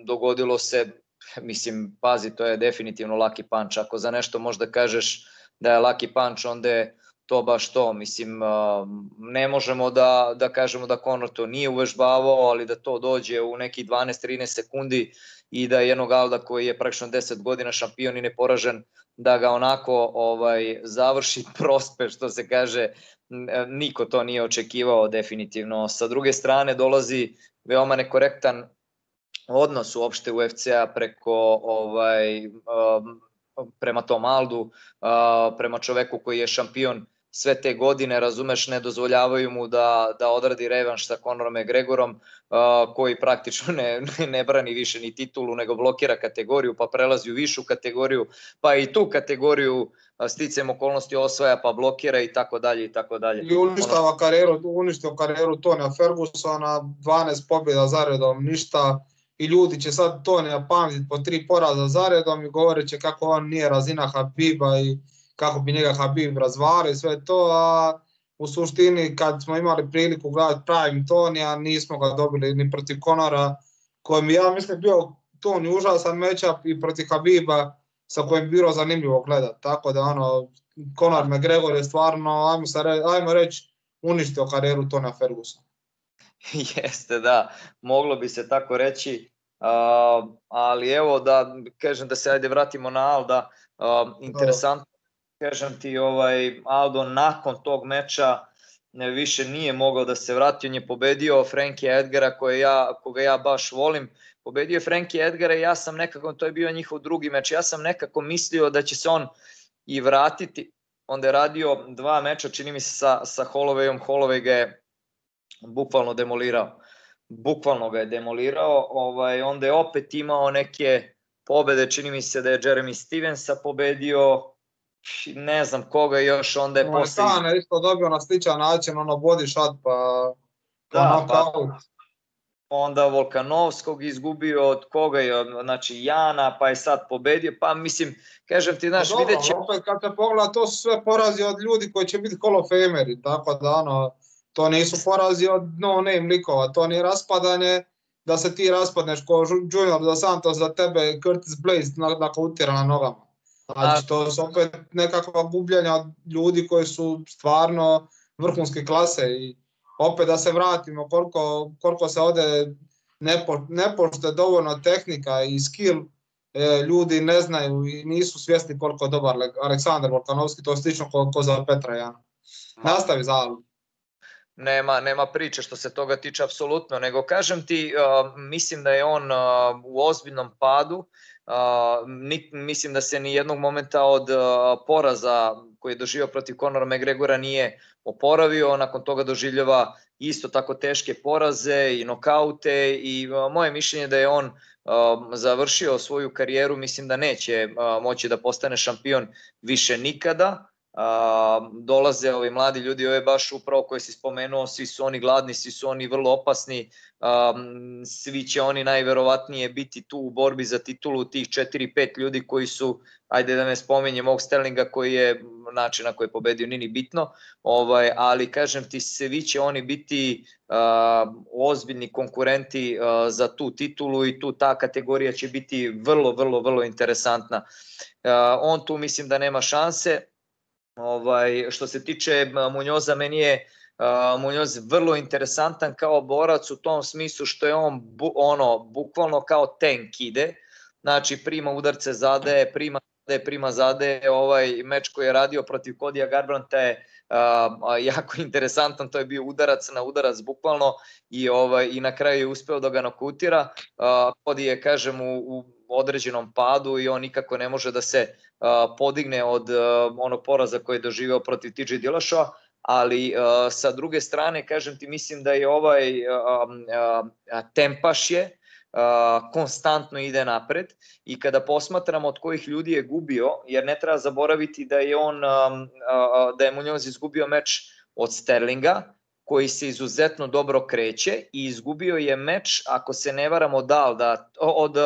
dogodilo se, mislim, pazi, to je definitivno lucky punch. Ako za nešto možda kažeš da je lucky punch, onda je to baš to. Mislim, ne možemo da kažemo da Conor to nije uvežbavao, ali da to dođe u nekih 12-13 sekundi i da jednog Alda koji je praktično 10 godina šampion i neporažen, da ga onako završi prospe, što se kaže, niko to nije očekivao definitivno. Sa druge strane dolazi veoma nekorektan odnos uopšte UFC-a prema tom Aldu, prema čoveku koji je šampion sve te godine, razumeš, ne dozvoljavaju mu da odradi revanš sa Conorom McGregorom, koji praktično ne brani više ni titulu, nego blokira kategoriju, pa prelazi u višu kategoriju, pa i tu kategoriju sticajem okolnosti osvaja, pa blokira i tako dalje i tako dalje. I uništio karijeru Tonija Fergusona, 12 pobjeda zaredom, ništa. I ljudi će sad Tonija pamtiti po 3 poraza zaredom i govorit će kako on nije razina Habiba i kako bi njega Habib razvalio i sve to, a u suštini kad smo imali priliku gledati prime Tonija, nismo ga dobili ni protiv Conora, kojem ja mislim bio Toni užasan matchup, i protiv Habiba sa kojim bi bilo zanimljivo gledati. Tako da Conor McGregor je stvarno, ajmo reći, uništio karijeru Tonija Fergusona. Jeste, da, moglo bi se tako reći, ali evo da kažem da se ajde vratimo na Alda, interesantno, kažem ti, Aldo nakon tog meča više nije mogao da se vrati, on je pobedio Frankie Edgara koga ja baš volim, pobedio je Frankie Edgara i ja sam nekako, to je bio njihov drugi meč, ja sam nekako mislio da će se on i vratiti, onda je radio 2 meča, čini mi se sa Hollowayom, Holloway ga je bukvalno ga je demolirao, onda je opet imao neke pobede, čini mi se da je Jeremy Stevensa pobedio, ne znam koga još, onda je posle... Montana je isto dobio na sličan način, body shot, pa knockout. Onda Volkanovskog izgubio, od koga je, znači Jana, pa je sad pobedio, pa mislim, kažem ti, znaš, vidjet će... Opet kad se pogleda, to su sve porazi od ljudi koji će biti Hall of Fameri, tako da To nisu porazi od no-name likova, to nije raspadanje da se ti raspadneš ko Junior dos Santos za tebe Curtis Blaze nokautira na nogama. Znači to su opet nekakva gubljenja od ljudi koji su stvarno vrhunske klase i opet da se vratimo koliko se ovdje ne poštuje dovoljno tehnika i skill, ljudi ne znaju i nisu svjesni koliko je dobar Aleksandar Volkanovski, to je slično ko za Petra Jana. Nastavi za Albu. Nema priče što se toga tiče apsolutno, nego kažem ti, mislim da je on u ozbiljnom padu, mislim da se ni jednog momenta od poraza koji je doživio protiv Conora McGregora nije oporavio, nakon toga doživljava isto tako teške poraze i nokaute i moje mišljenje da je on završio svoju karijeru, mislim da neće moći da postane šampion više nikada. Dolaze ovi mladi ljudi, ovo je baš upravo koje si spomenuo, svi su oni gladni, svi su oni vrlo opasni, svi će oni najverovatnije biti tu u borbi za titulu, tih 4-5 ljudi koji su, ajde da ne spominjem ovog Sterlinga koji je način na koji je pobedio nini bitno, ali kažem ti, svi će oni biti ozbiljni konkurenti za tu titulu i tu ta kategorija će biti vrlo interesantna. On tu mislim da nema šanse. Što se tiče Munjoza, meni je Munjoz vrlo interesantan kao borac u tom smislu što je on bukvalno kao tank ide, znači prima udarce, zadaje, prima zadaje. Ovaj meč koji je radio protiv Codya Garbrandta je jako interesantan, to je bio udarac na udarac bukvalno i na kraju je uspeo da ga nokautira. Cody je, kažem, u određenom padu i on nikako ne može da se podigne od onog poraza koji je doživeo protiv TJ Dillashaw, ali sa druge strane, kažem ti, mislim da je ovaj tempaš je, konstantno ide napred i kada posmatramo od kojih ljudi je gubio, jer ne treba zaboraviti da je Munjoz izgubio meč od Sterlinga, koji se izuzetno dobro kreće i izgubio je meč, ako se ne varam, od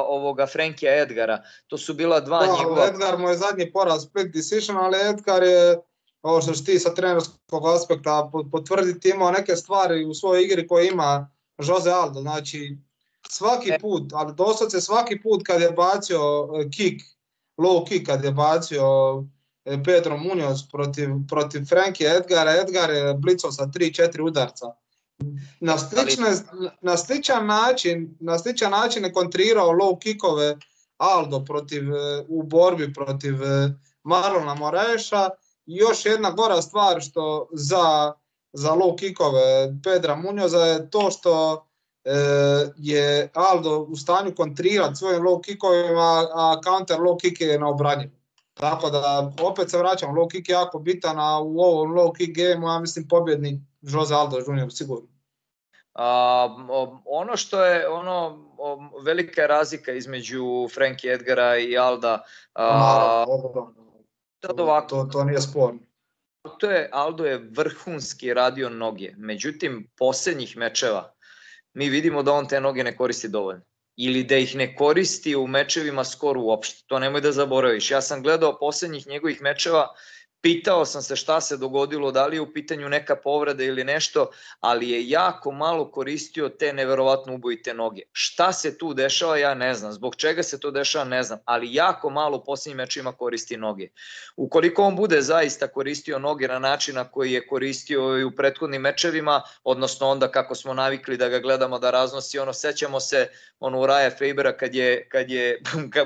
ovoga Frankija Edgara. To su bila dva njegova... Edgar mu je zadnji poraz split decision, ali Edgar je, ovo što ti sa trenerskog aspekta potvrditi, imao neke stvari u svojoj igri koje ima Jose Aldo. Znači, svaki put, ali doslovce svaki put kad je bacio low kick, kad je bacio Pedro Munhoz protiv Frankija Edgara, Edgar je blicao sa 3-4 udarca. Na sličan način je kontrirao low kickove Aldo u borbi protiv Marlona Moraesa. I još jedna gora stvar što za low kickove Pedra Munhoza je to što je Aldo u stanju kontrirati svojim low kickovima, a counter low kick je neobranjiv. Tako da opet se vraćam, low kick je jako bitan, a u ovom low kick gameu ja mislim pobjednik Jose Aldo Jr. sigurno. Ono što je velika razlika između Frankie Edgara i Alda, to nije sporno. Aldo je vrhunski radio noge, međutim posljednjih mečeva mi vidimo da on te noge ne koristi dovoljno. Ili da ih ne koristi u mečevima skoro uopšte. To nemoj da zaboraviš. Ja sam gledao posljednjih njegovih mečeva, pitao sam se šta se dogodilo, da li je u pitanju neka povreda ili nešto, ali je jako malo koristio te neverovatno ubojite noge. Šta se tu dešava, ja ne znam. Zbog čega se to dešava, ne znam. Ali jako malo u posljednjim mečima koristi noge. Ukoliko on bude zaista koristio noge na način na koji je koristio i u prethodnim mečevima, odnosno onda kako smo navikli da ga gledamo da raznosi, sećamo se Uriah Fabera kad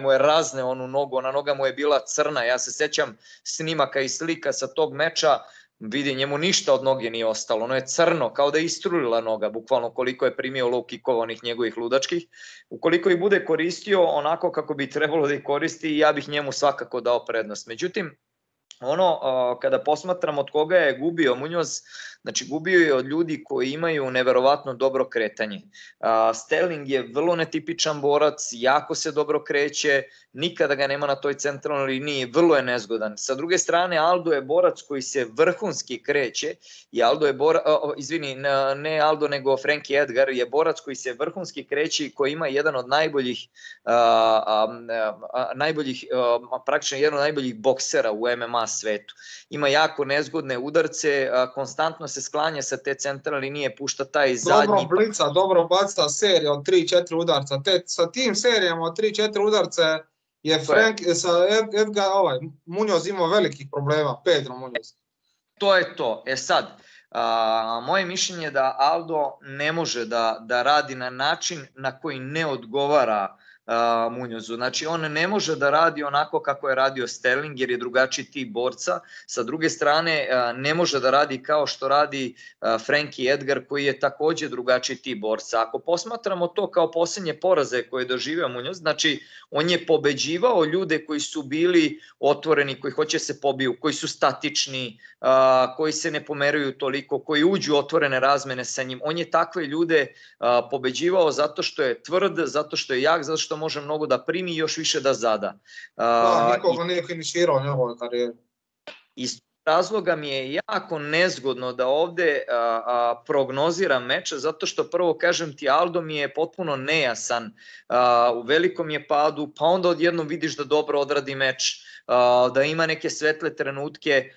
mu je razne onu nogu, ona noga mu je bila crna. Ja se sećam snimaka i slika sa tog meča, vidi, njemu ništa od noge nije ostalo, ono je crno, kao da je istrulila noga, bukvalno koliko je primio low kickova onih njegovih ludačkih. Ukoliko ih bude koristio onako kako bi trebalo da ih koristi, ja bih njemu svakako dao prednost. Međutim, kada posmatram od koga je gubio Munhoz, znači gubio je od ljudi koji imaju neverovatno dobro kretanje. Sterling je vrlo netipičan borac, jako se dobro kreće, nikada ga nema na toj centralnoj liniji, vrlo je nezgodan. Sa druge strane, Aldo je borac koji se vrhunski kreće i Aldo je ne Aldo nego Frankie Edgar je borac koji se vrhunski kreće i koji ima jedan od najboljih boksera u MMA svetu. Ima jako nezgodne udarce, konstantno se sklanja sa te centralne linije, pušta taj zadnji... Dobro blica, dobro baca serija od 3-4 udarca. Sa tim serijama od 3-4 udarca je Edgar, Munoz imao velikih problema, Pedro Munoz. To je to. Sad, moje mišljenje je da Aldo ne može da radi na način na koji ne odgovara Munozu. Znači, on ne može da radi onako kako je radio Sterling, jer je drugačiji tip borca. Sa druge strane, ne može da radi kao što radi Frankie Edgar, koji je takođe drugačiji tip borca. Ako posmatramo to kao posljednje poraze koje je doživeo Munoz, znači, on je pobeđivao ljude koji su bili otvoreni, koji hoće se pobiju, koji su statični, koji se ne pomeruju toliko, koji uđu otvorene razmene sa njim. On je takve ljude pobeđivao zato što je tvrd, zato što je jak, zato što može mnogo da primi i još više da zada. Nikoga nije finiširao u njegovoj karijeri. Iz razloga mi je jako nezgodno da ovde prognoziram meč, zato što prvo kažem ti, Aldo mi je potpuno nejasan, u velikom je padu, pa onda odjednom vidiš da dobro odradi meč, da ima neke svetle trenutke,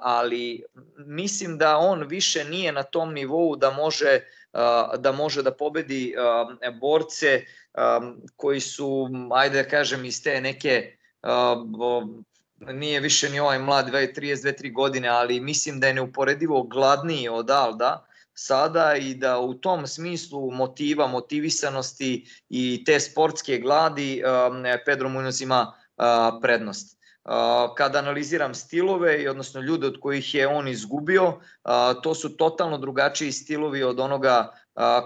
ali mislim da on više nije na tom nivou da može da pobedi borce koji su, ajde da kažem, iz te neke, nije više ni ovaj mlad 32-3 godine, ali mislim da je neuporedivo gladniji od Alda sada i da u tom smislu motiva, motivisanosti i te sportske gladi Pedro Munoz ima prednost. Kada analiziram stilove, odnosno ljude od kojih je on izgubio, to su totalno drugačiji stilovi od onoga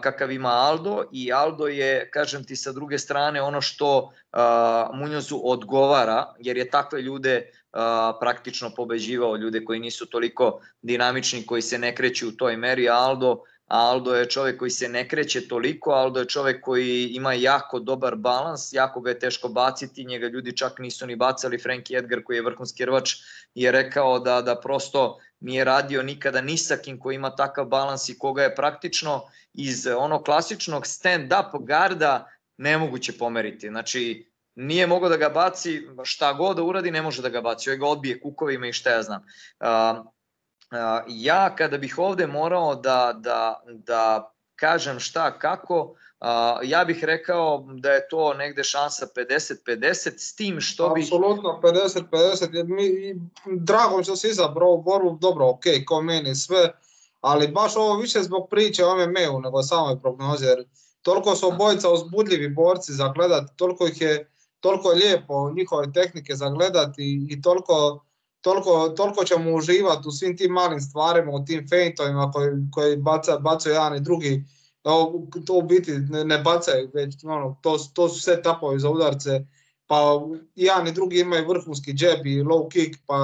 kakav ima Aldo, i Aldo je, kažem ti, sa druge strane ono što Munozu odgovara, jer je takve ljude praktično pobeđivao, ljude koji nisu toliko dinamični, koji se ne kreću u toj meri. Aldo je čovek koji se ne kreće toliko, Aldo je čovek koji ima jako dobar balans, jako ga je teško baciti, njega ljudi čak nisu ni bacali. Frankie Edgar, koji je vrhunski rvač, je rekao da prosto nije radio nikada ni sa kim koji ima takav balans i koga je praktično iz onog klasičnog stand-up garda nemoguće pomeriti. Znači, nije mogao da ga baci, šta god da uradi ne može da ga baci, ovaj ga odbije kukovima i šta ja znam. Ja kada bih ovde morao da kažem šta kako, ja bih rekao da je to negde šansa 50-50, s tim što bih... Apsolutno 50-50, drago mi što si izabrao borbu, dobro, ok, ko meni sve, ali baš ovo više zbog priče o MMA-u nego samoj prognozi, jer toliko su obojica uzbudljivi borci za gledati, toliko je lijepo njihove tehnike za gledati i toliko ćemo uživati u svim tim malim stvarima, u tim feintovima koji bacaju jedan i drugi. To u biti ne bacaju, već to su sve tapovi za udarce, pa jedan i drugi imaju vrhunski džeb i low kick, pa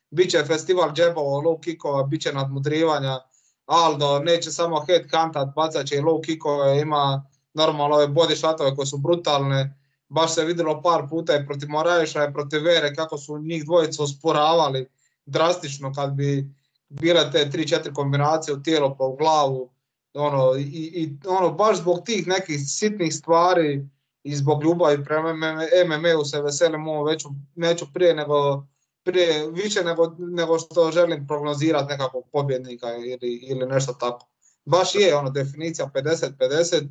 bit će festival džebova, low kickova, bit će nadmudrivanja. Aldo neće samo head kantat, bacat će i low kickove, ima normalno ove body shotove koje su brutalne. Baš se vidjelo par puta i protiv Moraeša i protiv Vere kako su njih dvojica usporavali drastično kad bi bile te 3-4 kombinacije u tijelo pa u glavu. Baš zbog tih nekih sitnih stvari i zbog ljubavi prema MMA-u se veselim ovo neću više nego što želim prognozirati nekakvog pobjednika ili nešto tako. Baš je definicija 50-50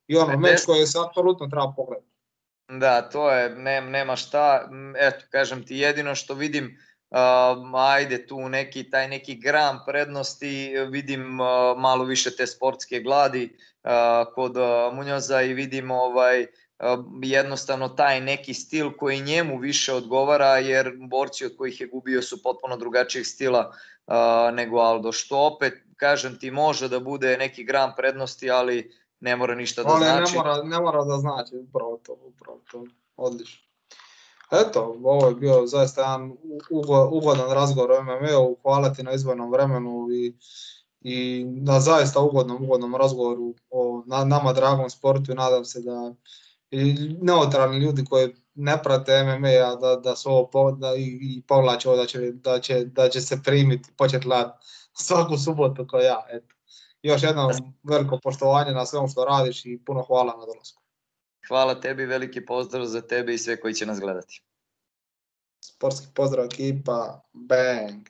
i meč koji se apsolutno treba pogledati. Da, to je, nema šta, eto, kažem ti, jedino što vidim, ajde tu taj neki gram prednosti, vidim malo više te sportske gladi kod Munoza i vidim jednostavno taj neki stil koji njemu više odgovara, jer borci od kojih je gubio su potpuno drugačijeg stila nego Aldo, što opet, kažem ti, može da bude neki gram prednosti, ali ne mora ništa da znači. Ne mora da znači, upravo to, odlično. Eto, ovo je bio zaista jedan ugodan razgovor o MMA-u, hvala ti na izdvojenom vremenu i na zaista ugodnom razgovoru o nama dragom sportu i nadam se da i neutralni ljudi koji ne prate MMA da su ovo i povlače ovo da će se primiti, početi gledati svaku subotu kao ja, eto. Još jedno veliko poštovanje na svemu što radiš i puno hvala na dolasku. Hvala tebi, veliki pozdrav za tebe i sve koji će nas gledati. Sportski pozdrav ekipa, bang!